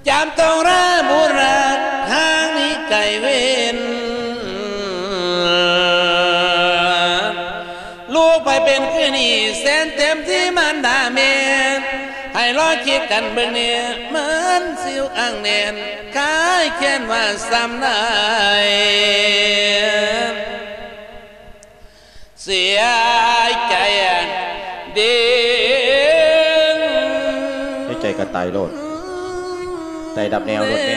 ຈຳຕ້ອງລາບຸດລັກທາງນີ້ໄກເວັນ ລູກໃຜເປັນຄືນີ້ແສນເຕັມທີ່ມານດາແມ່ ໃຫ້ລອງຄິດກັນເບິ່ງແນ່ ມັນຊິອັງແໜ້ນ ຄາຍແຄ້ນວ່າສ່ຳໃດ ເສຍໃຈເດ້ ເສຍໃຈກໍຕາຍໂລດ ຕາຍດັບແນວໂລດແມ່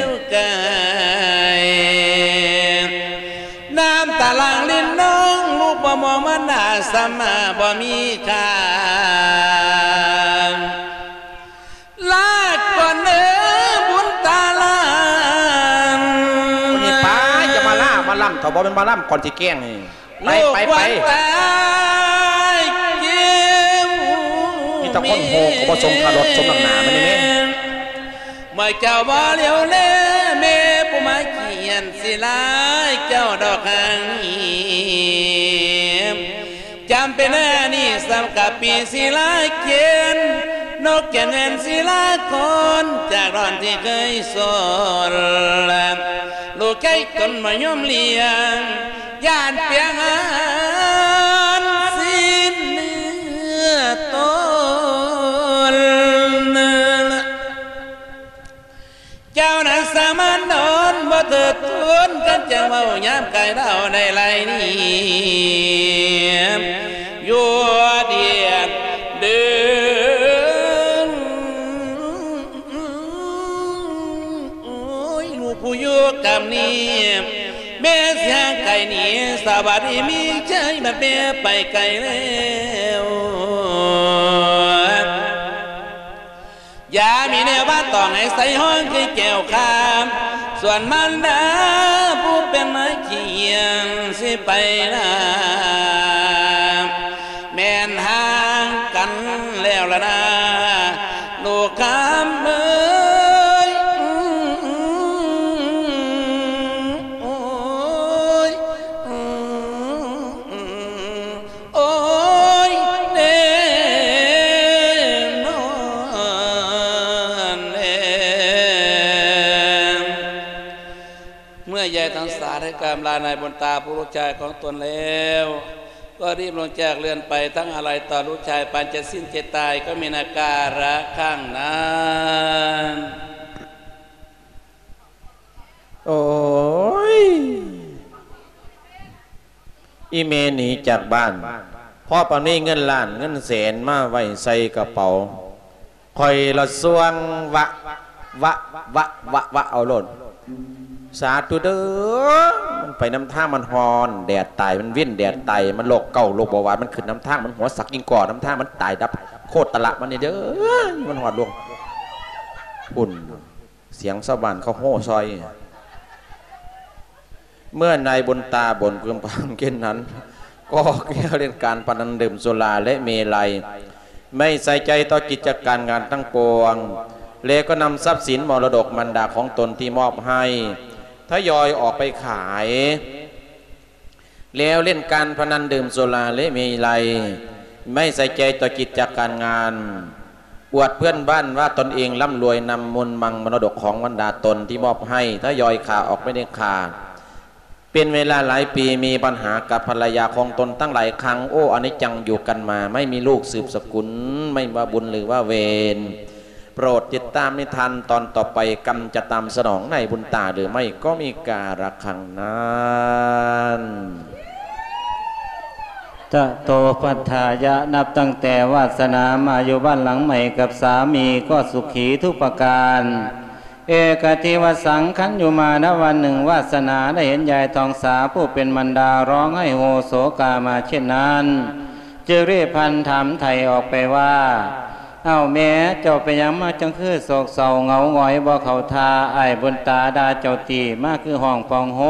ນ້ຳຕາຫຼັ່ງລິນລົງ ລູກບໍ່ມອງມານດາສ່ຳມາບໍ່ມີຄ່າ ລາກ່ອນເດີບຸນຕາຫຼານ ນີ້ໄປ ຢ່າມາລາມາລຳ ຖ້າບໍ່ແມ່ນມາລຳກ່ອນຊິແກ້ງນີ້ ໄປ ໄປ ໄປ ມີແຕ່ຄົນໂຫກ ເຂົາບໍ່ສົມຄ່າລົດສົມນ້ຳໜາມັນນີ້ແມ່ ເມື່ອເຈົ້າບໍ່ຫຼຽວແລ ແມ່ຜູ້ມາຂຽນ ຊິລາເຈົ້າດອກຫາງນີ້ ຈຳເປັນແນວນີ້ສ່ຳກັບປີສິລາເຂນ ນົກແກ່ນແມ່ນສິລາຄອນ ຈາກດອນທີ່ເຄີຍສອນ ລູກໃຈຕົນບໍ່ຍອມລ້ຽງ ຢ້ານປຽງຫາ ຄົນກັນຈັ່ງເວົ້າຍາມກາຍດາວໄດ້ຫຼາຍນີ້ ຢູ່ດຽນເດີນ ໂອ້ຍ ລູກຜູ້ຢູ່ກຳນີ້ ແມ່ສຽງໄກນີ້ ສະຫວັດດີມີໄຊ ບັດແມ່ໄປໄກແລ້ວ. ຢ່າມີແນວວ່າຕ້ອງໃຫ້ໃສ່ຫ້ອງຄືແກ້ວຄຳ ສ່ວນມານດາຜູ້ເປັນມາຂຽນຊິໄປນາ ແມ່ນຫ່າງກັນແລ້ວລະນາ ລູກຄຳເອີຍ ໂອ້ຍ ໂອ້ຍ ໂອ້ຍ ແນ່ນອນແລ້ວ. ເມື່ອຍາຍທັງສາມໄດ້ກາບລານາຍບຸນຕາຜູ້ລູກຊາຍຂອງຕົນແລ້ວ ກໍຣີບລົງຈາກເຮືອນໄປ ທັງອາໄລຕໍ່ລູກຊາຍປານຈະສິ້ນໃຈຕາຍ ກໍມີນາກາລະຄັ້ງນັ້ນ. ໂອ້ຍ ອີແມ່ໜີຈາກບ້ານ ພໍປານມີເງິນລ້ານເງິນແສນມາໄວ້ໃສ່ກະເປົາ ຂ້ອຍລະສ່ວງວະ ວະ ວະ ວະ ວະເອົາໂລດ ສາທຸເດີ. ມັນໄປນຳທາງ ມັນຮ້ອນແດດຕາຍ ມັນວິນແດດຕາຍ ມັນໂລກເກົາໂລກເບົາຫວານ ມັນຂຶ້ນນຳທາງ ມັນຫົວສັກກິງກໍນຳທາງ ມັນຕາຍດັບໂຄດຕະລະມັນນີ້ເດີ ມັນຮອດລວງພຸ້ນ. ສຽງຊາວບ້ານເຂົາໂຫ່ຊ່ອຍ. ເມື່ອນາຍບຸນຕາບົນພຶມພຳເຊັ່ນນັ້ນ ກໍກ່ຽວເລື່ອງການພະນັນດື່ມສຸລາ ແລະ ເມໄລ ໄມ່ໃສ່ໃຈຕໍ່ກິດຈະການງານທັງປວງ ແລະ ກໍນຳຊັບສິນມໍລະດົກມັນດາຂອງຕົນທີ່ມອບໃຫ້ ທະຍອຍອອກໄປຂາຍ. ແລ້ວຫຼິ້ນການພະນັນ ດື່ມສຸລາ ແລະ ເມໄລ ໄມ່ໃສ່ໃຈຕໍ່ກິດຈະການງານ ອວດເພື່ອນບ້ານວ່າຕົນເອງລ່ຳລວຍ ນຳມູນມັງມໍລະດົກຂອງບັນດາຕົນທີ່ມອບໃຫ້ ທະຍອຍຂາຍອອກໄປເດັດຂາດ. ເປັນເວລາຫຼາຍປີ ມີບັນຫາກັບພັນລະຍາຂອງຕົນຕັ້ງຫຼາຍຄັ້ງ. ໂອ້ ອະນິດຈັງ ຢູ່ກັນມາ ໄມ່ມີລູກສືບສະກຸນ ໄມ່ວ່າບຸນຫຼືວ່າເວນ. ໂປດຕິດຕາມນິທານຕອນຕໍ່ໄປ ກຳຈະຕາມສະໜອງນາຍບຸນຕາຫຼືໄມ່ ກໍມີກາລະຄັ້ງນັ້ນ. ຕະໂຕ ປັດຖາຍະ ນັບຕັ້ງແຕ່ວາດສະໜາມາຢູ່ບ້ານຫຼັງໃໝ່ກັບສາມີ ກໍສຸຂີທຸກປະການ. ເອກະທິວະສັງ ຄັນຢູ່ມານະວັນໜຶ່ງ ວາດສະໜາໄດ້ເຫັນຍາຍທອງສາຜູ້ເປັນມັນດາຮ້ອງໄຫ້ໂຮໂສກາມາເຊັ່ນນັ້ນ ຈຶ່ງໄດ້ພັນຖາມໄຖ່ອອກໄປວ່າ ອ້າວແມ່ ເຈົ້າເປັນຫຍັງມາຈັ່ງຄືໂສກເສົ້າເຫງົາຫງອຍບໍ່ເຂົ້າທ່າ? ອ້າຍບຸນຕາດ່າເຈົ້າຕິ ມາຄືຮ້ອງພອງໂຮ.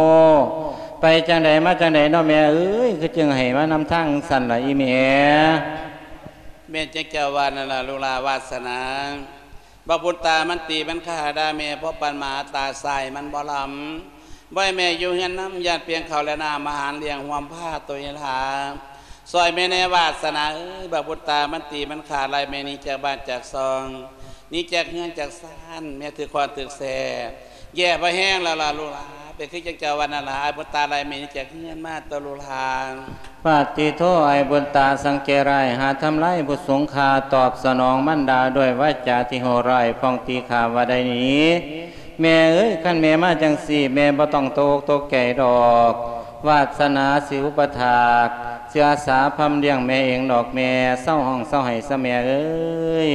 ໄປຈັ່ງໃດມາຈັ່ງໃດເນາະແມ່ເອີຍ ຄືຈຶ່ງໃຫ້ມານຳທາງຊັ້ນລະອີແມ່? ແມ່ນຈັ່ງເຈົ້າວ່ານັ້ນລະລູກຫຼານວາດສະໜາ. ບັກບຸນຕາມັນຕີມັນຂ້າດ່າແມ່ ເພາະປັນໝາຕາຊາຍມັນບໍ່ລຳ. ບໍ່ໃຫ້ແມ່ຢູ່ເຮືອນນຳ ຢ້ານປ່ຽງເຂົ້າແລະນ້ຳອາຫານລ້ຽງຮ່ວມພາໂຕເອງຫຼາ. ຊ່ອຍແມ່ແດ່ວາດສະໜາເອີຍ ບັກບຸນຕາມັນຕີມັນຂ້າໄລ່ແມ່ໜີຈາກບ້ານຈາກຊ່ອງ ໜີຈາກເຮືອນຈາກຊານ ແມ່ຖືກຄ້ອນຖືກແສ້ ແຍ່ພໍແຮງແລ້ວລະລູກຫຼາ. ເປັນຄືຈັ່ງເຈົ້າວ່ານັ້ນລະ ອ້າຍບຸນຕາໄລ່ແມ່ໜີຈາກເຮືອນມາໂຕລູກຫຼາ. ປາຕິໂທ ອ້າຍບຸນຕາສັງເກດຮ້າຍ ຫາທຳລາຍຜູ້ສູງຄ່າ ຕອບສະໜອງມັນດາດ້ວຍວາຈາທີ່ໂຫດຮ້າຍ ພ້ອງຕີຂ້າວ່າໄດ້ໜີ. ແມ່ເອີຍ ຄັນແມ່ມາຈັ່ງຊີ້ ແມ່ບໍ່ຕ້ອງຕົກອົກຕົກໃຈດອກ. ວາດສະໜາຊິອຸປະຖາກ ຊິອາສາພຳລ້ຽງແມ່ເອງດອກແມ່. ເຊົາຮ້ອງເຊົາໄຫ້ຊະແມ່ເອີຍ.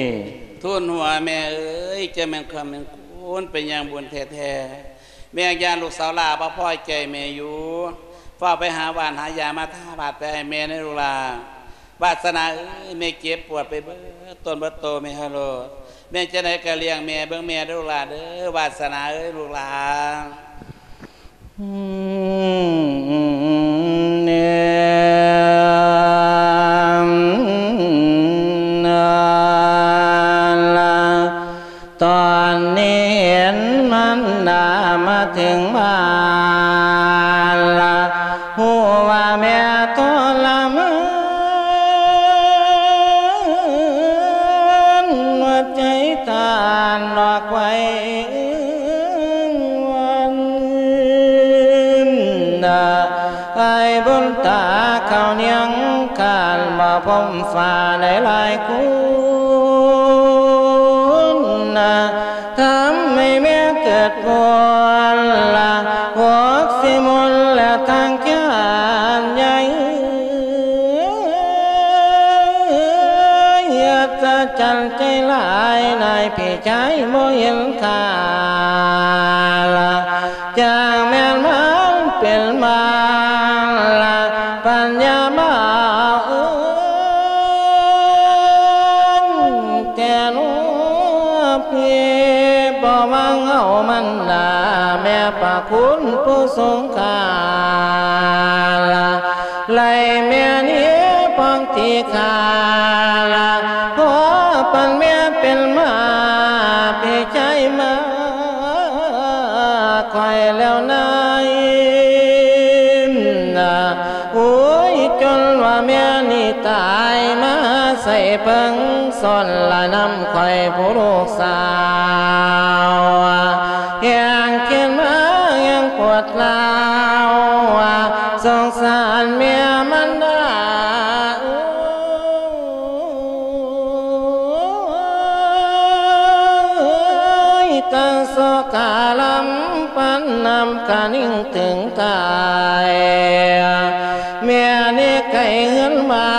ທູນຫົວແມ່ເອີຍ ເຈົ້າແມ່ນຄຳແມ່ນຄູນ ເປັນຢ່າງບຸນແທ້ໆ. ແມ່ຢ້ານລູກສາວຫຼ້າບໍ່ພໍໃຈແມ່ຢູ່. ຟ້າວໄປຫາຫວ່ານຫາຢາມາທາບາດໄປໃຫ້ແມ່ແດ່ລູກຫຼາ. ວາດສະໜາເອີຍ ແມ່ເຈັບປວດໄປເບິດຕົນເບິດໂຕແມ່ຮະໂລດ. ແມ່ຈັ່ງໃດກະລ້ຽງແມ່ເບິ່ງແມ່ເດີລູກຫຼາເດີ. ວາດສະໜາເອີຍລູກຫຼາ. ຕອນນີ້ເຫັນມັນດາມາເຖິງບ້ານລະ ຮູ້ວ່າແມ່ທໍລະມານ ຫົວໃຈຕ້ານອອກໄຫວເອີ່ງວັນ. ອ້າຍບຸນຕາເຂົ້ານຽງຄານບໍ່ພົມຟ້າໄດ້ຫຼາຍຄູນ ທຳໃຫ້ແມ່ເກີດປົວນລະຫົວ ຈັນໃຈຫຼາຍ ນາຍພີ່ຊາຍບໍ່ເຫັນຄ່າລະ ຈັ່ງແມ່ນມັນເປັນມາລະ ປັນຍາມາເອີ້ນແຕ່ໜູພີ່ ບໍ່ຫວັງເອົາມັນດາ ແມ່ພະຄຸນຜູ້ຊົງຄ່າລະ ໄລ່ແມ່ນີ້ພອງທີ່ຂ້າລະ ຂໍປັນແມ່ເປັນມາ ພີ່ຊາຍມາ ຂ້ອຍແລ້ວນາຍນາ ໂອ້ຍ ຈົນວ່າແມ່ນີ້ຕາຍມາ ໃສ່ເພິ່ງສອນລະນຳຂ້ອຍຜູ້ລູກສາວ ແຮງເຄນມາແຮງປວດຮ້າວ ສົງສານແມ່ມັນດາເອີຍ ຕັ້ງສອກກາລຳປັນນຳກະນິ່ງເຖິງຕາຍ ແມ່ນີ້ໄກເຮືອນບ້າ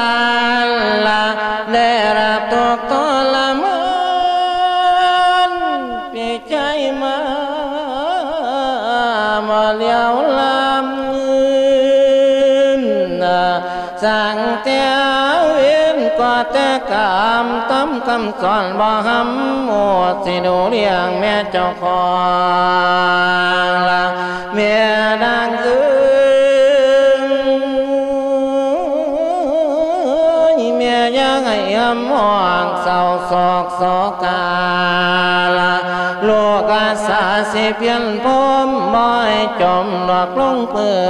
ນລະ ໄດ້ລະຕົກທໍລະມານ ພີ່ຊາຍມາ ບໍ່ຫຼຽວລຳ ສັງແຕ່ເວນກໍແຕ່ກຳ ຕາມຄຳສອນບໍ່ຫ້ຳ ໝົດຊິດູລ້ຽງແມ່ເຈົ້າຂອງລະ ແມ່ນາງເອີຍ ແມ່ຢ່າໃຫ້ອຳມອງເສົ້າໂສກ ສອກກາລະ ລູກອາສາຊິພຽນພົມ ບໍ່ໃຫ້ຈົມດອກລົງເປື້ອ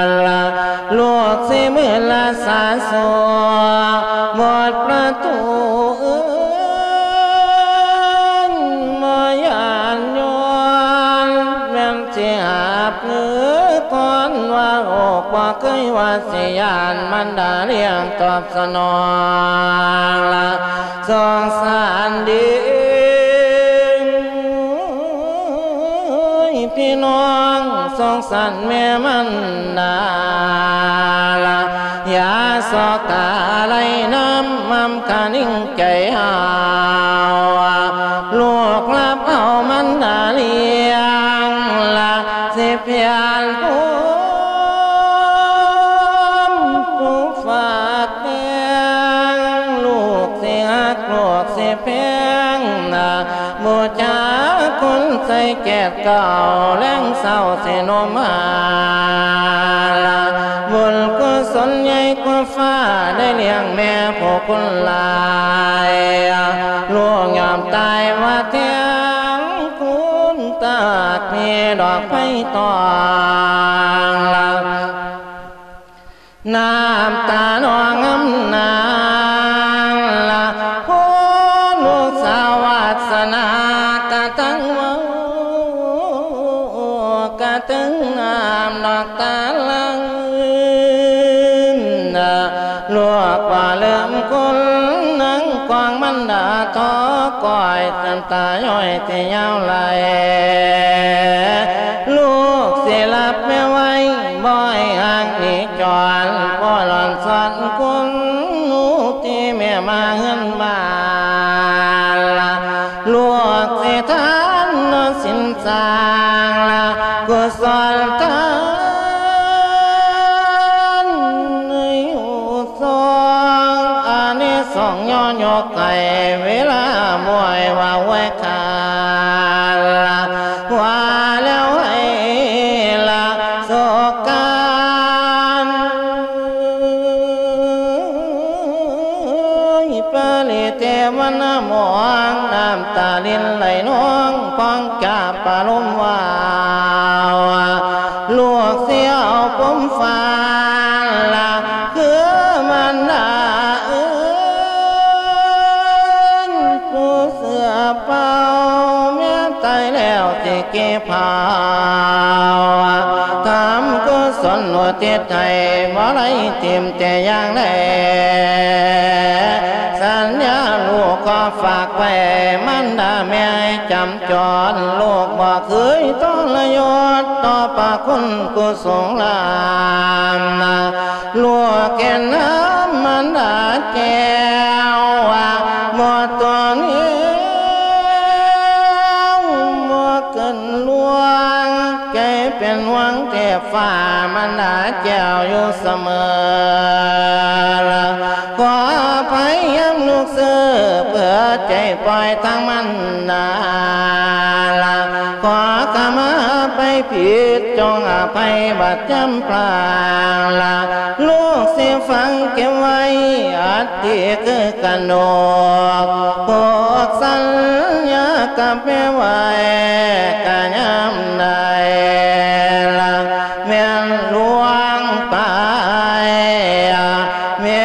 ນລະ ລູກຊິມືລະສາໂສ ໝົດປະຕູເອີຍ ບໍ່ຢ້ານຍ້ອນ ແມ່ນຊິຫາບເງິນກ່ອນວ່າ ໂອກບໍ່ເຄີຍວ່າຊິຢ້ານ ມັນດາລ້ຽງຕອບ ສະໜອງລະ ສົງສານດີ ພີ່ນ້ອງສົງສານແມ່ມັນດາລະ ຢ່າສອກຕາໄລ່ນຳ ມຳຄະນິງໃຈເຮົາ ລູກຮັບເອົາມັນດາລ້ຽງລະ ຊິພຽນພູມຜູ້ຝາກແພງ ລູກຊິຮັກ ລູກຊິແພງນະ ບູຊາຄຸນໃສ່ແຈດເກົ່າ ແລງເຊົ້າຊິໂນມມາລະ ບຸນກຸສົນໃຫຍ່ກວ່າຟ້າ ໄດ້ລ້ຽງແມ່ຜູ້ຄຸນຫຼາຍ ລູກຍອມຕາຍວ່າແທນ ຄຸນຕາກມີດອກໄມ້ຕອງລະ ນ້ຳຕານອງງາມນາລະ ໂອ້ ລູກສາວວາດສະໜາ ກະຕັງເວົ້າ ກະຕຶງນ້ຳນອກຕາຫຼັງ ລູກບໍ່ລືມຄຸນນາງ ກວາງມັນດາທໍກ້ອຍ ນ້ຳຕາຍ້ອຍທີ່ຍາວໄຫຼ ລູກຊິລັບແມ່ໄວ້ ບໍ່ໃຫ້ຫ່າງໜີຈອນ ບໍ່ຫຼອນສອນຄຸນ ລູກທີ່ແມ່ມາເຮືອນບ້ານລະ ລູກຊິທານນອນສິນສ້າງລະ ກຸສົນທານໃຫ້ຮູ້ຊ່ອງ ອານິສົງຍ້ອນຍົກໃຫ້ ເວລາມວຍວ່າໄວ້ ກາລະ ວ່າແລ້ວໃຫ້ລະສົກການ ປະລິເທວະນະມອງ ນ້ຳຕາລິນໄຫຼນອງ ປ່ອງຈາປະລົມວາວ ລູກສຽວປົມຟ້າລະ ຄືມັນລະເອີຍ ຜູ້ເສືອເປົ່າ ແມ່ນຕາຍແລ້ວຊິເກັບເຜົາ ທຳກຸສົນອຸທິດໃຫ້ ບໍ່ໄດ້ຖິ້ມແຕ່ຢ່າງໃດ ສັນຍາລູກຂໍຝາກໄວ້ ມັນດາແມ່ໃຫ້ຈຳ ຈອນ ລູກບໍ່ເຄີຍທໍລະຍົດຕໍ່ພະຄຸນກຸສົງລານ ລູກເຫັນນຳມັນດາແກ້ວວ່າ ຟ້າມານດາແກ້ວຢູ່ສະເໝີລະ ຂໍອະໄພຍາມລູກຊື່ ເປີດໃຈປ່ອຍທາງມັນດາລະ ຂໍຂະມາໄປຜິດ ຈົ່ງອະໄພບາດຈຳພລາງລະ ລູກຊິຝັງເກັບໄວ້ ອັດ ທີ່ຄືກະໜົກ ຜູກສັນຍາກັບແມ່ໄວ້ ກະຍາມໃດລະ ແມ່ນລ່ວງໄປແມ່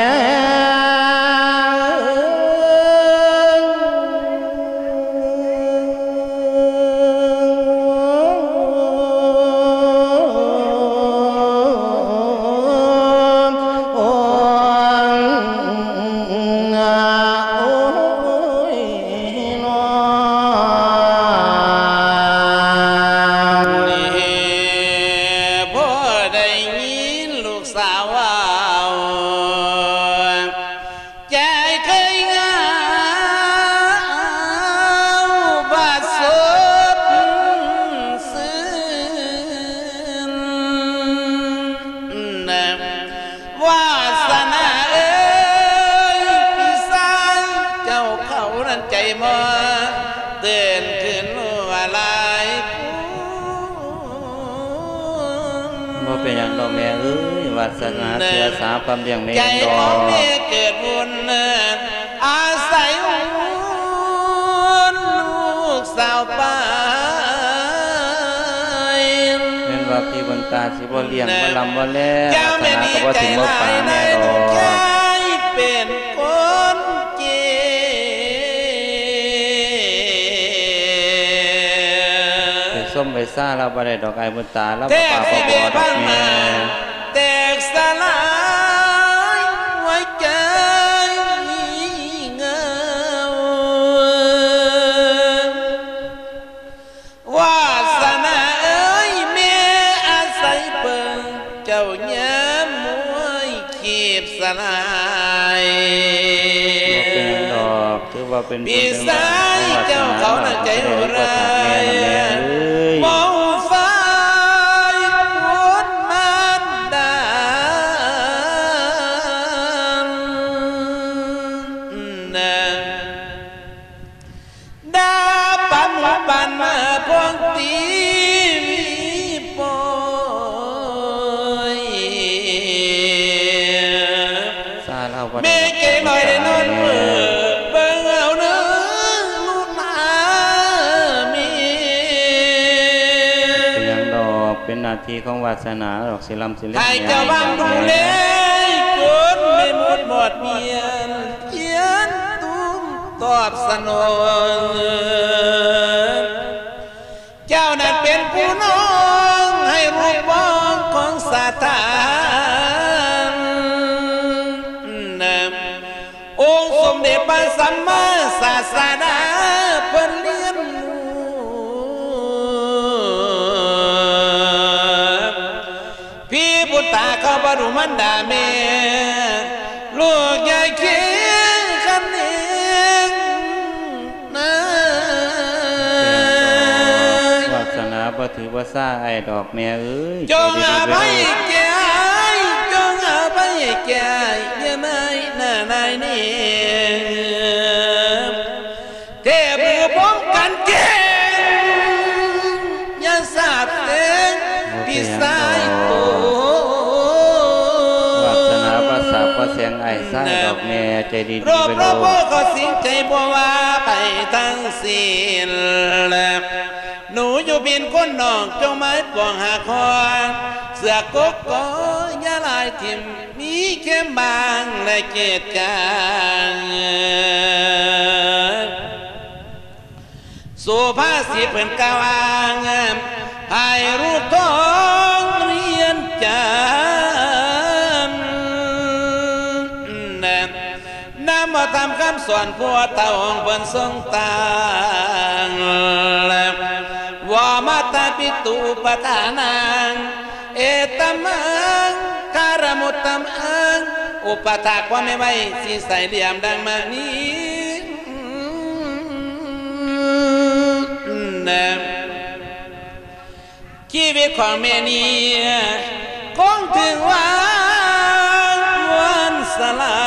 ເອີຍ. ພໍໄດ້ຍິນລູກສາວເວົ້າ ໃຈເຄີຍເຫງົາບໍ່ສົດຊື່ນ ວາສະໜາເອີຍ ພີ່ຊາຍເຈົ້າເຂົານັ້ນໃຈໝໍ່ ເຕີນຄືນວ່າຫຼາຍ ບໍ່ເປັນຫຍັງດອກແມ່ເອີຍ ວາສະໜາເຊື່ອສາຄວາມລ້ຽງແມ່ເອງດອກ ໃຈຂອງແມ່ເກີດບຸນ ອາໄສບຸນລູກສາວໄປ ແມ່ນວ່າພີ່ບຸນຕາຊິບໍ່ລ້ຽງ ບໍ່ລຳບໍ່ແລ ວາສະໜາກໍບໍ່ຖິ້ມບໍ່ປາແມ່ດອກ ເປັນຄົນເຈັບ ໄປຊົມໄປຊາລາວບໍ່ໄດ້ດອກ ອ້າຍບຸນຕາລາວບໍ່ປາກບໍ່ບໍ່ດອກແມ່ ແຕກສະຫຼາຍຫົວໃຈເຫງົາ ວາສະໜາເອີຍ ແມ່ອາໄສເບິ່ງເຈົ້າຍາມມວຍ ຄີບສະຫຼາຍ ບໍ່ເປັນຫຍັງດອກ ຖືວ່າເປັນບຸນເປັນບາບຂອງວາສະໜາ ເຮົາກໍຊິໄດ້ອຸປະຖາກແມ່ນະແມ່ເອີຍ ເວົ້າຝ່າຍຄົນມານດານະ ດາປັນປັນມາພວງຕີວີປອຍ ສາລາວບໍ່ໄດ້ ແມ່ເກນ້ອຍໄດ້ນອນເມີ ເບິ່ງເອົາເນີລູກຫຼານແມ່ ເປັນຫຍັງດອກ ເປັນໜ້າທີ່ຂອງວາສະໜາດອກ ຊິລຳຊິເລັກ ໃຫ້ເຈົ້າຫວັງດູແລ ຈົນແມ່ໝົດໝອດມຽນ ພຽນຕຸ້ມຕອບສະໜອງ ເຈົ້ານັ້ນເປັນຜູ້ນ້ອງໃຫ້ລູກປອງຂອງສາທານ ອົງສົມເດັດພະສຳມາສາສະດາເພິ່ນລ້ຽງລູກ ພີ່ບຸນຕາເຂົາບໍ່ດູມັນດາແມ່ ລູກຢ່າຄຽງຄັນເອງນາ ວາສະໜາບໍ່ຖືບໍ່ສາອ້າຍດອກແມ່ເອີຍ ຈົ່ງອະໄພແກ່ອ້າຍ ຈົ່ງອະໄພແກ່ອ້າຍ ຢ່ານາຍໜ້ານາຍເນງ ເທບມືພົມກັນເກັ່ງ ຢ່າສາບແຊ່ງ ບໍ່ເປັນຫຍັງດອກ ພີ່ຊາຍໂຕ ວາສະໜາບໍ່ສາບບໍ່ແຊ່ງອ້າຍຊາຍດອກແມ່ ໃຈດີໆ ໂລກ ໄປໂລດ ໂລກ ກໍສິ້ງໃຈບໍ່ວ່າໃຜທັງສິ້ນ ໜູຢູ່ເປັນຄົນນອກ ຈົ່ງມາປອງຫາຄອນ ເສືອກົກກໍຢ່າລາຍຖິ້ມ ມີເຂັມບາງ ແລະ ເກດກາງ ສຸພາສິດເພິ່ນກ່າວອ້າງ ໃຫ້ລູກທອງຮຽນຈຳ ນຳເອົາທຳຄຳສອນຜູ້ເຖົ້າຂອງເພິ່ນຊົງຕັ້ງ ວະມະຕະປິຕຸປະທານັງ ເອຕະມັງຄາຣະມຸດຕະມັງ ອຸປະຖາກຄວາມແມ່ໄວ້ ສີໃສຫຼຽມດັ່ງມະນີ ນະ ຊີວິດຂອງແມ່ນີ້ຄົງຖືວ່າມ່ວນສະຫຼາ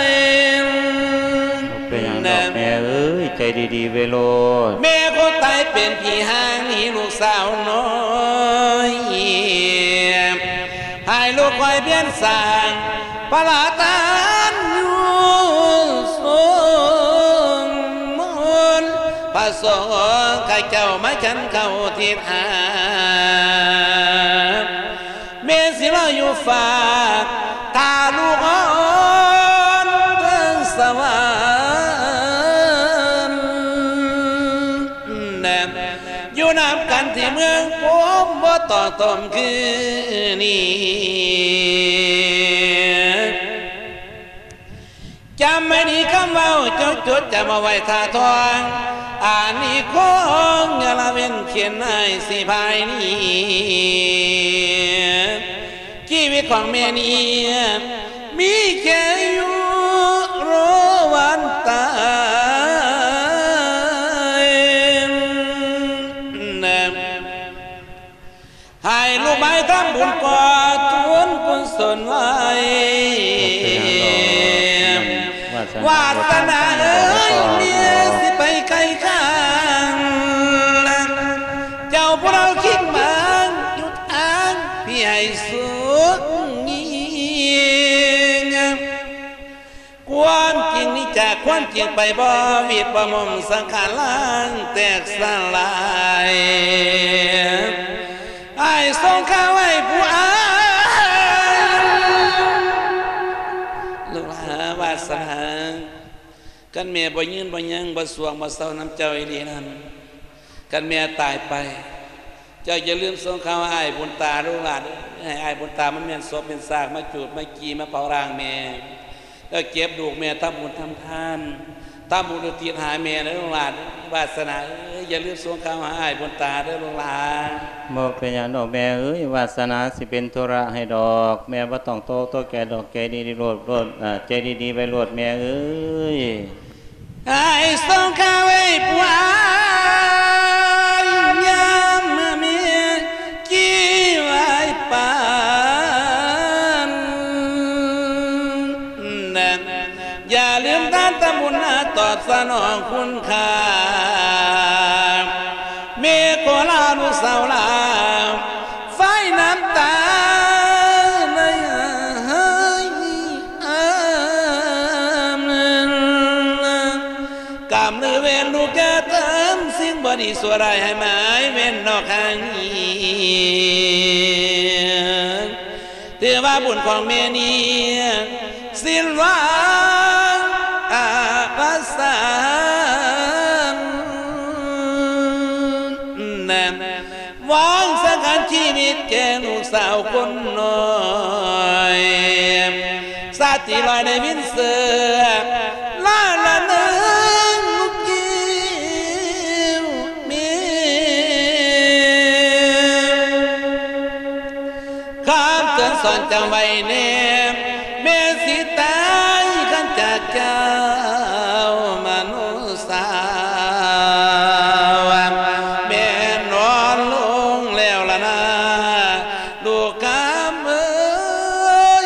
ຍ. ເປັນຫຍັງດອກແມ່ເອີຍ ໃຈດີໆໄວ້ໂລດ. ແມ່ຄົນຕາຍເປັນຜີຮ້າງໜີລູກສາວນ້ອຍ ໃຫ້ລູກຄອຍພຽນສ້າງພະລາທານຢູ່ສົມມຸນ ພະສົງຂ້າເຈົ້າມາສັນເຂົ້າທິດຫາ ແມ່ຊິລໍຢູ່ຟາກ ຖ້າລູກອ່ອນເທິງສະຫວັນ ຢູ່ນຳກັນທີ່ເມືອງພູມ ບໍ່ຕ້ອງຕົມຄືນີ້ ຈຳໃຫ້ດີຄຳເວົ້າ ຈົ່ງຈົດຈຳເອົາໄວ້ທ່າທອງ ອານິຄົງຢ່າລະເວັ້ນຂຽນໃຫ້ຊິພາຍໜີ ຊີວິດຂອງແມ່ນີ້ ມີແຄ່ຢູ່ລໍວັນຕາຍ ໃຫ້ລູກໄມ້ທຳບຸນກໍ່ບຸນກຸສົນໄວ້ ວາສະໜາເອີຍ ເມຍຊິໄປໄກຂ້າງ ເຈົ້າຜູ້ເອົາຄິງມາຢູ່ທາງ ພີ່ໃຫ້ສຸກຍິ່ງ ຄວາມຈິງນີ້ຈາກຄວາມຈິງໄປ ບໍ່ວິດບໍ່ມຸມສັງຂານລ້າງແຕກສະຫຼາຍ ອ້າຍສົ່ງຂ່າວໃຫ້ຜູ້ອ້າຍ ລູກຫຼານວາສະໜາ ຄັນແມ່ບໍ່ຍືນບໍ່ຍັງ ບໍ່ຊ່ວງບໍ່ເຊົານຳເຈົ້າອີ່ຫຼີນັ້ນ ຄັນແມ່ຕາຍໄປ ເຈົ້າຢ່າລືມສົ່ງຂ່າວຫາອ້າຍບຸນຕາເດີລູກຫຼານເອີຍ ໃຫ້ອ້າຍບຸນຕາມາແມ່ນສົບແມ່ນຊາກ ມາຈູດມາກີ່ ມາເຜົາຮ່າງແມ່ ແລ້ວເກັບລູກແມ່ທຳບຸນທຳທານ ທຳບຸນອຸທິດຫາແມ່ເດີລູກຫຼານ ວາສະໜາເອີຍ ຢ່າລືມສົ່ງຂ່າວຫາອ້າຍບຸນຕາເດີລູກຫຼານ. ບໍ່ເປັນຫຍັງດອກແມ່ເອີຍ ວາສະໜາຊິເປັນທຸລະໃຫ້ດອກ ແມ່ບໍ່ຕ້ອງຕົກໃຈດອກ ໃຈດີໆໂລດ ໂລດ ເອີ ໃຈດີໆໄວ້ໂລດແມ່ເອີຍ. ອ້າຍສົ່ງຂ່າວໃຫ້ຜູ້ອ້າຍ ຍາມມາແມ່ກີ່ໄວ້ປານ ຢ່າລືມທານທຳບຸນນາຕອບສະໜອງຄຸນຄ່າ ແມ່ຂໍລາລູກສາວລາ ໄຟນ້ຳຕາໃນຫາຍ ກຳລືເວນລູກຢ່າທຳສິ່ງບໍ່ດີຊົ່ວຮ້າຍໃຫ້ໝາຍເວັ້ນນອກທາງນີ້ ຖືວ່າບຸນຂອງແມ່ນີ້ສິ້ນຫວັງອະວະສານ ວາງສັງຂານຊີວິດແກ່ລູກສາວຄົນນ້ອຍ ສາດທີ່ລອຍໃນວິນເສືອ ລາລະເນີງລູກແກ້ວແມ່ ຄຳເຕືອນສອນຈຳໄວ້ແນ່ ແມ່ຊິຕາຍຄັນຈາກເຈົ້າມະນຸດສາວ ແມ່ນອນລົງແລ້ວລະນາ ລູກຄຳເອີຍ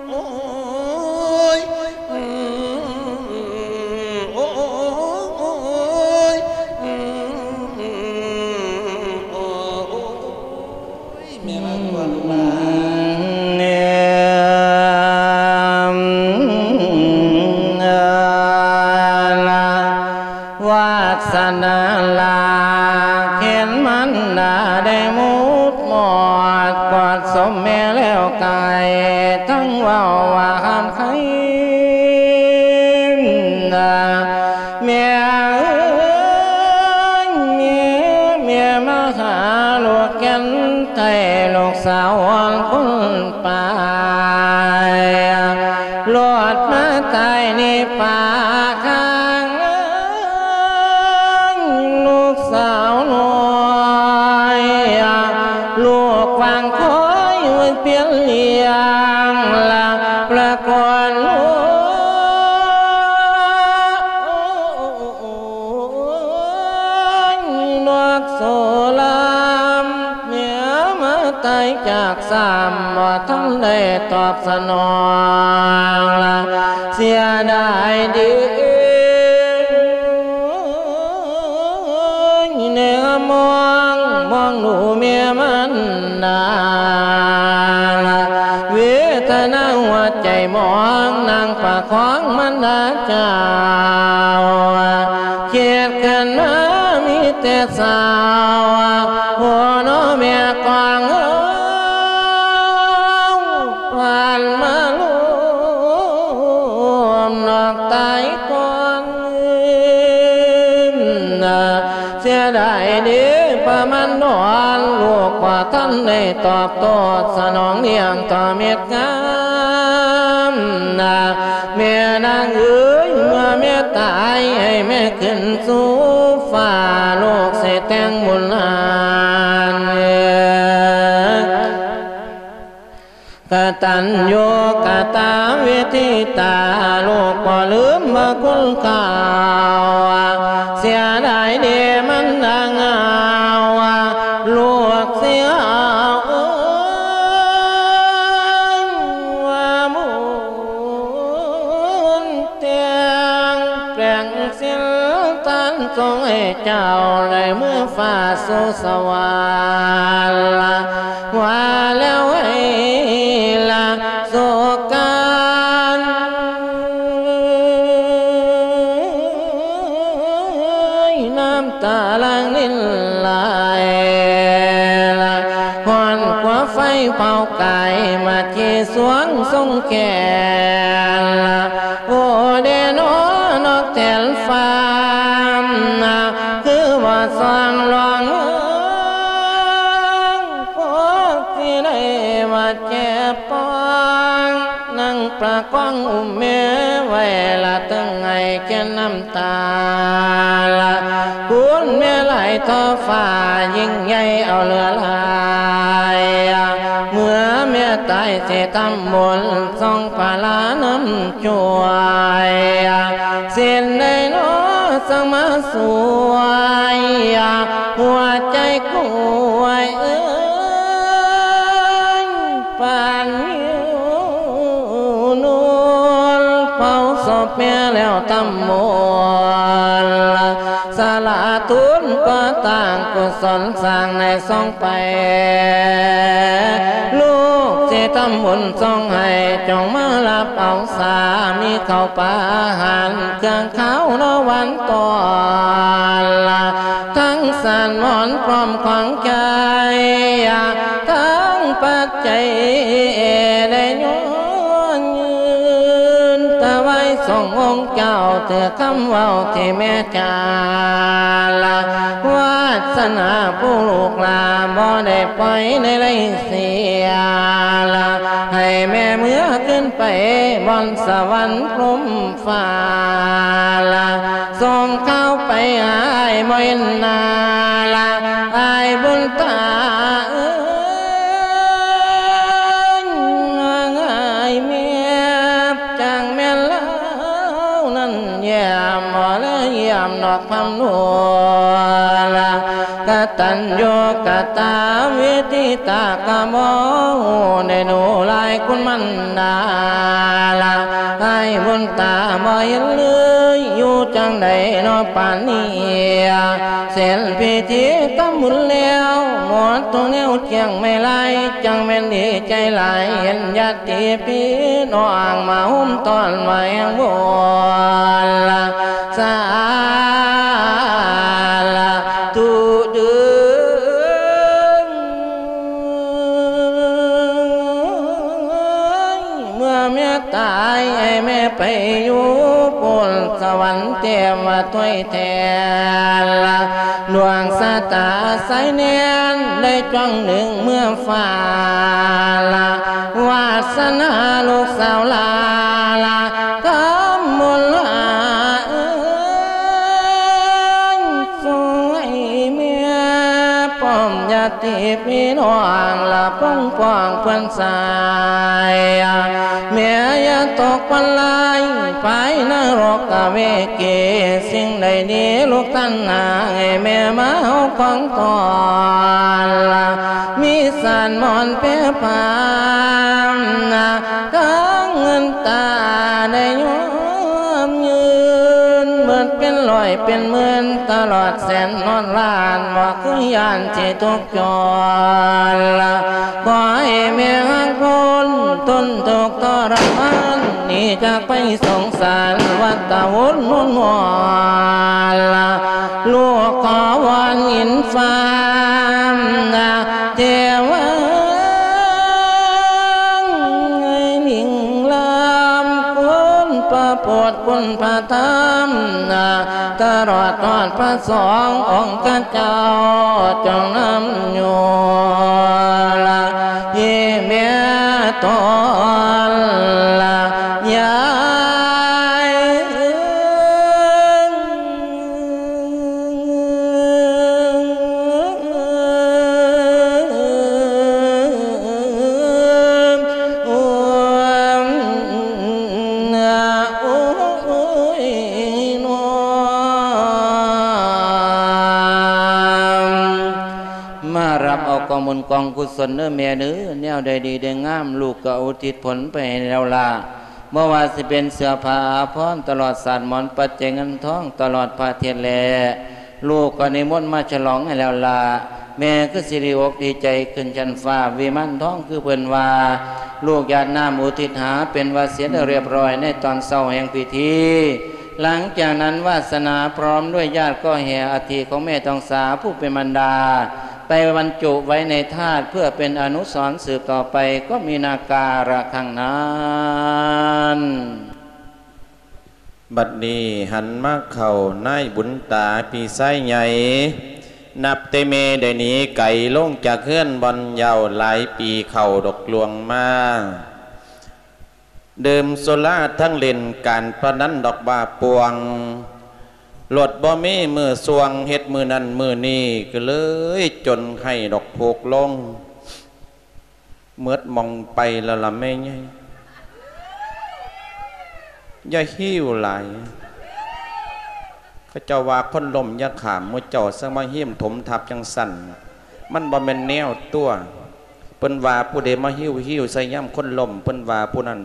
ໂອ້ຍ ໂອ້ຍ ໂອ້ຍ ແມ່ມາກ່ອນລູກຫຼານ ວາສະໜາລາກເຫັນມັນດາໄດ້ໝົດໝອດ ກອດສົມແມ່ແລ້ວກາຍ ທັງເວົ້າວ່າຫ້າມໃຄ ແມ່ເອີຍ ແມ່ ແມ່ມາຫາລູກແກ່ນໄທ ລູກສາວອ່ອນຄົນປາຍ ໂລດມາຕາຍໃນປ່າຂ້າງ ລູກສາວນ້ອຍ ລູກຫວັງຄອຍເປັນລ້ຽງ ລະປະກອນລູກ ທັນໄດ້ຕອບສະໜອງລະ ເສຍດາຍເດ້ ແນມມອງ ມອງດູແມ່ມັນດາລະ ເວທະນາຫົວໃຈໝອງ ນາງປະຄອງມັນດາເຈົ້າ ຄິດຂຶ້ນມາມີແຕ່ເສົ້າ ໂອ້ ໂນແມ່ກວາງເອີຍ ຜ່ານມາລົມນອກຕາຍກ່ອນ ເສຍດາຍເດ້ປະມານດອນ ລູກບໍ່ທັນໄດ້ຕອບໂຕ້ສະໜອງລ້ຽງຕໍ່ເມັດງາມນາ ແມ່ນາງເອີຍ ເມື່ອແມ່ຕາຍໃຫ້ແມ່ຂຶ້ນສູ່ຟ້າ ລູກຊິແຕ່ງບຸນຫຼານ ກະຕັນຍູກະຕະເວທິຕາ ລູກບໍ່ລືມພະຄຸນເກົ່າ ເສຍດາຍເດມັນດາງາວ ລູກເສຍເອີຍວ່າບຸນ ແຕ່ງແປງສິນທານ ສົ່ງໃຫ້ເຈົ້າໄດ້ເມືອຟ້າສູ່ສະຫວັນ ວ່າແລ້ວໃຫ້ລະໂສການ ນ້ຳຕາຫຼັ່ງລິນໄຫຼ ຮ້ອນກວ່າໄຟເຜົາກາຍ ມາທີ່ສວງຊົງແຂນ ໂອເດນໍ ນອກແທນຟ້າ ຄືວ່າສອງລອງ ພວກທີ່ໄດ້ວ່າເຈັບປອງ ນາງປະຄອງອຸ້ມແມ່ໄວ້ ລະຕຶງໄຫ້ແກ່ນນ້ຳຕາ ລະຄຸນແມ່ຫຼາຍທໍ່ຟ້າ ຍິ່ງໃຫຍ່ເອົາເຫຼືອຫຼາຍ ເມື່ອແມ່ຕາຍຊິທຳບຸນ ສົ່ງພະລານຳ ຊ່ວຍ ເຊັ່ນໃດນໍ ຈັ່ງມາຊ່ວຍ ຫົວໃຈກວຍເອີຍ ປານຫິວໂນນ ເຜົາສົບແມ່ແລ້ວທຳບຸນ ສາລາທູນກໍ່ສ້າງກຸສົນ ສ້າງໃນ ໄປ ລູກຊິທຳບຸນສົ່ງໃຫ້ ຈົ່ງມາຮັບເອົາສາມີເຂົ້າປາອາຫານ ເຄື່ອງຄາວເນາະຫວານຕ້ອນ ທັງສານໝອນພ້ອມຂອງໃຈ ທັງປັດໄຈໄດ້ຍອນຍືນ ຖວາຍສົ່ງອົງເຈົ້າ ຖືກຄຳເວົ້າທີ່ແມ່ ຈາລະ ວາສະໜາຜູ້ລູກຫຼານ ບໍ່ໄດ້ປ່ອຍໃນໄລເສຍລະ ໃຫ້ແມ່ເມືອຂຶ້ນໄປບ່ອນສະຫວັນພົມຟ້າລະ ສົ່ງຂ່າວໄປຫາອ້າຍບໍ່ເຫັນໜ້າລະ ອ້າຍບຸນຕາເອີຍ ອ້າຍແມ່ ຈັ່ງແມ່ນລາວນັ້ນ ຢ້ຽມບໍ່ເລີຍຢ້ຽມນອກພຳນວນ ກະຕັນຍູກະຕະເວທິຕາ ກະບໍ່ຮູ້ໄດ້ດູຫຼາຍຄຸນມັນດາລະ ອ້າຍບຸນຕາບໍ່ເຫັນເລີຍ ຢູ່ຈັ່ງໃດເນາະປານນີ້ ເສັດພິທີທຳບຸນແລ້ວ ໝົດທຸກແນວຈຽງແມ່ລາຍ ຈັ່ງແມ່ນດີໃຈຫຼາຍ ເຫັນຍາດຕິພີ່ນ້ອງມາໂຮມຕ້ອນມາແຮງວອນລະ ສາລະທຸເດີ ເມື່ອແມ່ຕາຍໃຫ້ແມ່ໄປຢູ່ພຸ້ນ ສະຫວັນເຕັມວ່າຖ້ວຍແທນລະ ດວງຊະຕາສາຍແນນ ໄດ້ຈ້ອງດຶງເມືອຟ້າລະ ວາສະໜາລູກສາວຫຼ້າລະ ທຳບຸນຫຼ້າເອີຍ ຊ່ວຍແມ່ປ້ອມຍາດຕິພີ່ນ້ອງລະ ປົງປ້ອງເພື່ອນຊາຍ ແມ່ຢ່າຕົກວັນລາຍ ພາຍນະລົກກະເວເກ ສິ່ງໃດດີລູກຕັນຫາ ໃຫ້ແມ່ມາເອົາຂອງຕ້ອນລະ ມີ ສານໝອນເປພານ ກາງເງິນຕາໄດ້ຍອມຢືນ ໝົດເປັນຮ້ອຍເປັນໝື່ນ ຕະຫຼອດແສນຮອດລ້ານ ບໍ່ເຄີຍຢ້ານຊິທຸກ ຈອນລະ ຂໍໃຫ້ແມ່ຮັກຄົນ ທົນທຸກທໍລະມານ ໜີຈາກໄພສົງສານ ວັດຕະວົນວົນວອນລະ ລູກຂໍວອນອິນຟ້ານະ ເທວາງໃຫ້ຫຼີ່ງລຳ ຄຸນພະພຸດ ຄຸນພະທຳນະ ຕະຫຼອດຮອດພະສົງ ອົງຄະເຈົ້າຈົ່ງນຳຢູ່ລະ ເຍແມ່ຕົນລະຍາຍ. ມາຮັບເອົາກອງບຸນກອງກຸສົນເດີແມ່ເດີ ແນວໃດດີໄດ້ງາມ ລູກກໍອຸທິດຜົນໄປໃຫ້ແລ້ວລະ ບໍ່ວ່າຊິເປັນເສື້ອຜ້າອາພອນ ຕະຫຼອດສາດໝອນ ປັດໄຈເງິນທອງ ຕະຫຼອດພະເທດແລ ລູກກໍນິມົນມາສະຫຼອງໃຫ້ແລ້ວລະ ແມ່ຄືຊິດີອົກດີໃຈຂຶ້ນຊັ້ນຟ້າ ວິມານທອງຄືເພິ່ນວ່າ ລູກຢາດນ້ຳອຸທິດຫາ ເປັນວາສີລຽບຮ້ອຍໃນຕອນເຊົ້າແຫ່ງພິທີ ຫຼັງຈາກນັ້ນວາສະໜາພ້ອມດ້ວຍຍາດກໍແຫ່ອັດຖິຂອງແມ່ທອງສາຜູ້ເປັນມານດາ ໄປບັນຈຸໄວ້ໃນທາດ ເພື່ອເປັນອະນຸສອນສືບຕໍ່ໄປ ກໍມີນາກາລະຄັ້ງນັ້ນ. ບັດນີ້ຫັນມາເຂົ້ານາຍບຸນຕາພີ່ຊາຍໃຫຍ່ ນັບແຕ່ແມ່ໄດ້ໜີໄກລົງຈາກເຮືອນບ່ອນເຍົາຫຼາຍປີເຂົ້າດອກລວງມາ ດື່ມສຸລາທັງຫຼິ້ນການພະນັນດອກບ້າປ່ວງ ລົດບໍ່ມີມື້ຊ່ວງ ເຮັດມື້ນັ້ນມື້ນີ້ ກໍເລີຍຈົນໄຫ້ດອກທຸກລົງ ໝົດໝ່ອງໄປແລ້ວລະແມ່ໃຫຍ່ ຢ່າຫິ້ວຫຼາຍ ເຂົາເຈົ້າວ່າຄົນລົ້ມຢ່າຂ້າມ ໝູ່ເຈົ້າຈັ່ງມາຫິ້ມຖົມທັບຈັ່ງຊັ້ນ ມັນບໍ່ແມ່ນແນວຕົວະ ເພິ່ນວ່າຜູ້ໃດມາຫິ້ວໆໃສ່ຍາມຄົນລົ້ມ ເພິ່ນວ່າຜູ້ນັ້ນ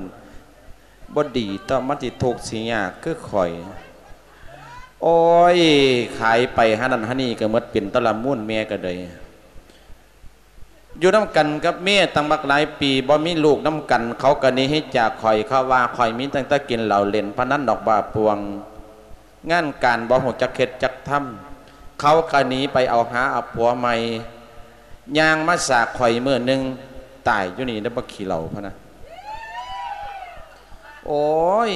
ບໍ່ດີ ແຕ່ມັນຊິທຸກຊິຍາກຄືຂ້ອຍ ໂອ້ຍ ຂາຍໄປຫານັ້ນຫານີ້ກໍໝົດ ເປັນຕະລະມູນແມ່ກໍໄດ້ ຢູ່ນຳກັນກັບເມຍຕັ້ງບັກຫຼາຍປີ ບໍ່ມີລູກນຳກັນ ເຂົາກໍໜີໃຫ້ຈາກຂ້ອຍ ເຂົາວ່າຂ້ອຍມີຕັ້ງແຕ່ກິນເຫຼົ້າ ຫຼິ້ນພະນັນດອກບ້າປ່ວງ ງານການບໍ່ຮູ້ຈັກເຮັດຈັກທຳ ເຂົາກໍໜີໄປເອົາຫາເອົາຜົວໃໝ່ ຍ່າງມາສາກຂ້ອຍມື້ໜຶ່ງ ຕາຍຢູ່ນີ້ເດີ ບັກຂີ້ເຫຼົ້າພະນະ ໂອ້ຍ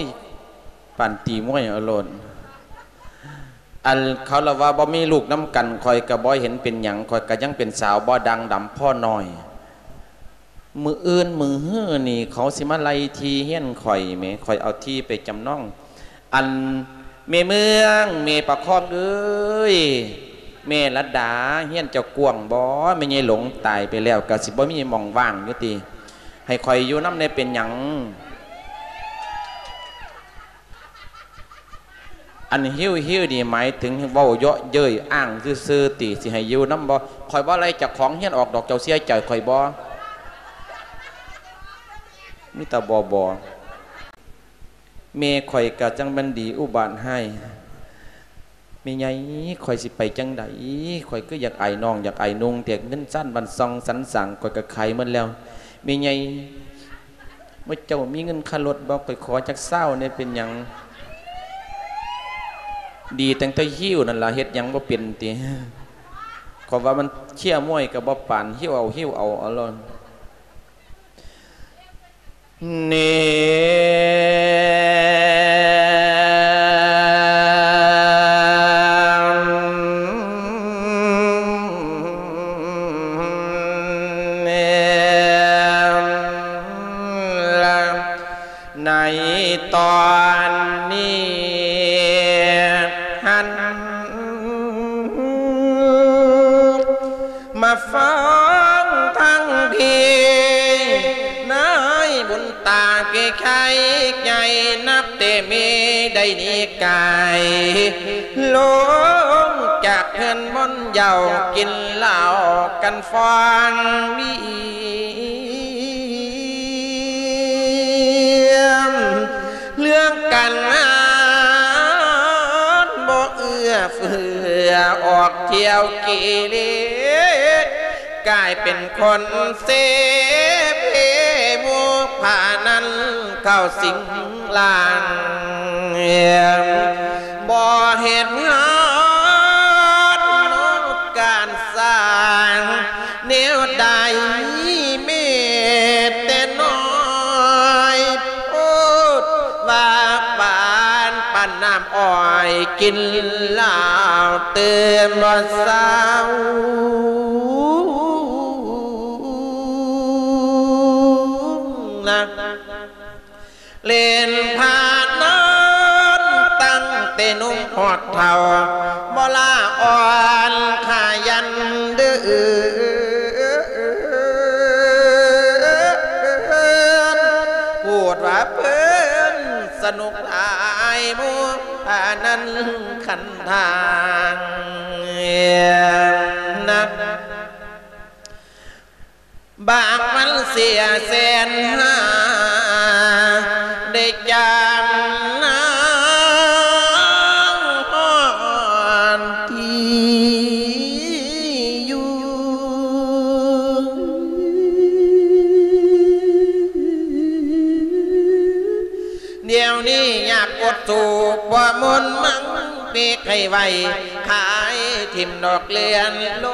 ປານຕີມວຍເອົາໂລດ ອັນເຂົາລະວ່າບໍ່ມີລູກນຳກັນ ຂ້ອຍກະບໍ່ເຫັນເປັນຫຍັງ ຂ້ອຍກະຍັງເປັນສາວບໍ່ດ່າງດຳພໍໜ້ອຍ ມື້ອື່ນມື້ຮືນີ້ເຂົາຊິມາໄລ່ທີ່ເຮືອນຂ້ອຍແໝ ຂ້ອຍເອົາທີ່ໄປຈຳນອງ ອັນແມ່ເມືອງ ແມ່ປະຄອງເອີຍ ແມ່ລັດດາ ເຮືອນເຈົ້າກວ້າງບໍ່? ແມ່ໃຫຍ່ຫຼົງຕາຍໄປແລ້ວ ກະຊິບໍ່ມີໝ່ອງວ່າງຢູ່ຕິ ໃຫ້ຂ້ອຍຢູ່ນຳແດ່ເປັນຫຍັງ? ອັນຫິ້ວໆນີ້ໝາຍເຖິງເວົ້າເຍາະເຍີ້ຍອ້າງຊື່ໆຕິ ຊິໃຫ້ຢູ່ນຳບໍ່? ຂ້ອຍບໍ່ໄລ່ເຈົ້າຂອງເຮືອນອອກດອກ ເຈົ້າເສຍໃຈຂ້ອຍບໍ່? ມີແຕ່ບໍ່ໆ ແມ່ຂ້ອຍກະຈັ່ງແມ່ນດີອຸບາດຮ້າຍ ແມ່ໃຫຍ່ ຂ້ອຍຊິໄປຈັ່ງໃດ? ຂ້ອຍຄືຢາກອາຍນ້ອງ ຢາກອາຍນຸ່ງແທ້ ເຮືອນຊານບ້ານຊ່ອງສັນສ້າງ ຂ້ອຍກະຂາຍໝົດແລ້ວ ແມ່ໃຫຍ່ ໝູ່ເຈົ້າມີເງິນຄ່າລົດບໍ່? ຂ້ອຍຂໍຈັກຊາວແດ່ ເປັນຫຍັງ? ດີຕັ້ງແຕ່ຫິ້ວນັ້ນລະ ເຮັດຫຍັງບໍ່ເປັນຕິ? ຂ້ອຍວ່າມັນເຊຍມວຍກະບໍ່ປານ ຫິ້ວເອົາ ຫິ້ວເອົາ ເອົາໂລດ. ນີ້ ໃນຕອນນີ້ຫັ້ນ ມາຟັງທາງພີ ນາຍບຸນຕາເກໄຄໃຫຍ່ ນັບແຕ່ເມໄດ້ໜີກາຍ ລົງຈາກ ກັນມ່ວນເຍົາ ກິນເຫຼົ້າກັນຟອງວຽມ ເລື່ອງການງານບໍ່ເອື້ອເຟື້ອ ອອກທ່ຽວກິເລດ ກາຍເປັນຄົນເສເພ ໝູ່ພານັ້ນເຂົ້າສິງລ່າງ ບໍ່ເຮັດງານການສ້າງແນວໃດ ແມ້ແຕ່ນ້ອຍໂພດ ວ່າປານປານນ້ຳອ້ອຍ ກິນເຫຼົ້າຕື່ມບໍ່ເຊົານະ. ຫຼິ້ນພານອນຕັ້ງແຕ່ໜຸ່ມຮອດເຖົ້າ ບໍ່ລາອ່ອນຂະຫຍັນເດີ ພູດວ່າເພິ່ນສະໜຸກຫຼາຍ ໝູ່ພານັ້ນຄັນທາງນະ. ບາງມັນເສຍແສນຫາ ໄດ້ຈາມນາງຮອນທີ່ຢູ່ ດຽວນີ້ຍາກອົດສູ້ ບໍ່ມົນມັງເປັກໃຫ້ໄວ ຂາຍຖິ້ມດອກເລື່ອນໂລ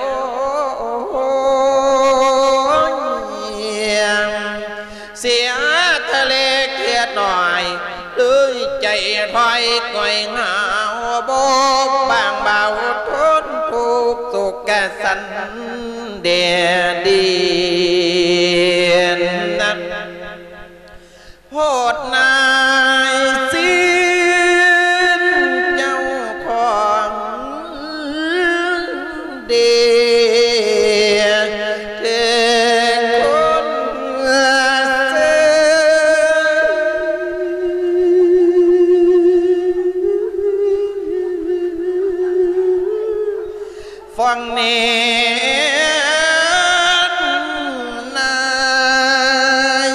ຍ ເສຍທະເລເກືອໜ້ອຍ ເລີຍໃຈຖອຍກ່ອຍຫາວ ບໍ່ບາງເບົາທົນທຸກສຸກກະສັນແດດດິນນະ. ໂພດນາຍສິນເຈົ້າຂອງເດ ເຖິງຄົນເຊີ ຟັງແນ່ນາຍ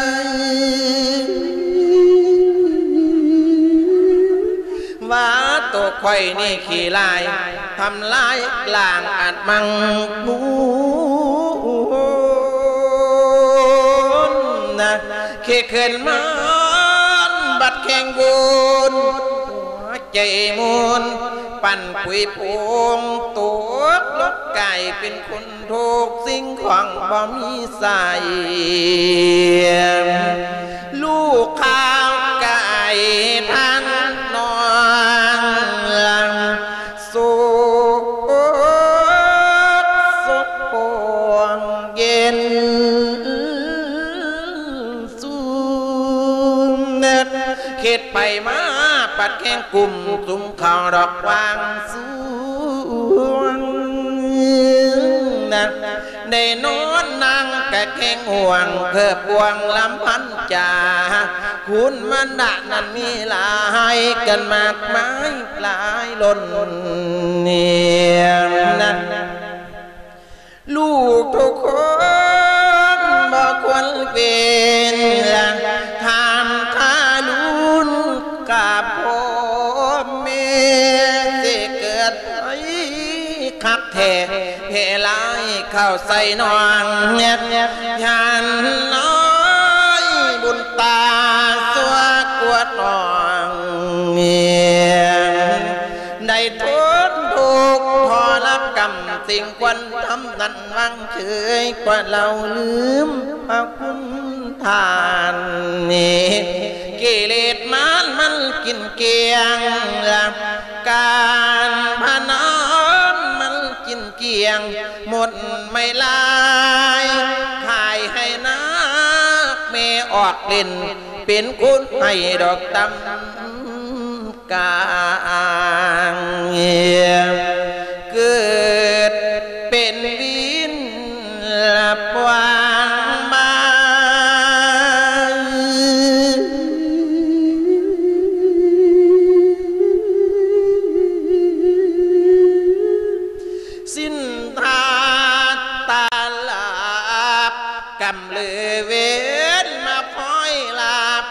ວ່າໂຕຂ້ອຍນີ້ຂີ້ຮ້າຍ ທຳລາຍລ້າງອັດມັງມູນນະ ເຂດເຂື່ອນມານບັດແຂ່ງວຸ່ນ ໃຈມູນ ປັນປຸຍໂປ່ງ ຕົກລົງກາຍເປັນຄົນທຸກສິ່ງຂອງບໍ່ມີໃສ ລູກຂ້າວກາຍທານນອນ ໂສກໂສກໂປ່ງເຢັນ ສູນເນັດ ເຂດໄປມາປັດແຂ່ງກຸ່ມ ສຸມເຂົ້າດອກຫວ່າງສວງນະ ໄດ້ນອນນັ່ງກະແຂ່ງຫ່ວງ ເພີ່ບພວງລຳພັນຈາ ຄຸນມານະນັ້ນມີຫຼາຍ ກັນມາກມາຍຫຼາຍລົ້ນນຽມນະ. ລູກທຸກຄົນບໍ່ຄວນເປັນ ຖາມທາລຸນກັບພໍ່ແມ່ ຊິເກີດໃຜຄັກແທ້ ແຜ່ຫຼາຍເຂົ້າໃສ່ນ້ອງ ຢ້ານນ້ອຍບຸນຕາຊົ່ວກວ່ານ້ອງ ໄດ້ທົນທຸກທໍລະກຳ ສິ່ງຄວນທຳນັ້ນ ຫວັງເຄີຍກວ່າເລົ່າ ລືມພະຄຸນທ່ານນີ້ ກິເລດມານມັນກິນກ້ຽງ ການພະນັນມັນກິນກ້ຽງ ໝົດໄມ້ລາຍ ຂາຍໃຫ້ນາກແມ່ອອກຫຼິ້ນ ເປັນຄົນໃຫ້ດອກຕຳ ກາງ ເກີດເປັນວິນລະປວາງມາຍ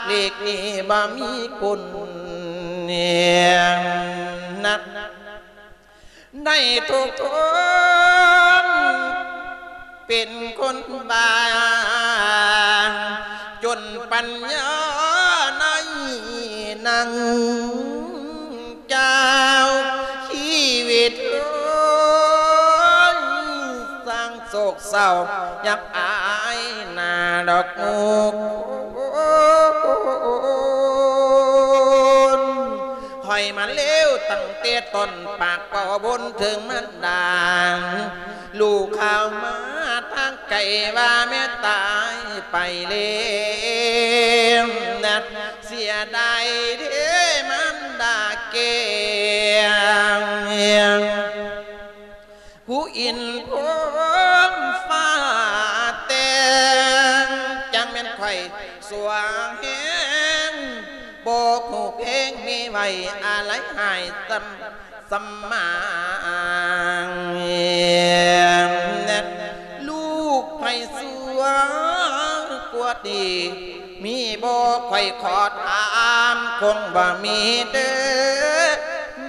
ເດັກນີ້ບໍ່ມີຄຸນນະ ໃນທຸກຄົນເປັນຄົນບ້າ ຈົນປັນຍາໃນນາງ ເຈົ້າ ຊີວິດເອີຍ ສ້າງໂສກເສົ້າ ຢາກອາຍໜ້າດອກໝູ່ຄົນ ຂ້ອຍມາເລວຕັ້ງແຕ່ຕົ້ນ ປາກເວົ້າບົນເຖິງມານດາ ລູກຂ່າວມາທາງໄກວ່າແມ່ຕາຍໄປແລ້ວນະ ເສຍດາຍເດ້ມານດາແກ້ວ ຜູ້ອິນພົມຟ້າແຕ່ງ ຈັ່ງແມ່ນຂ້ອຍຊົ່ວແຮງ ບໍ່ຮູ້ເພງ ມີໄວ້ອາໄລຫາຍສ່ຳ ສຳມາງ ລູກໃຜຊົ່ວກວ່າດີ ມີບໍ່ ຂ້ອຍຂໍຖາມ ຄົງບໍ່ມີເດີ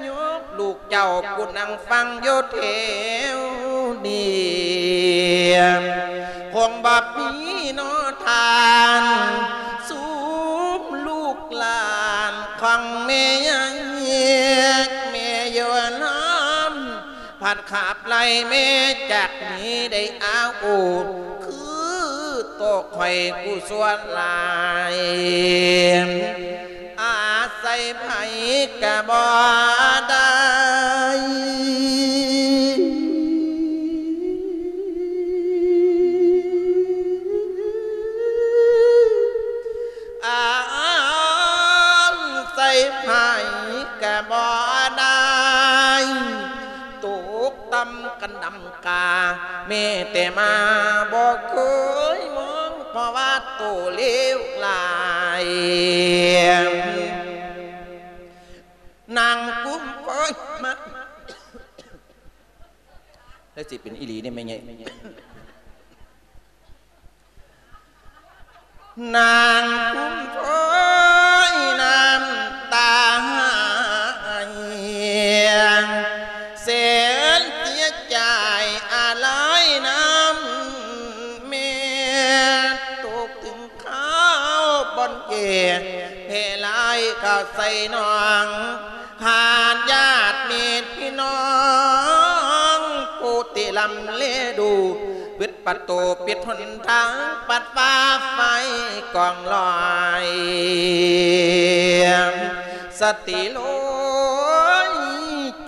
ໂຍມລູກເຈົ້າ ຜູ້ນັ່ງຟັງຢູ່ແຖວນີ້ ຄົງບໍ່ມີເນາະທ່ານ ຊຸມລູກຫຼານຂອງແມ່ໃຫຍ່ ແມ່ຢູ່ນຳ ພັດຂັບໄລ່ແມ່ຈາກນີ້ໄດ້ອາວໂອ ຄືໂຕຂ້ອຍຜູ້ຊົ່ວຫຼາຍ ອາໄສໃຜກະບໍ່ໄດ້ ອາໄສໃຜກະບໍ່ໄດ້ ຕົກຕ່ຳກະດຳກາ ແມ້ແຕ່ມາບໍ່ເຄີຍມອງ ເພາະວ່າໂຕເລວຫຼາຍ ນາງກຸມໂອ້ຍມາ ແລ້ວຊິເປັນອີ່ຫຼີເດ້ແມ່ໃຫຍ່ ນາງກຸມໂອ້ຍນ້ຳຕາໄຫ້ ແສນເສຍໃຈອາໄລນຳແມ່ ຕົກເຖິງຄາວບ່ອນແກ່ ແຜ່ຫຼາຍເຂົ້າໃສ່ນ້ອງ ຂາດຍາດມິດພີ່ນ້ອງ ຜູ້ທີ່ລຳແລດູ ປິດປະຕູປິດຫົນທາງ ປັດຟ້າໄຟກອງລອຍ ສະຕິໂລຍ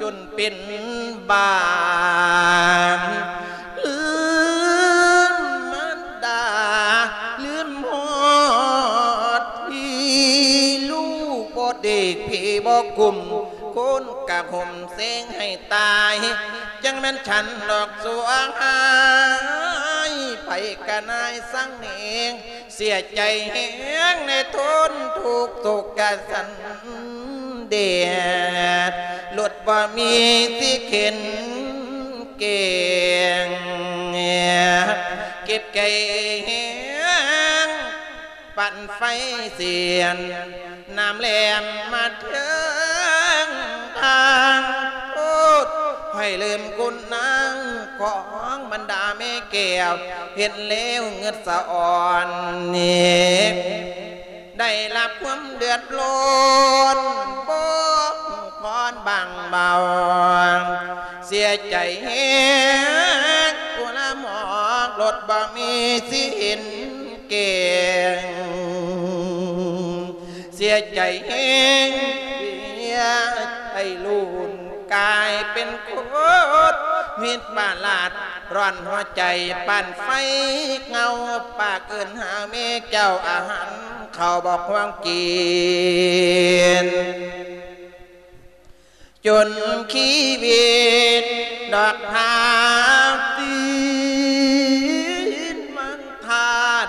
ຈົນເປັນບ້າ ລືມມານດາ ລືມຮອດພີ່ ລູກບໍ່ເດັກ ພີ່ບໍ່ກຸ້ມ ຄົນກະຫົ່ມເຊັງໃຫ້ຕາຍ ຈັ່ງແມ່ນສັນດອກສວງຫາຍ ໃຜກະນາຍສັງເໜງ ເສຍໃຈແຮງໃນທົນທຸກໂສກກະສັນແດດ ລົດບໍ່ມີຊິເຂັນແກ່ງ ເຈັບໃຈແຮງ ປັ້ນໄຟສຽນ ນ້ຳແຫຼມມາເຖິງທາງໂທດ ໃຫ້ລືມຄຸນນາງຂອງບັນດາແມ່ແກ້ວ ເຫັນແລ້ວເງືອດສະອອນນີ້ ໄດ້ຮັບຄວາມເດືອດຮ້ອນ ບໍ່ພໍບາງເບົາ ເສຍໃຈແຮງ ຜູ້ລະໝອກລົດບໍ່ມີຊິເຫັນ ແກ່ງ ເສຍໃຈແຮງ ເສຍໃຈລູນ ກາຍເປັນຄົນຜິດປະຫຼາດ ຮ້ອນຫົວໃຈປານໄຟເງົາ ປາກເອີ້ນຫາແມ່ເຈົ້າ ອາຫານເຂົ້າບໍ່ຄວນກິນ ຈົນຊີວິດດອກທາບ ຕີນມັນຂາດ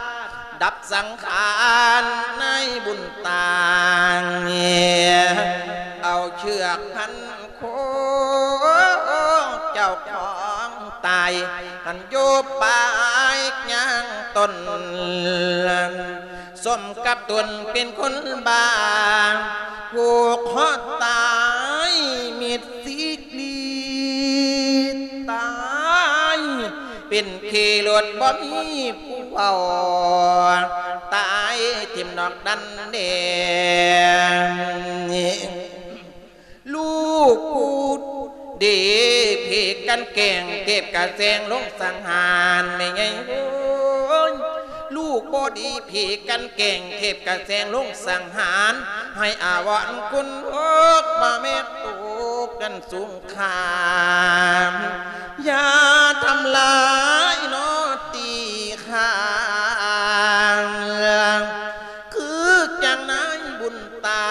ດັບສັງຂານໃນບຸນຕາງ ເອົາເຊືອກພັນຄົງ ເຈົ້າຂອງຕາຍ ຫັ້ນຢູ່ປາຍຍ່າງຕົ້ນ ສົມກັບຕົນເປັນຄົນບ້າ ຜູກຄອຕາຍມິດຊີກລີ ຕາຍເປັນເຄລົດບໍ່ມີຜູ້ເຝົ້າ ຕາຍຖິ້ມນອກດັນແດງ. ລູກຜູ້ດີຜີກກັນແກງ ເທບກະແຊງລົງສັງຫານ ແມ່ໃຫຍ່ໂອ້ຍ ລູກບໍ່ດີຜີກກັນແກງ ເທບກະແຊງລົງສັງຫານ ໃຫ້ອາວອນຄຸນໂອກ ມາແມ່ໂຕກັນສົງຄາມ ຢ່າທຳລາຍນໍຕີຂ້າ ຄືຈັ່ງນາຍບຸນຕາ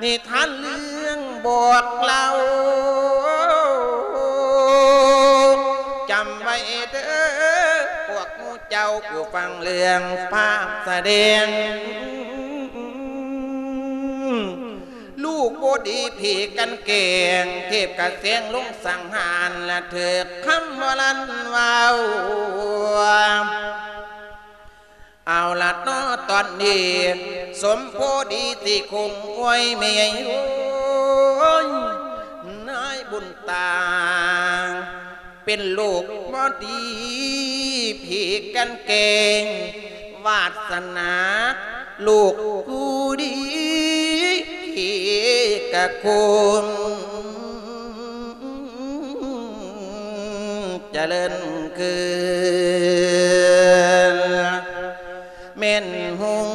ນິທານເລື່ອງບອກເລົ່າ ຈຳໄວ້ເດີພວກໝູ່ເຈົ້າ ຜູ້ຟັງເລື່ອງພາບສະແດງ ລູກບໍ່ດີຜີກກັນແກງ ເທບກະແຊງລົງສັງຫານ ລະຖືກຄຳບໍ່ລັນເວົ້າ. ເອົາລະເນາະ ຕອນນີ້ສົມພໍດີຊິຄົງອວຍແມ່ໃຫຍ່ໂອ້ຍ ນາຍບຸນຕາ ເປັນລູກບໍ່ດີຜີກກັນແກງ ວາສະໜາລູກຜູ້ດີທີ່ກະຄົງ ຈະເລີນຄືນ ແມ່ນຮຸ່ງ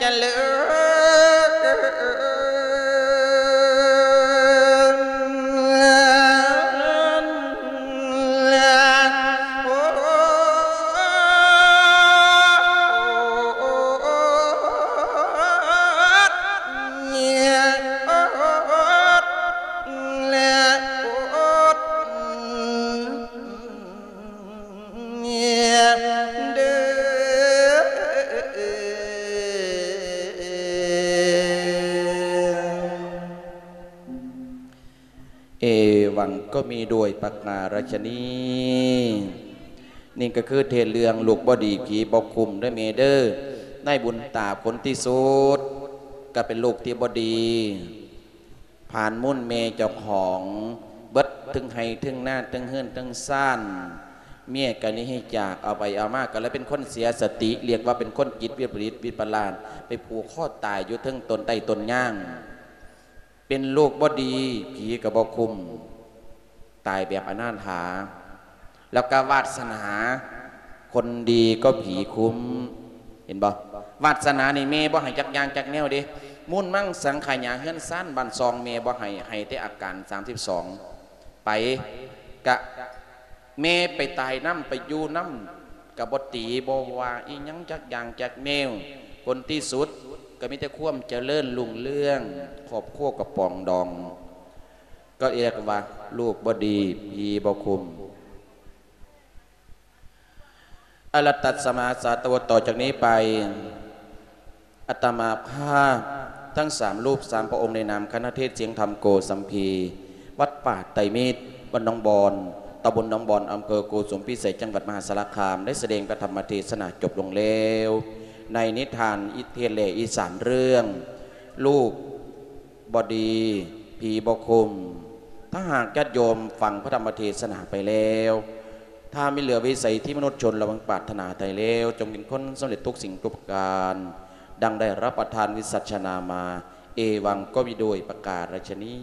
ຈະເລີນ. ເອວັງກໍມີດ້ວຍປະການລັດຊະນີ. ນີ້ກໍຄືເທດເລື່ອງລູກບໍ່ດີຜີບໍ່ຄຸ້ມເດີແມ່ເດີ. ນາຍບຸນຕາຄົນທີ່ສຸດກໍເປັນລູກທີ່ບໍ່ດີ ຜ່ານມູນແມ່ເຈົ້າຂອງເບິດ ເທິງໄຮ່ເທິງນາ ເທິງເຮືອນເທິງຊານ. ເມຍກໍໜີຈາກ ເອົາໄປເອົາມາກໍເລີຍເປັນຄົນເສຍສະຕິ ລຽກວ່າເປັນຄົນຈິດວິປະລິດວິປະຫຼາດ ໄປຜູກຄໍຕາຍຢູ່ເທິງຕົ້ນໄມ້ຕົ້ນຍາງ. ເປັນລູກບໍ່ດີ ຜີກໍບໍ່ຄຸ້ມ ຕາຍແບບອະນາຖາ. ແລ້ວກໍວາດສະໜາ ຄົນດີກໍຜີຄຸ້ມ. ເຫັນບໍ່? ວາດສະໜານີ້ແມ່ບໍ່ໃຫ້ຈັກຢ່າງຈັກແນວເດ້. ມູນມັງສັງຂະຫຍາເຮືອນຊານບ້ານຊ່ອງແມ່ບໍ່ໃຫ້ ໃຫ້ແຕ່ອາການສາມສິບສອງ ໄປ ກະແມ່ໄປຕາຍນຳ ໄປຢູ່ນຳ ກະບໍ່ຕີບໍ່ວ່າອີ່ຫຍັງຈັກຢ່າງຈັກແນວ. ຜົນທີ່ສຸດກໍມີແຕ່ຄວາມຈະເລີນຮຸ່ງເຮືອງ ຄອບຄົວກໍປອງດອງ. ກໍເອີ້ນວ່າລູກບໍ່ດີ ຜີບໍ່ຄຸ້ມ. ອະລະຕັດສະມາສາໂຕ. ຕໍ່ຈາກນີ້ໄປ ອາດຕະມາພາບທັງສາມຮູບສາມພະອົງ ໃນນາມຄະນະເທດສຽງທຳໂກສຳພີ ວັດປ່າໄຕມິດ ບ້ານໜອງບອນ ຕຳບົນໜອງບອນ ອຳເພີໂກສຸມພິສັຍ ຈັງຫວັດມະຫາສາລະຄາມ ໄດ້ສະແດງພະທຳມະເທດສະໜາຈົບລົງແລ້ວ ໃນນິທານເທດແຫຼອີສານເລື່ອງ ລູກ ບໍ່ດີ ຜີບໍ່ຄຸ້ມ. ຖ້າຫາກຍາດໂຍມຟັງພະທຳມະເທດສະໜາໄປແລ້ວ ຖ້າມີເຫຼືອວິໄສທີ່ມະນຸດຊົນລະວັງປາດຖະໜາໄດ້ແລ້ວ ຈົ່ງເປັນຄົນສຳເລັດທຸກສິ່ງທຸກປະການ ດັ່ງໄດ້ຮັບປະທານວິສັດຊະນາມາ. ເອວັງ ກໍມີດ້ວຍປະການລັດຊະນີ.